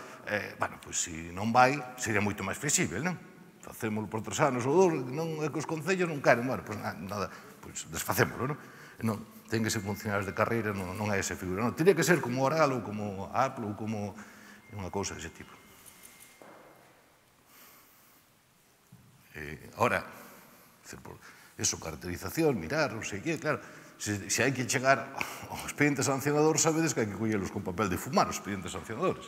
bueno, pois se non vai, sería moito máis flexible, non? Facémoslo por tres anos ou dous, non é que os concellos non queren, bueno, pois nada, pois desfacémoslo, non? Non, ten que ser funcionarios de carreira, non hai esa figura, non, teria que ser como Oral ou como Apple ou como unha cousa dese tipo. Ahora, eso, caracterización, mirar, non sei que, claro, se hai que chegar ao expediente sancionador, sabedes que hai que collelos con papel de fumar, os expedientes sancionadores.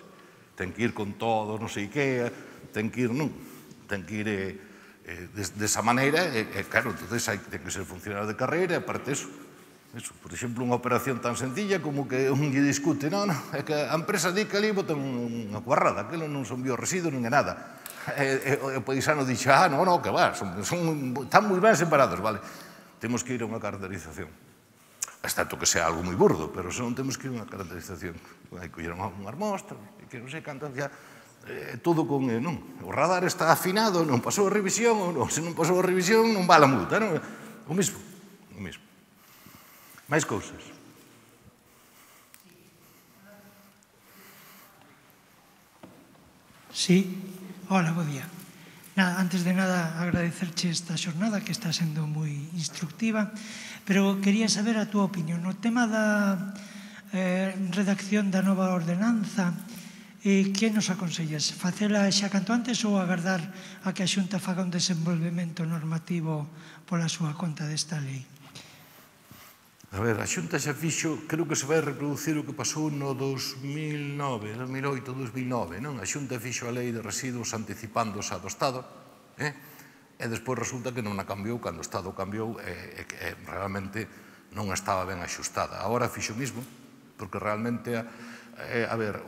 Ten que ir con todo, non sei que, ten que ir, non, ten que ir desa maneira, e claro, entón ten que ser funcionario de carreira, e aparte eso, por exemplo, unha operación tan sencilla como que un lle discute, non, non, é que a empresa di que ali botan unha cuarrada, aquilo non son bioresiduos, non é nada. E o paisano dixe, ah, non, non, que va, están moi ben separados, vale, temos que ir a unha caracterización. Excepto que sea algo moi burdo, pero se non temos que ir a unha caracterización. Hai que ir a unhas mostras, que non sei cantas ya, todo con, non, o radar está afinado, non pasou a revisión, ou se non pasou a revisión, non va a multa, non, o mismo, o mismo. Máis cousas.
Sí, hola, bo día. Antes de nada, agradecerche esta xornada que está sendo moi instructiva, pero quería saber a túa opinión. No tema da redacción da nova ordenanza, que nos aconsellas? Facela xa canto antes ou agardar a que a Xunta faga un desenvolvemento normativo pola súa conta desta lei?
A ver, a Xunta xa fixo, creo que se vai reproducir o que pasou no dos mil nove, dos mil oito, dos mil nove, non? A Xunta fixo a lei de residuos anticipándose a do Estado, e despois resulta que non a cambiou, cando o Estado cambiou, e realmente non estaba ben axustada. Agora fixo o mismo, porque realmente, a ver,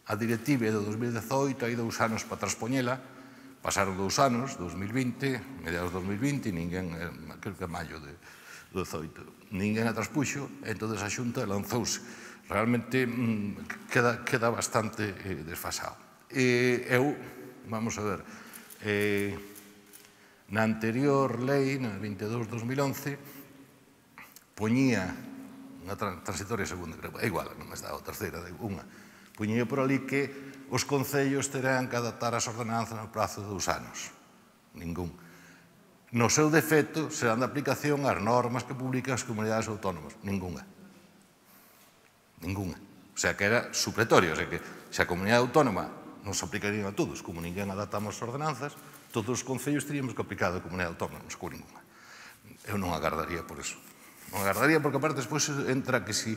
a directiva do dos mil dezoito, hai dous anos para transpoñela, pasaron dous anos, dos mil vinte, mediados dos mil vinte, ninguén, creo que a maio de dezoito, ninguén a traspuxo, e entón a Xunta lanzouse. Realmente queda bastante desfasado. Eu, vamos a ver, na anterior lei, na vinte e dous barra dos mil once, poñía unha transitoria segunda, creo, é igual, non me está a terceira, unha. Puñía por ali que os concellos terán que adaptar as ordenanzas no prazo de dous anos. Ningún. No seu defecto, serán de aplicación as normas que publican as comunidades autónomas. Ninguna. Ninguna. O sea, que era supletorio. O sea, que se a comunidade autónoma non se aplicarían a todos, como ninguén adaptamos as ordenanzas, todos os concellos teríamos que aplicar a comunidade autónoma, non se cou ninguna. Eu non agardaría por eso. Non agardaría porque, aparte, despois entra que si,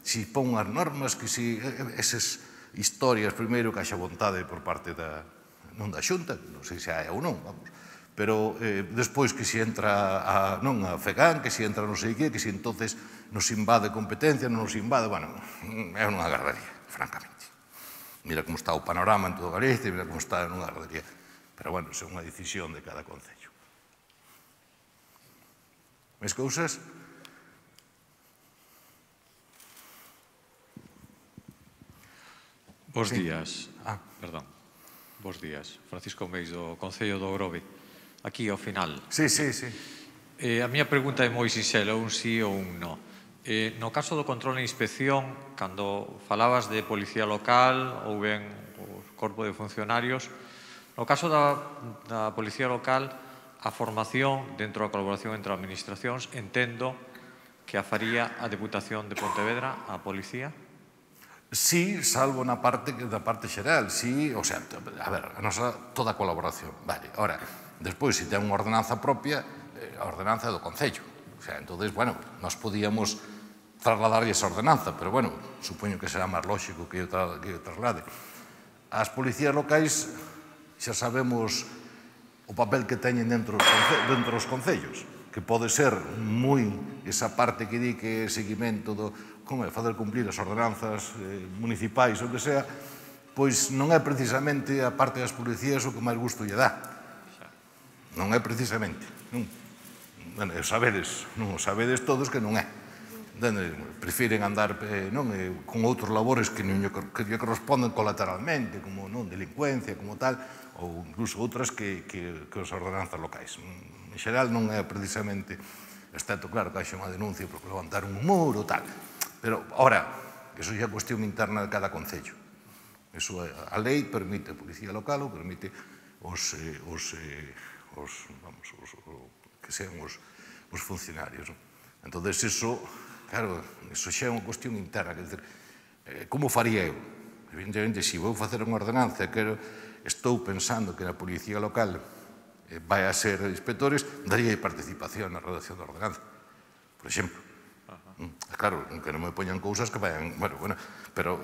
si pon as normas, que si esas historias, primeiro, que haxa vontade por parte da, non da Xunta, non sei se hai ou non, vamos, pero eh, despois que si entra a, non, a FEGAN, que si entra non sei que, que si entonces nos invade competencia, non nos invade, bueno, eu non agardaría, francamente. Mira como está o panorama en todo Galicia, mira como está, non agardaría. Pero, bueno, é unha decisión de cada concello. Máis cousas?
Bos días.
Ah.
Perdón. Bos días. Francisco Meis, do Concello do Grove. Aquí, ao final.
Sí, sí, sí.
Eh, a miña pregunta é moi sinxela, un sí ou un no. Eh, no caso do control e inspección, cando falabas de policía local ou ben o corpo de funcionarios, no caso da, da policía local, a formación dentro da colaboración entre administracións, entendo que a faría a Deputación de Pontevedra, a policía?
Sí, salvo na parte da parte xeral, sí, o sea, a ver, a nosa toda a colaboración, vale. Ahora, despois, se ten unha ordenanza propia, a ordenanza é do Concello. O sea, entonces, bueno, nos podíamos trasladarlle esa ordenanza, pero, bueno, supoño que será máis lógico que eu, tra que eu traslade. As policías locais xa sabemos o papel que teñen dentro dos, dentro dos concellos, que pode ser moi esa parte que di que é seguimento do como é, fazer cumplir as ordenanzas eh, municipais ou que sea, pois non é precisamente a parte das policías o que máis gusto lle dá. Non é precisamente. Non, bueno, sabedes, non o sabedes todos que non é. Prefiren andar eh, non, eh, con outros labores que non que lle corresponden colateralmente, como non delincuencia, como tal, ou incluso outras que, que, que as ordenanzas locais. En xeral non é precisamente, excepto, claro, que haxe unha denuncia por levantar un muro ou tal. Pero, ora, eso xa é cuestión interna de cada concello. Eso, a lei permite a policía local ou permite os, eh, os, eh, os, vamos, os, os, que sean os, os funcionarios. Entón, eso, claro, eso xa é unha cuestión interna. Quer dizer, eh, como faría eu? Evidentemente, se vou facer unha ordenanza que estou pensando que na policía local eh, vai a ser inspectores, daría participación na redacción da ordenanza, por exemplo. Claro, que non me poñan cousas que vayan, bueno, bueno, pero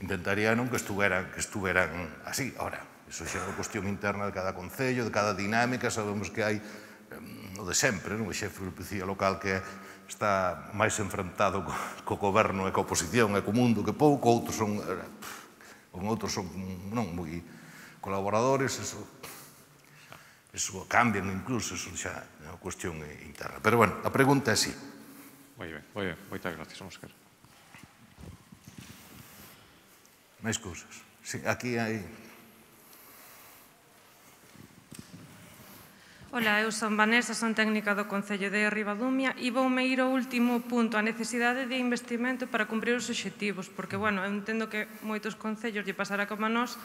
intentaría non que estuveran, que estuveran así. Ahora, iso xa é unha cuestión interna de cada concello, de cada dinámica, sabemos que hai o de sempre, non? O xefe de policía local que está máis enfrentado co, co goberno e co oposición e co mundo que pouco, outros son, outros son non moi colaboradores, eso, eso cambian incluso, eso xa é unha cuestión interna. Pero, bueno, a pregunta é así.
Moi ben, moi ben. Moitas gracias, Óscar.
Máis cousas. Sí, aquí hai...
Ola, eu son Vanessa, son técnica do Concello de Ribadumia e voume ir ao último punto, a necesidade de investimento para cumprir os obxectivos, porque, bueno, eu entendo que moitos concellos lle pasará como a nós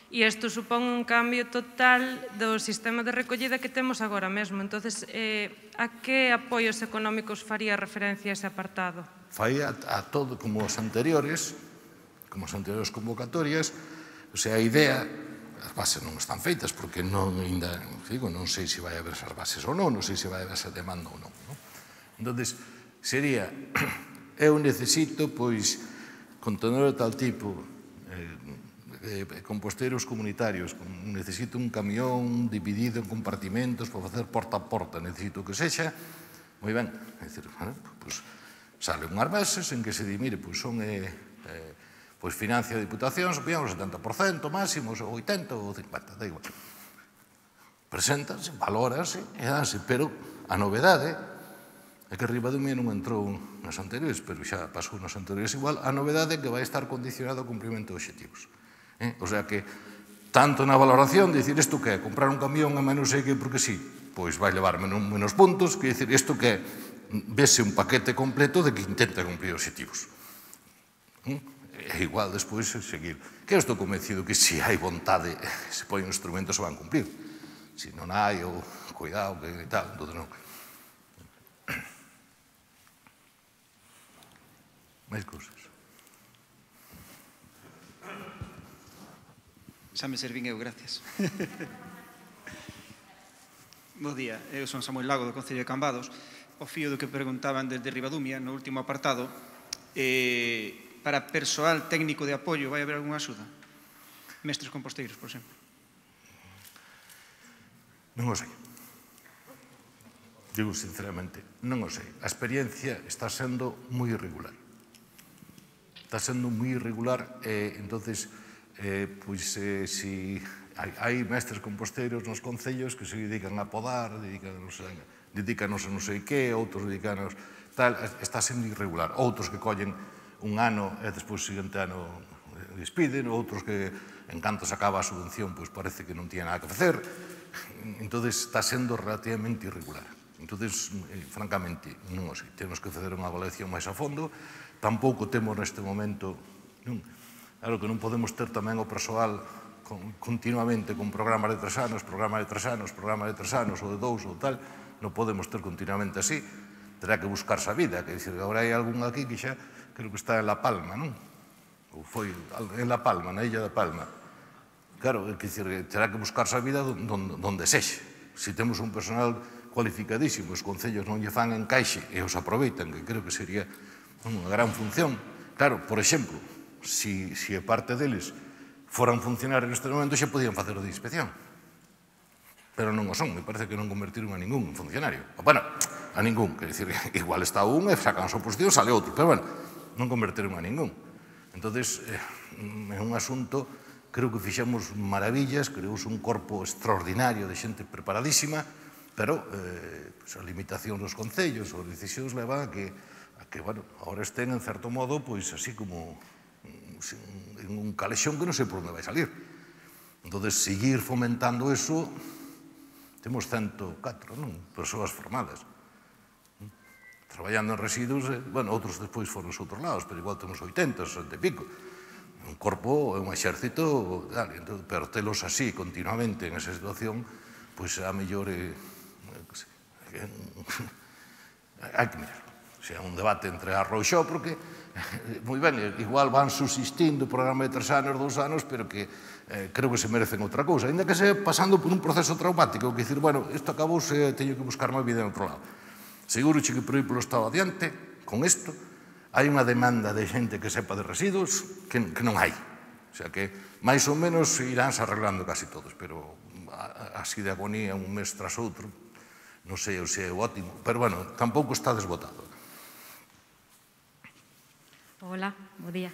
e isto supón un cambio total do sistema de recollida que temos agora mesmo. Entonces, eh, a que apoios económicos faría referencia a ese apartado?
Fai a, a todo como os anteriores, como as anteriores convocatorias, o sea, a idea, as bases non están feitas, porque non ainda, digo, non sei se vai haber esas bases ou non, non sei se vai haber esa demanda ou non. non? Entón, sería, eu necesito, pois, contenedor de tal tipo, eh, composteiros comunitarios, necesito un camión dividido en compartimentos para facer porta a porta, necesito que sexa, moi ben, é dicir, bueno, pois, sale unhas bases en que se di, mire, pois son, eh, eh, pois financia a Diputación, supoñamos o setenta por cento máximos, o oitenta ou cincuenta, da igual. Preséntanse, valórase e danse, pero a novedade é que Ribadumia non entrou nas anteriores, pero xa pasou nas anteriores igual, a novedade é que vai estar condicionado ao cumprimento de obxectivos. Eh? O sea que, tanto na valoración, de dicir, isto que é, comprar un camión a menos sei que porque sí, pois vai levar menos, menos puntos, que dicir, isto que é, vese un paquete completo de que intenta cumplir obxectivos. E igual despois seguir. Que eu estou convencido que se hai vontade, se poñen instrumentos, se van cumplir. Se non hai, ou cuidado, que tal, entón non. Máis cousas.
Xa me servín eu, gracias. Bo día, eu son Samuel Lago do Concello de Cambados. O fío do que preguntaban desde Ribadumia, no último apartado, eh, para persoal técnico de apoio, vai haber algunha axuda? Mestres composteiros, por exemplo.
Non o sei. Digo sinceramente, non o sei. A experiencia está sendo moi irregular. Está sendo moi irregular e, entonces, eh, pois, eh, si hai, hai mestres composteiros nos concellos que se dedican a podar, dedícanos a, dedícanos a non sei que, outros dedícanos tal, está sendo irregular. Outros que collen un ano e despois o seguinte ano despiden, outros que, en canto se acaba a subvención, pois parece que non tiene nada que facer. Entón, está sendo relativamente irregular. Entón, eh, francamente, non o sei. Temos que facer unha avaliación máis a fondo. Tampouco temos neste momento... Non, claro que non podemos ter tamén o persoal con, continuamente con programas de tres anos, programas de tres anos, programas de tres anos, ou de dous, ou tal. Non podemos ter continuamente así. Terá que buscarse a vida. Que dicir, agora hai algún aquí que xa creo que está en La Palma, non? Ou foi en La Palma, na illa da Palma. Claro, é que dicir, terá que buscarse a vida donde sexe. Se temos un personal cualificadísimo, os concellos non lle fan encaixe e os aproveitan, que creo que sería unha gran función. Claro, por exemplo, se a parte deles foran funcionarios neste momento, xa podían facer o de inspección. Pero non o son, me parece que non convertiron a ningún funcionario. Bueno, a ningún, que dicir, igual está un e sacan a súa posición, sale outro, pero bueno, non convertiron a ningún. Entón, é un asunto, creo que fixemos maravillas, creouse un corpo extraordinario de xente preparadísima, pero a limitación dos concellos, as decisións levan a que, bueno, agora estén, en certo modo, pois así como en un calexón que non sei por onde vai salir. Entón, seguir fomentando eso, temos ciento catro, non? Persoas formadas. Traballando en residuos, bueno, outros despois foron os outros lados, pero igual temos oitenta, sesenta e pico. Un corpo, un exército, pero telos así continuamente en esa situación, pois a mellor hai que mirar. O sea, un debate entre arro e xo, porque, moi ben, igual van subsistindo o programa de tres anos, dous anos, pero que creo que se merecen outra cousa, ainda que se pasando por un proceso traumático, que dicir, bueno, isto acabouse, teño que buscar má vida en outro lado. Seguro que por aí polo Estado adiante, con isto, hai unha demanda de xente que sepa de residuos que non hai. O sea que, máis ou menos, iránse arreglando casi todos, pero así de agonía un mes tras outro, non sei se é ótimo, pero, bueno, tampouco está desbotado.
Hola, bo día.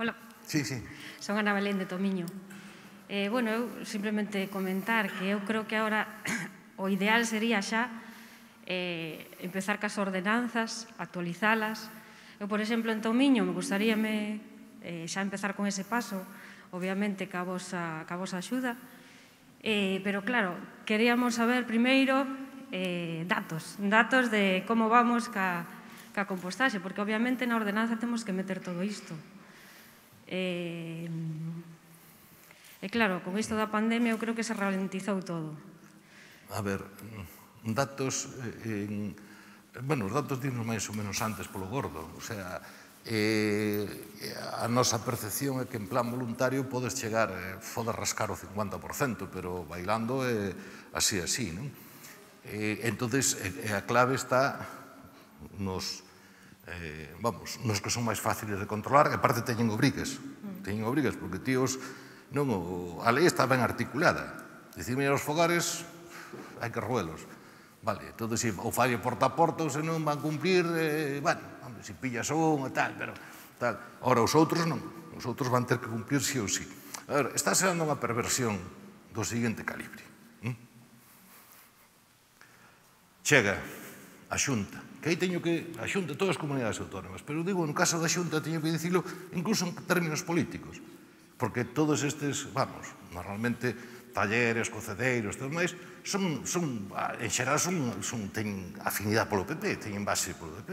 Hola.
Sí, sí.
Son Ana Belén de Tomiño. Bueno, eu simplemente comentar que eu creo que agora o ideal sería xa empezar cas ordenanzas, actualizalas. Eu, por exemplo, en Tomiño, me gustaríame xa empezar con ese paso, obviamente, ca vosa axuda, pero, claro, queríamos saber, primeiro, datos, datos de como vamos ca compostaxe, porque, obviamente, na ordenanza temos que meter todo isto. E, claro, con isto da pandemia, eu creo que se ralentizou todo.
A ver... datos, en, bueno, os datos dinos máis ou menos antes polo gordo, o sea, eh, a nosa percepción é que en plan voluntario podes chegar, eh, podes rascar o cincuenta por cento, pero bailando é eh, así, así, non? Eh, entonces, eh, a clave está nos, eh, vamos, nos que son máis fáciles de controlar, e aparte teñen obrigas, teñen obrigas, porque tíos, non, o, a lei está ben articulada, dicir, mira, os fogares hai que roelos. Vale, entón, se o falle porta a porta, ou se non van cumplir, eh, bueno, se pillas un e tal, pero tal. Ora, os outros non, os outros van ter que cumplir sí ou sí. A ver, está sendo unha perversión do seguinte calibre. ¿Mm? Chega a Xunta, que aí teño que, a Xunta, todas as comunidades autónomas, pero digo, no caso da Xunta, teño que dicilo incluso en términos políticos, porque todos estes, vamos, normalmente talleres, cocedeiros, todo máis, son, son, en xeral, son, son, teñen afinidade polo P P, teñen base polo P P,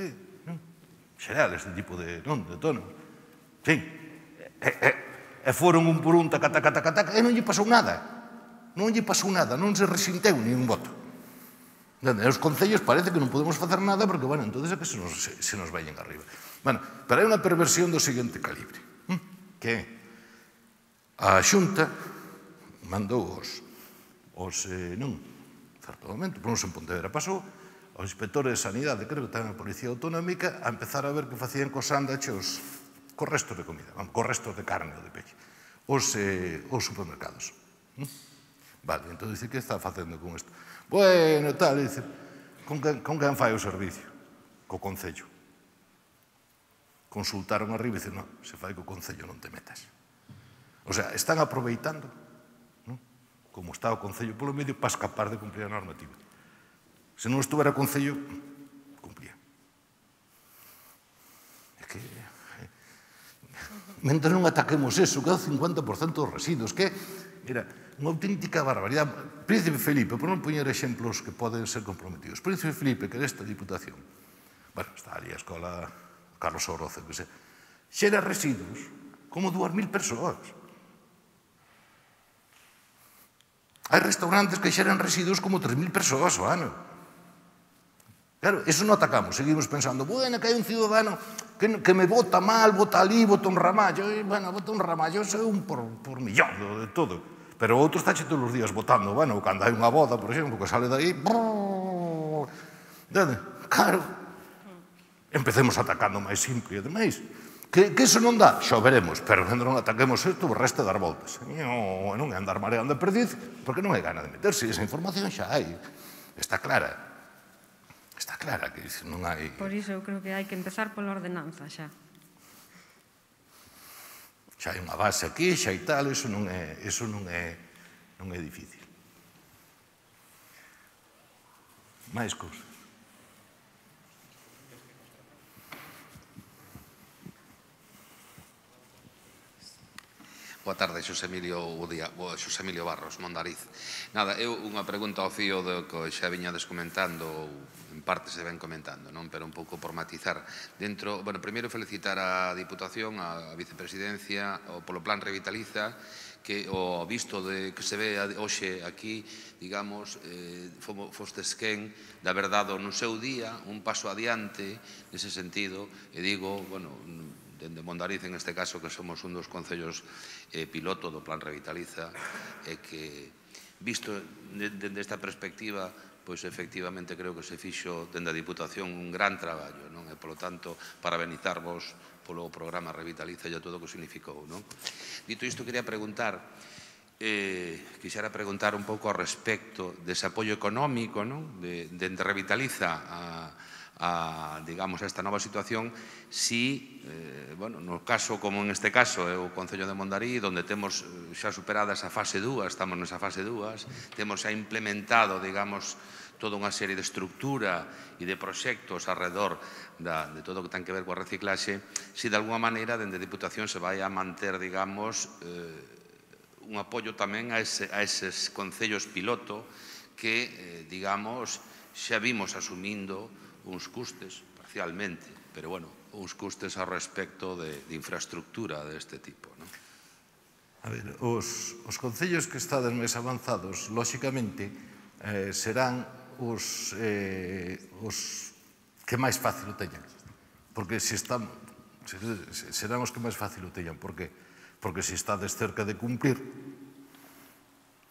non? En xeral, este tipo de, non, de tono. Sí, e, e, e foron un por un, taca, taca, taca, taca, e non lle pasou nada, non lle pasou nada, non se resinteu ni un voto. E os concellos parece que non podemos facer nada porque, bueno, entón é que se nos, se, se nos vayan arriba. Bueno, pero hai unha perversión do seguinte calibre, que a Xunta mandou os, os eh, non, certo momento, por non en Pontevedra pasou, os inspectores de sanidade, creo que tamén a Policía Autonómica, a empezar a ver que facían cos sándwiches cos restos de comida, cos restos de carne ou de peixe, os, eh, os supermercados. Vale, entón dice, que está facendo con isto? Bueno, tal, dice, con quen, con quen fai o servicio? Co Concello. Consultaron arriba e dicen, non, se fai co Concello non te metas. O sea, están aproveitando, non? Como está o Concello polo medio, para escapar de cumplir a normativa. Se non estuvera o Concello, cumplía. É que... Mentre non ataquemos eso, que é o cincuenta por cento dos residuos, que era unha auténtica barbaridade. Príncipe Felipe, por non poñer exemplos que poden ser comprometidos, Príncipe Felipe, que desta Diputación, bueno, está ali a escola Carlos Oroce, que se xera residuos como dúas mil persoas. Hai restaurantes que xeran residuos como tres mil persoas ao ano. Claro, eso non atacamos, seguimos pensando, bueno, que hai un ciudadano que, que me vota mal, vota ali, vota un ramallo, e, bueno, vota un ramallo, é un por, por millón de todo. Pero outro está todos os días votando, bueno, cando hai unha boda, por exemplo, que sale daí, claro, empecemos atacando máis simple e demais. Que, que iso non dá? Xo veremos, pero cando non ataquemos isto, o resto dar voltas. Non, non é andar mareando a perdiz, porque non hai gana de meterse, esa información xa hai, está clara. Está clara que non hai...
Por iso eu creo que hai que empezar pola ordenanza xa.
Xa hai unha base aquí, xa hai tal, iso non é, iso non é, non é difícil. máis cousas.
Boa tarde, Xosé Emilio, Xosé Emilio Barros, Mondariz. Nada, eu unha pregunta ao fío do que xa viñades comentando, ou en parte se ven comentando, non? Pero un pouco por matizar. Dentro, bueno, primeiro felicitar a Diputación, a Vicepresidencia, polo Plan Revitaliza, que o visto de que se ve hoxe aquí, digamos, eh, fostes quen, da verdade, no seu día, un paso adiante nese sentido, e digo, bueno, dende Mondariz, en este caso, que somos un dos concellos eh, piloto do Plan Revitaliza, e que, visto dende esta perspectiva, pois efectivamente creo que se fixo dende a Diputación un gran traballo, non? E, polo tanto, parabenizarvos polo programa Revitaliza e a todo o que significou, non? Dito isto, quería preguntar, eh, quixera preguntar un pouco ao respecto dese apoio económico, non? De, de Revitaliza a a, digamos, a esta nova situación, si, eh, bueno, no caso, como en este caso, é o Concello de Mondariz, onde temos xa superada esa fase dúas, estamos nesa fase dúas, temos xa implementado, digamos, toda unha serie de estructura e de proxectos alrededor da, de todo o que ten que ver coa reciclaxe, si de alguma maneira, dende a Diputación, se vai a manter, digamos, eh, un apoio tamén a, ese, a eses concellos piloto que, eh, digamos, xa vimos asumindo uns custes, parcialmente, pero, bueno, uns custes ao respecto de, de infraestructura deste tipo, non?
A ver, os, os concellos que estades máis avanzados, lóxicamente, eh, serán os, eh, os que máis fácil o teñan. Porque se están, serán os que máis fácil o teñan. Por que? Porque se estades cerca de cumplir,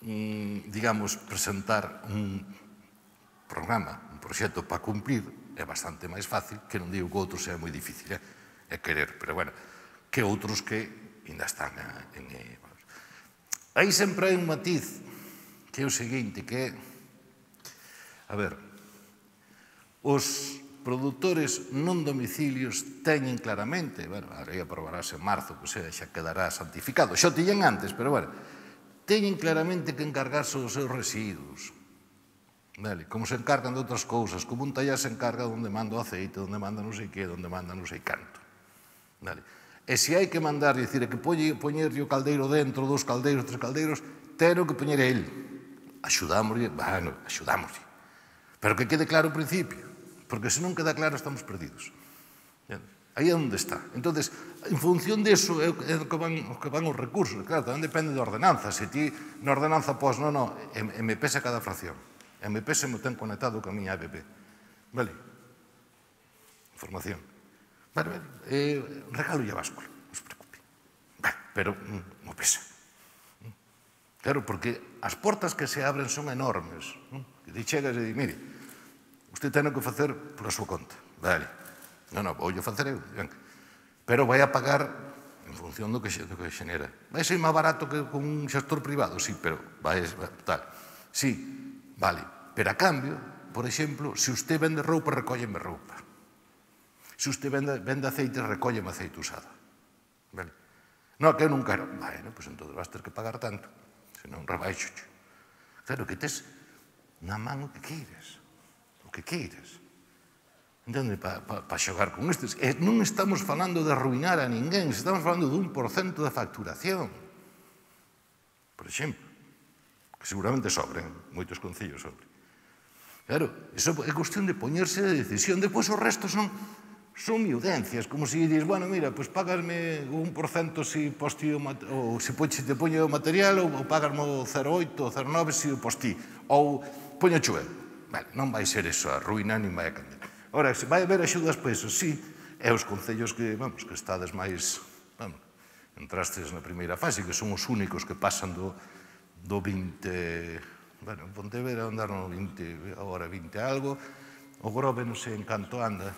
mm, digamos, presentar un programa, un proxecto para cumplir, é bastante máis fácil, que non digo que outros sea moi difícil, é, é querer, pero, bueno, que outros que ainda están en... en aí sempre hai un matiz, que é o seguinte, que é, a ver, os produtores non domicilios teñen claramente, bueno, ahora ia aprobarase en marzo, que sea, xa quedará santificado, xa o tiñen antes, pero, bueno, teñen claramente que encargarse dos seus residuos, vale, como se encargan de outras cousas, como un tallar se encarga onde manda o aceite, onde manda non sei que, onde manda non sei canto. Vale. E se hai que mandar, dicir, que poñerlle o caldeiro dentro, dos caldeiros, tres caldeiros, tero que poñer el. Axudámoslle, bueno, axudámoslle. Pero que quede claro o principio, porque se non queda claro estamos perdidos. Aí é onde está. Entón, en función disso é o que van, o que van os recursos. Claro, tamén depende da ordenanza. Se ti na ordenanza pos, non, non, M P S a cada fracción. M P S me ten conectado con a miña app. Vale? Información. Vale, vale. Eh, regalo e a báscula, non se preocupe. Vale, pero non pesa. Claro, porque as portas que se abren son enormes. E ti chegas e di, mire, usted ten que facer pola súa conta. Vale. Non, non, vou yo facer eu. Pero vai a pagar en función do que xenera. Vai ser máis barato que con un xestor privado, sí, pero vai tal. Sí, vale. Pero a cambio, por exemplo, se usted vende roupa, recólleme roupa. Se usted vende, vende aceite, recólleme aceite usado. Vale? Non, que eu non quero. Bueno, pois entón vas ter que pagar tanto. Se non, rebaixo. Claro que tes na man o que queires. O que queires. Entende? Para pa, pa xogar con estes. E non estamos falando de arruinar a ninguén, estamos falando de un por cento da facturación. Por exemplo. Que seguramente sobren, moitos concellos sobren. Claro, iso é cuestión de poñerse de decisión. Depois o resto son son miudencias, como se dices, bueno, mira, pois pagasme un por cento se posti ou se te poño o material ou pagasme o cero oito ou cero nove se o posti ou poño chuel. Vale, non vai ser eso a ruína nin vai a cambiar. Ora, se vai haber axudas para eso, sí, e os concellos que, vamos, que estades máis, vamos, entrastes na primeira fase, que son os únicos que pasan do do vinte, bueno, en Pontevedra andar no vinte, agora vinte algo, o Grove non sei en canto anda,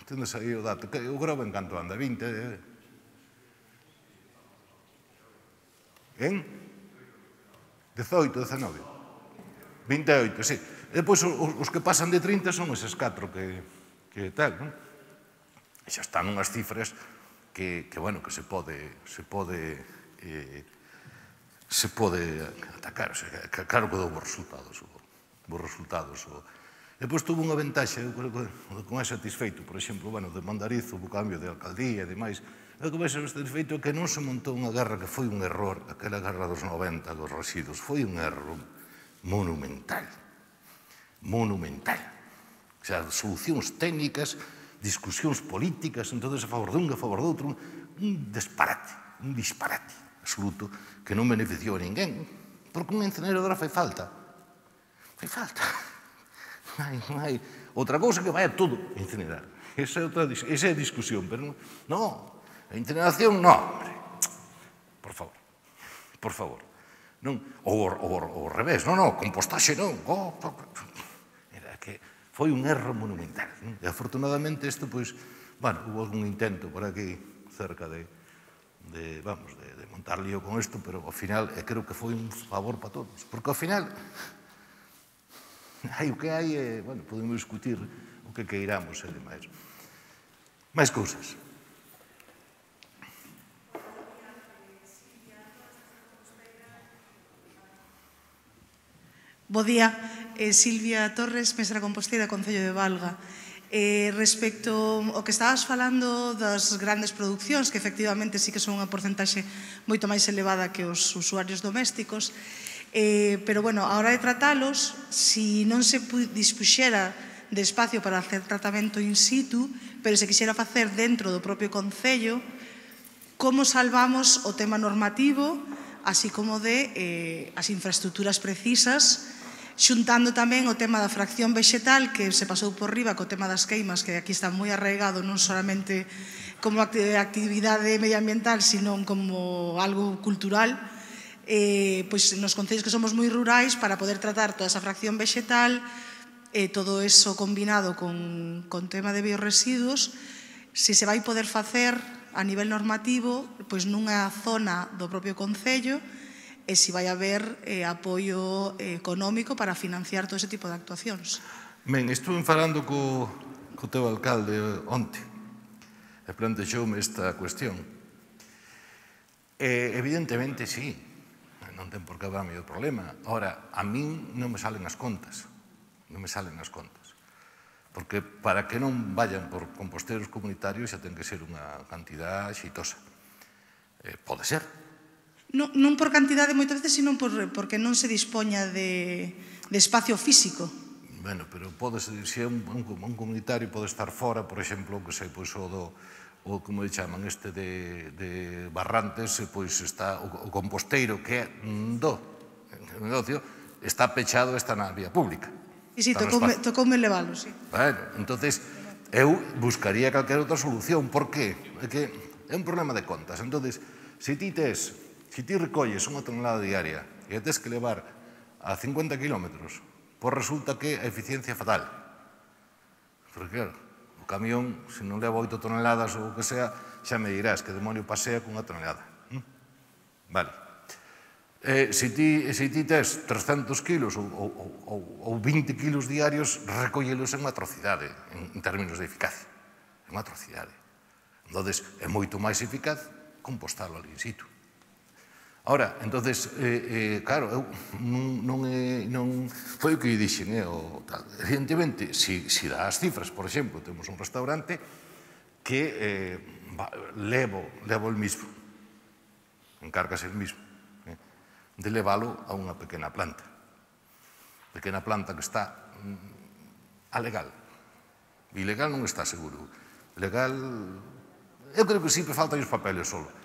tendes aí o dato, o Grove en canto anda, vinte, en dezoito, dezenove, vinte e oito, sí. E depois os que pasan de trinta son eses catro que tal, non? E xa están unhas cifras que, bueno, que se pode, se pode, se pode atacar, claro que dou bons resultados, bons resultados. E depois tuvo unha ventaxa, eu creo que con ese satisfeito, por exemplo, bueno, de Mondariz, o cambio de alcaldía e demais, eu que máis satisfeito é que non se montou unha guerra que foi un error, aquela guerra dos noventa, dos residuos, foi un error monumental, monumental. O sea, solucións técnicas, discusións políticas, entonces a favor dun, a favor do outro, un disparate, un disparate absoluto que non beneficiou a ninguén, porque unha incineradora fai falta. Fai falta. Non hai outra cousa que vai a todo incinerar. Esa é a discusión, pero non, a incineración non, hombre. Por favor, por favor. Ou ao revés, non, non, compostaxe non. Era que foi un erro monumental. E afortunadamente isto, pois, bueno, hubo algún intento por aquí cerca de, vamos, de montar lío con isto, pero ao final creo que foi un favor para todos. Porque ao final, hai o que hai, bueno, podemos discutir o que queiramos e demais. Mais cousas.
Bo día, Silvia Torres, mestra composteira, Concello de Valga. Respecto ao que estabas falando das grandes producións, que efectivamente sí que son unha porcentaxe moito máis elevada que os usuarios domésticos, pero, bueno, a hora de tratalos, si non se dispuxera de espacio para hacer tratamento in situ, pero se quixera facer dentro do propio Concello, como salvamos o tema normativo, así como de as infraestructuras precisas, xuntando tamén o tema da fracción vexetal, que se pasou por riba co tema das queimas, que aquí está moi arraigado non solamente como actividade medioambiental, sino como algo cultural, pois nos concellos que somos moi rurais, para poder tratar toda esa fracción vexetal, todo eso combinado con tema de bioresiduos, se se vai poder facer a nivel normativo, pois nunha zona do propio concello, e se vai haber apoio económico para financiar todo ese tipo de actuacións.
Ben, estuve falando co teu alcalde onte e plantexoume esta cuestión. Evidentemente, sí, non ten por que haber medio problema. Ahora, a min non me salen as contas, non me salen as contas. Porque para que non vayan por composteiros comunitarios xa ten que ser unha cantidad xeitosa. Pode ser,
Non por cantidade moitas veces, sino porque non se dispoña de espacio físico.
Bueno, pero se é un comunitario pode estar fora, por exemplo, que sei, pois o do, o como lle chaman este de Barrantes, pois está o composteiro que é do negocio, está pechado, está na vía pública.
Sí, sí, tocoume levalo, sí.
Bueno, entonces, eu buscaría calquera outra solución. Por qué? É que é un problema de contas. Entonces, se ti tes Se ti recolles unha tonelada diaria e a tes que levar a cincuenta kilómetros, pois resulta que a eficiencia é fatal. Porque, claro, o camión, se non leva oito toneladas ou o que sea, xa me dirás que demonio pasea cunha tonelada. Vale. Se ti tes trescentos kilos ou vinte kilos diarios, recollelos é unha atrocidade en términos de eficacia. É unha atrocidade. Entón, é moito máis eficaz compostalo ali in situ. Ahora, entonces, claro, non foi o que dixen, evidentemente, se dá as cifras, por exemplo, temos un restaurante que levo el mismo, encárgase el mismo, de leválo a unha pequena planta, pequena planta que está a legal, ilegal non está seguro, legal, eu creo que sí, pero faltan os papeles solo.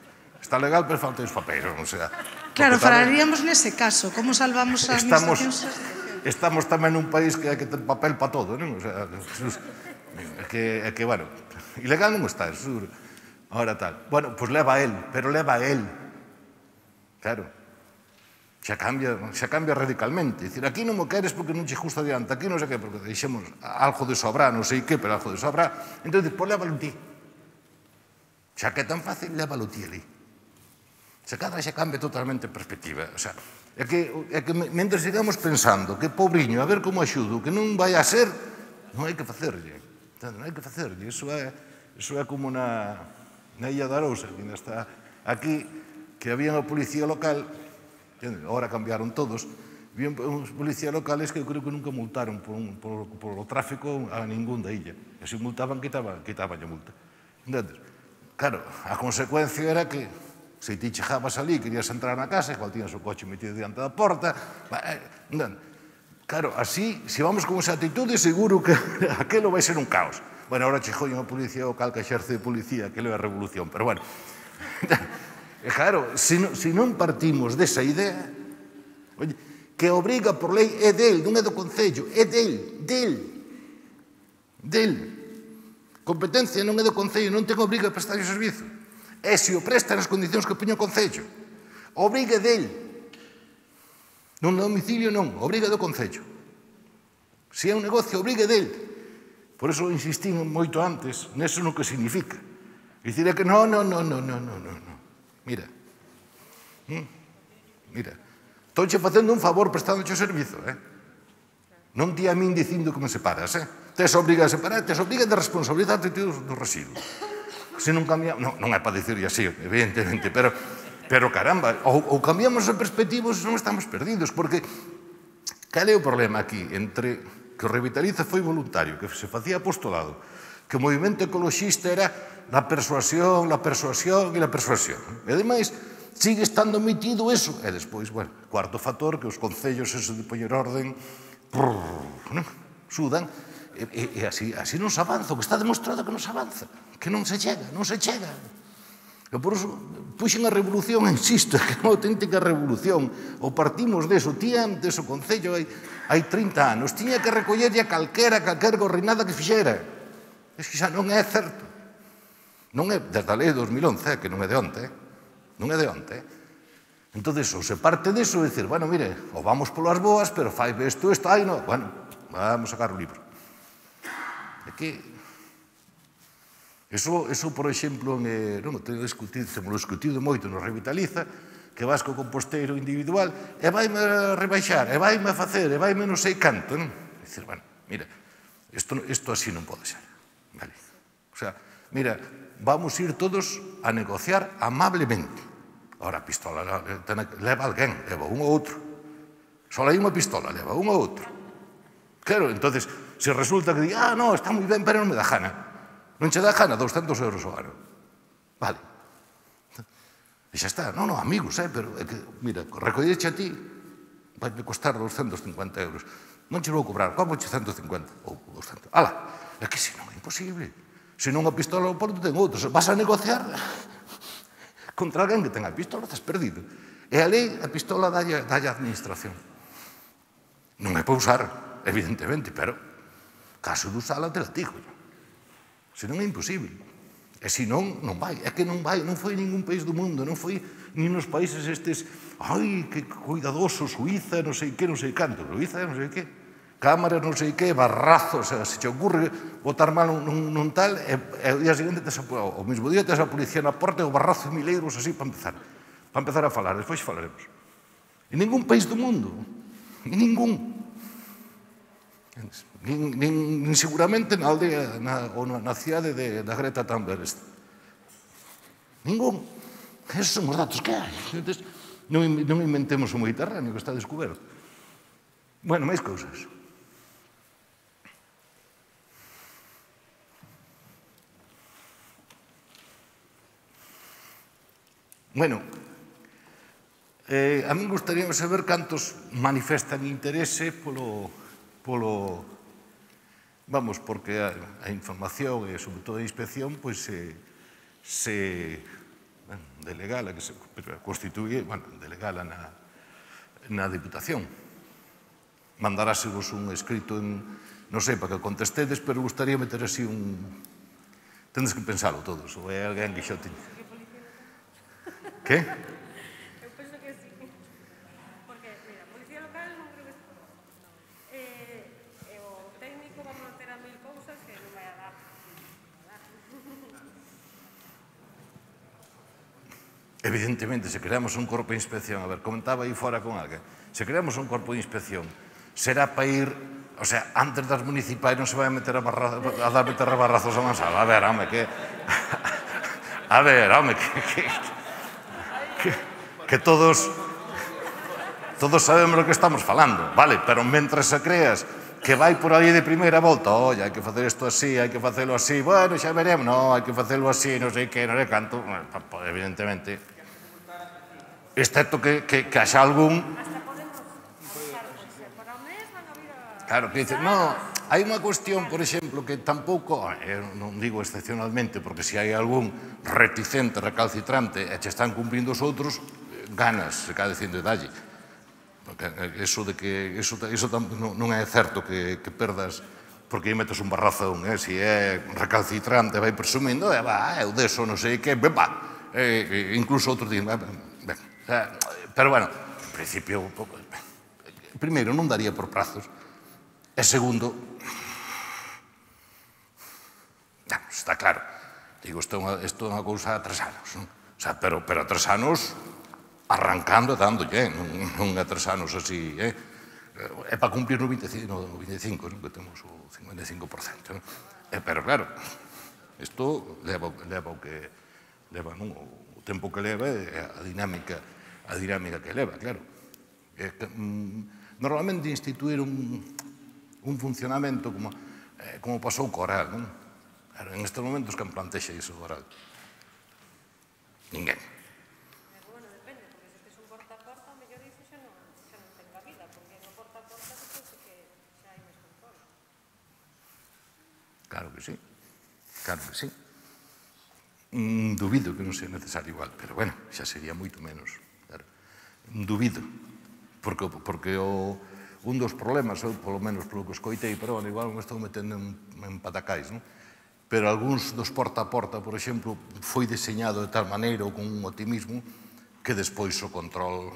Está legal, pero falta os papéis, o sea...
Claro, falaríamos nese caso, como salvamos as administracións?
Estamos tamén nun país que hai que ter papel para todo, non? O sea, é que, bueno, ilegal non está, é seguro. Ahora tal. Bueno, pois leva a él, pero leva a él. Claro. Xa cambia, xa cambia radicalmente. Dicir, aquí non mo queres porque non che justo adiante, aquí non sei que, porque deixemos algo de sobra, non sei que, pero algo de sobra. Entón, pois lévalo ti. Xa que é tan fácil, lévalo ti ali. Se cadra xa cambia totalmente a perspectiva. O sea, é que mentre sigamos pensando que pobriño, a ver como axudo, que non vai a ser, non hai que facerlle. Non hai que facerlle. Iso é como na Illa de Arousa, que ainda está aquí, que había unha policía local, agora cambiaron todos, había uns policías locales que eu creo que nunca multaron por o tráfico a ningún da illa. E se multaban, quitaban a multa. Entendes? Claro, a consecuencia era que se ti chegabas ali, querías entrar na casa, igual tiñas o coche metido diante da porta. Claro, así, se vamos con esa actitude, seguro que aquilo vai ser un caos. Bueno, ahora chegou unha policía local que exerce de policía, que leva a revolución, pero bueno. Claro, se non partimos desa idea, que obriga por lei é del, non é do Concello, é del, del, del. Competencia non é do Concello, non ten obriga a prestar o servizo. E se o presta nas condicións que poña o Concello, obriga del. Non no domicilio non, obriga do Concello. Se é un negocio, obriga del. Por iso insistín moito antes neso no que significa. Dicir é que non, non, non, non, non, non. Mira, mira, estou facendo un favor prestándoche o servizo, eh? Non ti a min dicindo que me separas, eh? Tes obriga a separar, tes obriga de responsabilizarte dos residuos. Se non cambiamos, non é para dicirlle así, evidentemente, pero, pero caramba, ou cambiamos a perspectiva, non estamos perdidos, porque cal é o problema aquí entre que o Revitaliza foi voluntario, que se facía apostolado, que o movimento ecoloxista era la persuasión, la persuasión e la persuasión. E ademais, sigue estando metido eso. E despois, bueno, cuarto factor, que os concellos, eso de poñer orden, sudan, e así non se avanza, o que está demostrado que non se avanza, que non se chega, non se chega. E por iso, puxen a revolución, insisto, que é unha auténtica revolución. O partimos deso, ti antes o Concello hai trinta anos, tiña que recollerlle a calquera, calquera gorrinada que fixera. É que xa non é certo. Non é, desde a lei de dos mil once, que non é de onte, non é de onte. Entón, ou se parte deso, é dicir, bueno, mire, ou vamos polas boas, pero fai isto, isto, ai, non, bueno, vamos sacar o libro. É que, eso, por exemplo, temos discutido moito no Revitaliza, que vas co composteiro individual, e vaime a rebaixar, e vaime a facer, e vaime non sei canto, non? É dicir, bueno, mira, isto así non pode ser. O sea, mira, vamos ir todos a negociar amablemente. Ahora, a pistola leva alguén, leva un ou outro. Só hai unha pistola, leva un ou outro. Claro, entonces, se resulta que di, ah, no, está moi ben, pero non me dá gana. Non che dá gana, doscentos euros o ano. Vale. E xa está, non, non, amigos, eh, pero, é que, mira, recolleche a ti, vai costar doscientos cincuenta euros. Non che vou cobrar, como che ciento cincuenta? Ou doscientos. Ala, é que se non é imposible. Se non a pistola ao porto ten outros. Vas a negociar contra alguén que ten a pistola, estás perdido. E a lei, a pistola dalle a administración. Non é para usar, evidentemente, pero caso de usala te la digo. Se non é imposible. E se non, non vai. É que non vai, non foi ningún país do mundo, non foi ni nos países estes, ai, que cuidadoso, Suiza, non sei que, non sei canto, Suiza, non sei que, cámaras, non sei que, barrazos, se te ocurre botar mal nun, nun tal, e, e o día seguinte, tes a, o mismo día, tes a policía na porta e o barrazo de mil euros así para empezar, para empezar a falar, despois falaremos. En ningún país do mundo, en ningún. Nin, nin, nin seguramente na aldea na, ou na cidade de, da Greta Thunberg. Ningún. Esos son os datos que hai. Entonces, non, non inventemos o Mediterráneo, que está descoberto. Bueno, máis cousas. Bueno, eh, a mí gustaría saber cantos manifestan interese polo... polo vamos, porque a, a información e, sobre todo, a inspección, pois, se, se bueno, delegala, que se constituye, bueno, delegala na, na Diputación. Mandarásevos un escrito en, non sei, para que contestedes, pero gustaría meter así un... Tendes que pensalo todos, ou é alguén que xa teña. Que?
Eu penso que sí. Porque, mira, Policía Local non creo que... E o técnico vamos a ter a mil cousas que non vai a dar.
Evidentemente, se creamos un corpo de inspección, a ver, comentaba aí fora con alguén, se creamos un corpo de inspección, será para ir, o sea, antes das municipais non se vai a meter a, barra, a dar meter a barrazos a mansala, a ver, home, que... A ver, home, que... que, que, que todos... Todos sabemos o que estamos falando, vale, pero mentre se creas que vai por aí de primeira volta, oi, hai que facer isto así, hai que facelo así, bueno, xa veremos, non, hai que facelo así, non sei que, non sei canto, evidentemente, excepto que, que, que haxa algún... Claro, que dice, no, hai unha cuestión, por exemplo, que tampouco, eu non digo excepcionalmente, porque se hai algún reticente, recalcitrante, e che están cumprindo os outros, ganas, se cae dicindo, dalle. Porque eso de que eso, eso non, non é certo que, que perdas porque aí metes un barrazo, eh? Se é recalcitrante, vai presumindo, e va, eu deso, non sei que, ben, va, e, incluso outros din, ben, ben, pero bueno, en principio, primeiro, non daría por prazos, e segundo, non, está claro, digo, isto é unha cousa a tres anos, non? O sea, pero, pero a tres anos... arrancando e dándolle, non é tres anos así, é para cumplir no vinte e cinco, que temos o cincuenta e cinco por cento. Pero claro, isto leva o que leva, o tempo que leva e a dinámica a dinámica que leva, claro. Normalmente instituir un funcionamento como pasou co oral, non? En estes momentos, quen plantexa iso do oral? Ninguén. Claro que sí, claro que sí. Mm, dubido que non sea necesario igual, pero bueno, xa sería moito menos. Claro. Dubido, porque, porque o, un dos problemas, eu polo menos polo que escoitei, pero bueno, igual me estou metendo en, en patacais, non? Pero algúns dos porta a porta, por exemplo, foi diseñado de tal maneira ou con un optimismo que despois o control...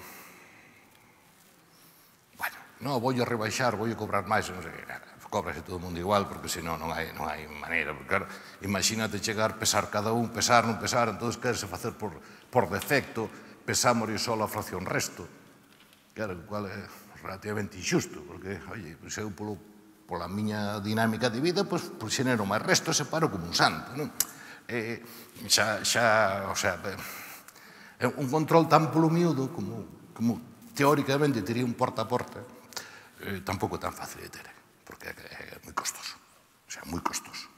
Bueno, non, vou a rebaixar, vou a cobrar máis, non sei que, nada. Cobrase todo o mundo igual, porque senón non hai, non hai maneira. Porque, claro, imagínate chegar, pesar cada un, pesar, non pesar, entón querese facer por, por defecto, pesamos e só a fracción resto. Claro, o cual é relativamente injusto, porque, oye, se eu polo, pola miña dinámica de vida, pois, pois xenero máis resto e separo como un santo, non? Eh, xa, xa, o sea, é un control tan polo miúdo como, como teóricamente tería un porta a porta, eh, tampouco é tan fácil de ter. Porque é moi costoso, o sea, moi costoso.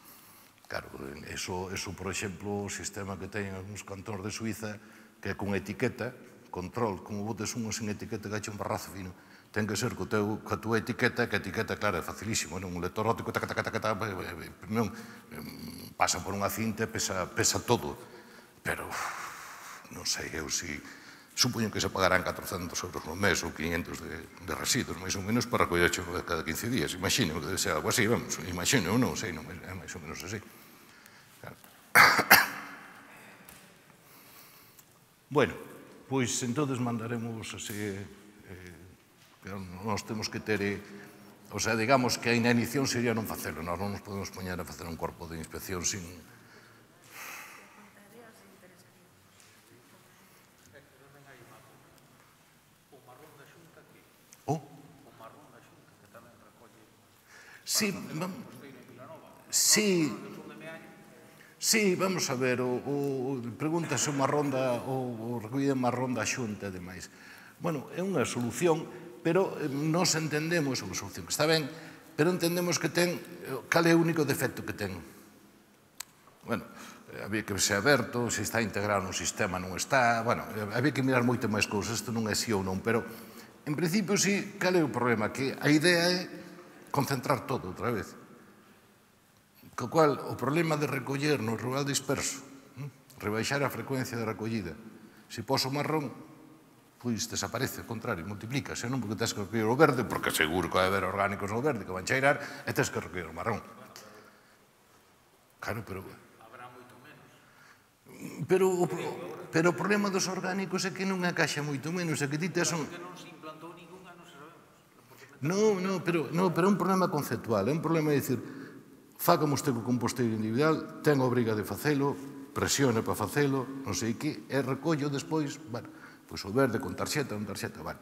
Claro, eso, eso, por exemplo, o sistema que teñen algúns cantóns de Suiza, que é con etiqueta, control, como botes unha sin etiqueta que haxe un barrazo fino, ten que ser co teu, coa tua etiqueta, que a etiqueta, claro, é facilísimo, non? Un lector óptico, taca, taca, taca, taca, non, pasa por unha cinta, pesa, pesa todo, pero non sei eu si, supoño que se pagarán catrocentos euros no mes ou quinhentos de, de residuos, máis ou menos, para recoller cada quince días, imagino que debe ser algo así, vamos, imagino, non sei, non, é máis ou menos así. Claro. Bueno, pois entonces mandaremos así, eh, nós temos que ter, eh, o sea, digamos que a inanición sería non facelo, nós non nos podemos poñer a facer un corpo de inspección sin... Oh? Sí, sí, sí, vamos a ver, o, o, pregúntase unha ronda, o, o recollida unha ronda xunta e demais. Bueno, é unha solución, pero nos entendemos, é unha solución que está ben, pero entendemos que ten, cal é o único defecto que ten. Bueno, había que ser aberto, se está integrado no sistema, non está, bueno, había que mirar moito máis cousas, isto non é si ou non, pero en principio sí, cal é o problema? Que a idea é concentrar todo outra vez. Co cual, o problema de recoller no rural disperso, rebaixar a frecuencia de recollida, se poso marrón, pois desaparece, ao contrario, multiplícase, non? Porque tens que recoller o verde, porque seguro que vai haber orgánicos no verde que van cheirar, e tens que recoller o marrón. Claro, pero... Habrá moito menos. Pero, pero o problema dos orgánicos é que non encaixa moito menos, é que ti tes un... non se implantou ninguna, non sabemos. Non, non, pero, non, pero é un problema conceptual, é un problema de dicir, fa como este co composteiro individual, ten a obriga de facelo, presione para facelo, non sei que, e recollo despois, bueno, pois o verde con tarxeta, con tarxeta, vale.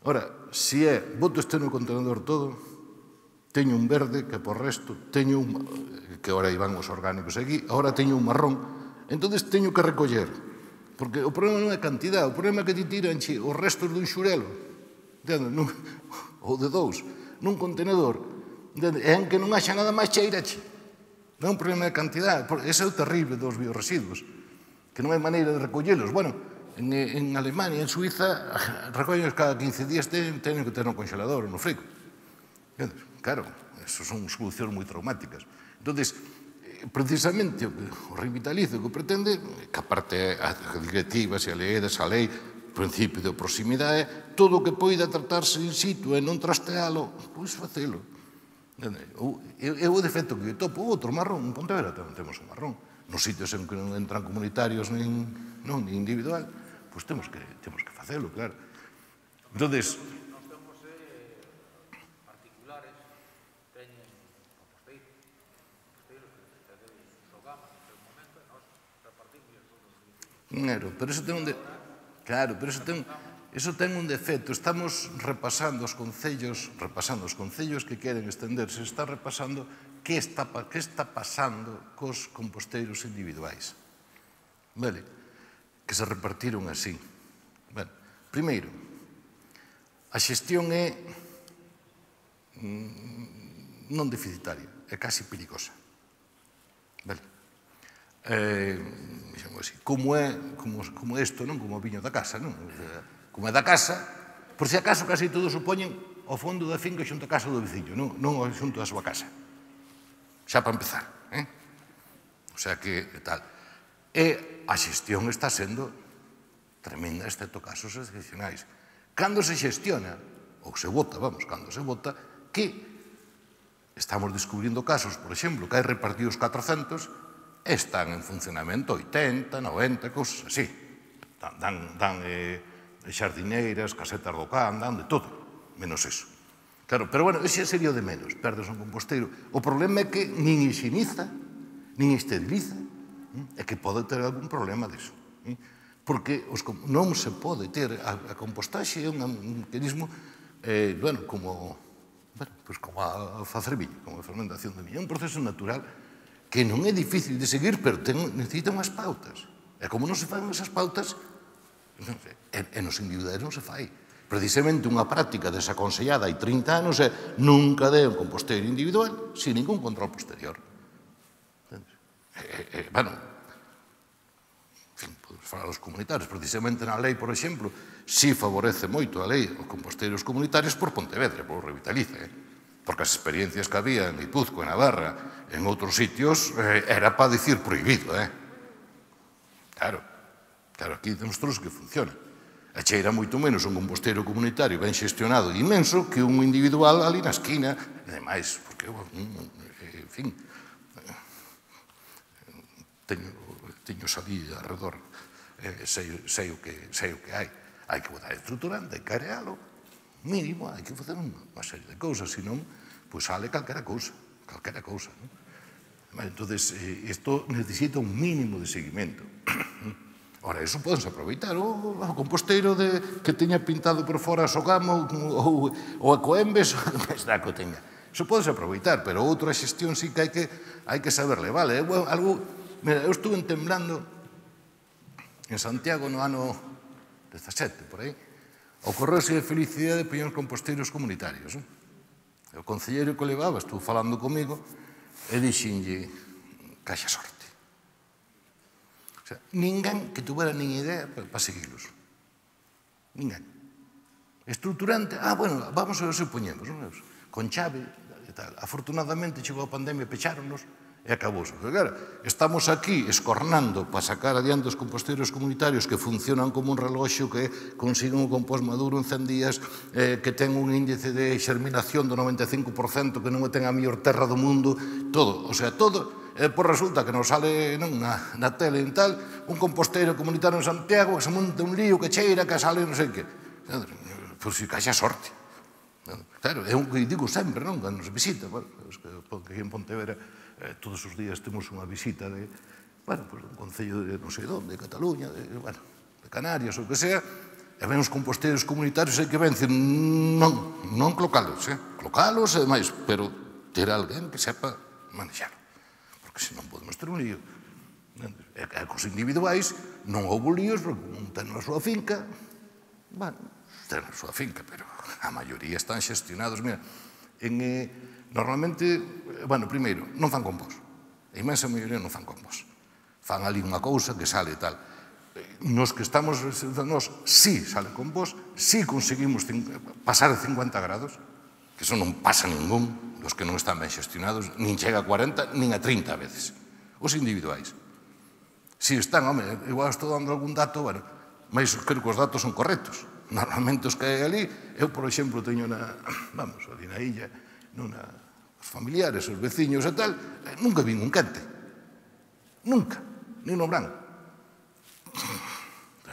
Ora, se é, boto este no contenedor todo, teño un verde que por resto, teño un, que ora iban os orgánicos aquí, agora teño un marrón, entonces teño que recoller, porque o problema non é cantidad, o problema é que ti tiran os restos dun xurelo, ou de dous, nun contenedor, e en que non haxa nada máis cheirache. Non é un problema de cantidad, ese é o terrible dos biorresiduos, que non hai maneira de recollelos. Bueno, en, en Alemania, en Suiza, recollelos cada quince días, teñen que ter no congelador ou no frigo. Claro, eso son solucións moi traumáticas. Entón, precisamente, o revitalizo que pretende, que aparte a directivas e a lei, a lei, o principio de proximidade, todo o que poida tratarse in situ e non trastealo, pois facelo. É o defecto que topo, outro marrón, en Pontevedra tamén temos un marrón. Nos sitios en que non entran comunitarios nin individual, pois temos que facelo, claro. Entón, pero eso ten un de... Claro, pero eso ten... Eso ten un defecto. Estamos repasando os concellos, repasando os concellos que queren estenderse, está repasando que está, que está pasando cos composteiros individuais. Vale? Que se repartiron así. Bueno, primeiro, a xestión é non deficitaria, é casi perigosa. Vale? Eh, como é como isto, non? Como o viño da casa, non? Como é da casa, por se acaso casi todos o poñen ao fondo da finca xunto a casa do veciño, non xunto a súa casa. Xa para empezar. O sea que tal. E a xestión está sendo tremenda, excepto casos excepcionais. Cando se xestiona, ou se vota, vamos, cando se vota, que estamos descubrindo casos, por exemplo, que hai repartidos catrocentos, están en funcionamento oitenta, noventa, cousas así. Dan, dan eh, xardineiras, casetas do can, dan de todo, menos eso. Claro, pero bueno, ese sería o de menos, perdes un composteiro. O problema é que nin higieniza, nin esteriliza, é que pode ter algún problema disso. Porque non se pode ter, a compostaxe é un mecanismo, bueno, como a facer viño, como a fermentación de viño. É un proceso natural que non é difícil de seguir, pero necesita unhas pautas. E como non se fan esas pautas, e nos individuais non se fai. Precisamente unha práctica desaconsellada hai trinta anos é nunca dé un composteiro individual sin ningún control posterior. Bueno, falar dos comunitarios, precisamente na lei, por exemplo, si favorece moito a lei os composteiros comunitarios por Pontevedra, por Revitaliza, eh? Porque as experiencias que había en Guipúzcoa, en Navarra, en outros sitios, eh, era para dicir prohibido, eh? Claro, claro, aquí demostrou que funciona. E cheira moito menos un composteiro comunitario ben xestionado e inmenso que un individual ali na esquina, e demais, porque, en fin, teño, teño salí alrededor, eh, sei, sei, o que, sei o que hai. Hai que botar estruturante, hai que arealo, mínimo, hai que facer unha serie de cousas, senón, pois sale calquera cousa, calquera cousa. Entón, isto necesita un mínimo de seguimento. Ora, iso podense aproveitar. O composteiro que teña pintado por fora a Sogamo ou a Coembes, está que o teña. Iso podense aproveitar, pero outra xestión sí que hai que, hai que saberle, vale? Algo, mira, eu estuve temblando en Santiago no ano dezasete, por aí, ocorreuse a felicidade de poñer os composteiros comunitarios. O concelleiro que o levaba estuvo falando comigo e dixenlle, caixa sorte. O sea, ninguén que tuvera nin idea para seguirlos. Ninguén. Estruturante, ah, bueno, vamos a ver se o poñemos, con chave e tal. Afortunadamente chegou a pandemia, pecháronos, e acabouse. Claro, estamos aquí escornando para sacar adiante os composteiros comunitarios que funcionan como un reloxo, que consiguen un compost maduro en cen días, eh, que ten un índice de xerminación do noventa e cinco por cento, que non ten a mellor terra do mundo, todo, o sea, todo, e por resulta que nos sale non, na, na tele en tal, un composteiro comunitario en Santiago, que se monta un lío, que cheira, que sale non sei que. Pois si caixa sorte. Claro, é un que digo sempre, non, cando nos visita, bueno, que aquí en Pontevedra Eh, todos os días temos unha visita de, bueno, pues, un concello de non sei onde, de Cataluña, de, bueno, de Canarias, ou que sea, e ven os composteiros comunitarios e que ven, dicir, non, non colocalos, eh? Colocalos e demais, pero ter alguén que sepa manexalo, porque senón podemos ter un lío. E, e cos individuais non houve líos, porque un ten a súa finca, bueno, ten a súa finca, pero a maioría están xestionados, mira, en... Eh, normalmente, bueno, primeiro, non fan compost. A imensa maioría non fan compost. Fan ali unha cousa que sale tal. Nos que estamos, nos, sí sale compost, sí conseguimos pasar de cincuenta grados, que eso non pasa ningún, dos que non están ben xestionados, nin chega a cuarenta, nin a trinta veces. Os individuais. Si están, home, igual estou dando algún dato, bueno, mas creo que os datos son correctos. Normalmente os que hai ali, eu, por exemplo, teño na, vamos, ali na illa, nunha, os familiares, os veciños e tal, nunca vin un quente. Nunca. Ni no branco.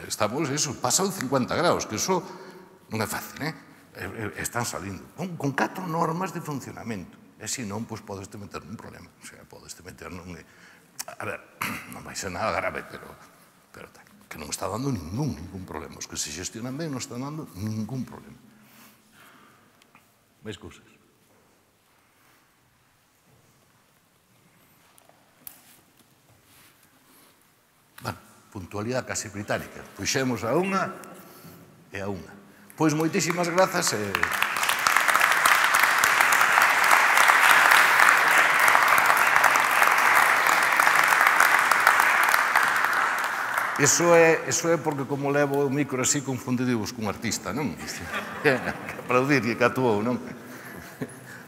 Estamos, eso, pasan cincuenta graus, que eso non é fácil, eh? Están salindo. Con, con catro normas de funcionamento. E se non, pois podeste meter un problema. O sea, podeste meter nun... A ver, non vai ser nada grave, pero, pero tal, que non está dando ningún, ningún problema. Os que se gestionan ben non están dando ningún problema. Máis cousas. Puntualidade casi británica. Puxemos a unha e a unha. Pois moitísimas grazas e... Iso é, iso é porque como levo o micro así confundidivos cun artista, non? Que aplaudir que actuou, non?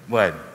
Bueno.